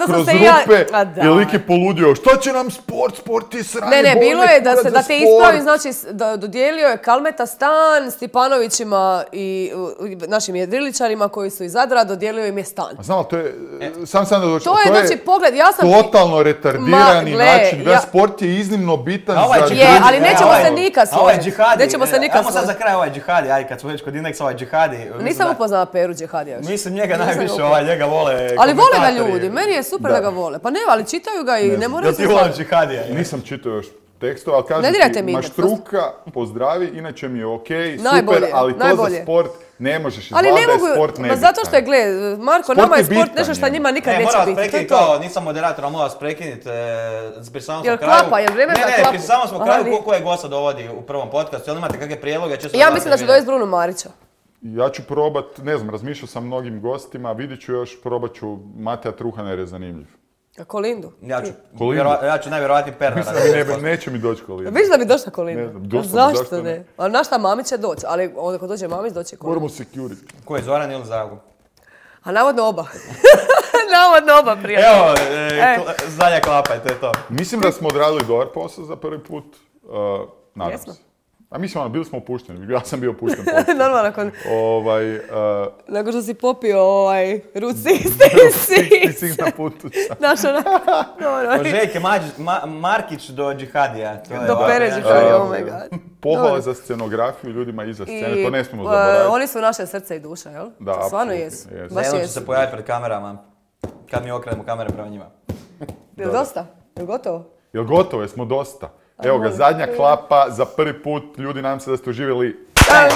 S2: kroz rupe ja... i lik je poludio. Šta će nam sport? Sport je sranje.
S1: Ne, ne, bilo je da, se, da te ispravi, znači da dodijelio je Kalmeta stan Stipanovićima i uh, našim jedriličarima koji su iz Zadra, dodijelio im je stan.
S2: A znam, to je, e. sam sam da doći,
S1: to, to je, znači, pogled, ja sam...
S2: totalno retardirani Ma, gle, način, da ja... sport je iznimno bitan za...
S1: Je, ali nećemo se nikad složiti. Nećemo se nikad
S3: složiti. Ajmo sad za kraj ovaj džihadi, aj kad smo već kod indeksa ovaj džihadi.
S1: Nisam upoznala Peru Džihadija.
S3: Mislim njega najviše, ovaj, njega vole
S1: ali vole ga ljudi, meni je super da, da ga vole. Pa ne, ali čitaju ga i ne, ne moraju se...
S3: Da ti vole Džihadija.
S2: Nisam čitao još tekstova, ali kažem ti, Maštruka pozdravi, inače mi je okej, okay, super, ali to najbolje. Za sport ne možeš izgleda da je sport nebitan.
S1: Zato što je, gle, Marko, sport nama je sport bitan, nešto što njima nikad ne, neće biti.
S3: Prekiniti, kao, nisam moderator, ali moram vas prekiniti. Pri samom
S1: jel
S3: kraju...
S1: klapa, jel vreme za klapu?
S3: Ne, ne, pri samom smo kraju koliko je gosta dovodi u prvom podcastu. Jel imate kakve prijedloge?
S1: Ja mislim da će dovesti Bruno Marića.
S2: Ja ću probat, ne znam, razmišljao sam mnogim gostima, vidit ću još, probat ću Mateja Truhana jer je zanimljiv.
S1: A Kolindu?
S3: Ja ću, vjero, ja ću najvjerojatniji Pernara.
S2: Ne, neće mi doći Kolindu.
S1: Viš da bi došla Kolindu?
S2: Ne znam, došla,
S1: zašto,
S2: zašto
S1: ne? A na šta Mamić će doći, ali onda kad dođe Mamić doće Kolindu.
S2: Moramo security.
S3: Ko je, Zoran ili Zago?
S1: A navodno oba. navodno oba, prijatelj.
S3: Evo, e, e. zadnja klapa, to je to.
S2: Mislim da smo odradili dobar posao za prvi put. Uh, nadam Jesmo. se. A mislim, ono, bili smo opušteni, ja sam bio opušten.
S1: Normalno, nakon...
S2: Ovaj, uh,
S1: nakon što si popio ovaj, Route
S2: šezdeset
S1: šest.
S2: na putu.
S1: Znaš, onako, dobro.
S3: Od Željke Ma- Markić do Džihadija. To je
S1: Do
S3: ovako,
S1: Pere
S3: ja.
S1: Džihadija, oh my god.
S2: Pohvala
S1: Dobro.
S2: za scenografiju ljudima iza scene,
S1: I,
S2: to ne smijemo
S1: uh,
S2: zaboraviti.
S1: Oni su naše srce i duša, jel?
S2: Da,
S1: To stvarno
S2: apsolutno,
S1: jesu.
S2: jesu.
S1: Baš
S3: Zeno će
S1: jesu.
S3: se pojaviti pred kamerama. Kad mi okrenemo kamere prema njima.
S1: Jel dosta? Jel gotovo?
S2: Jel gotovo, jesmo dosta? Evo ga,
S1: molim.
S2: zadnja klapa, za prvi put, ljudi, nadam se da ste uživjeli.
S1: Tam!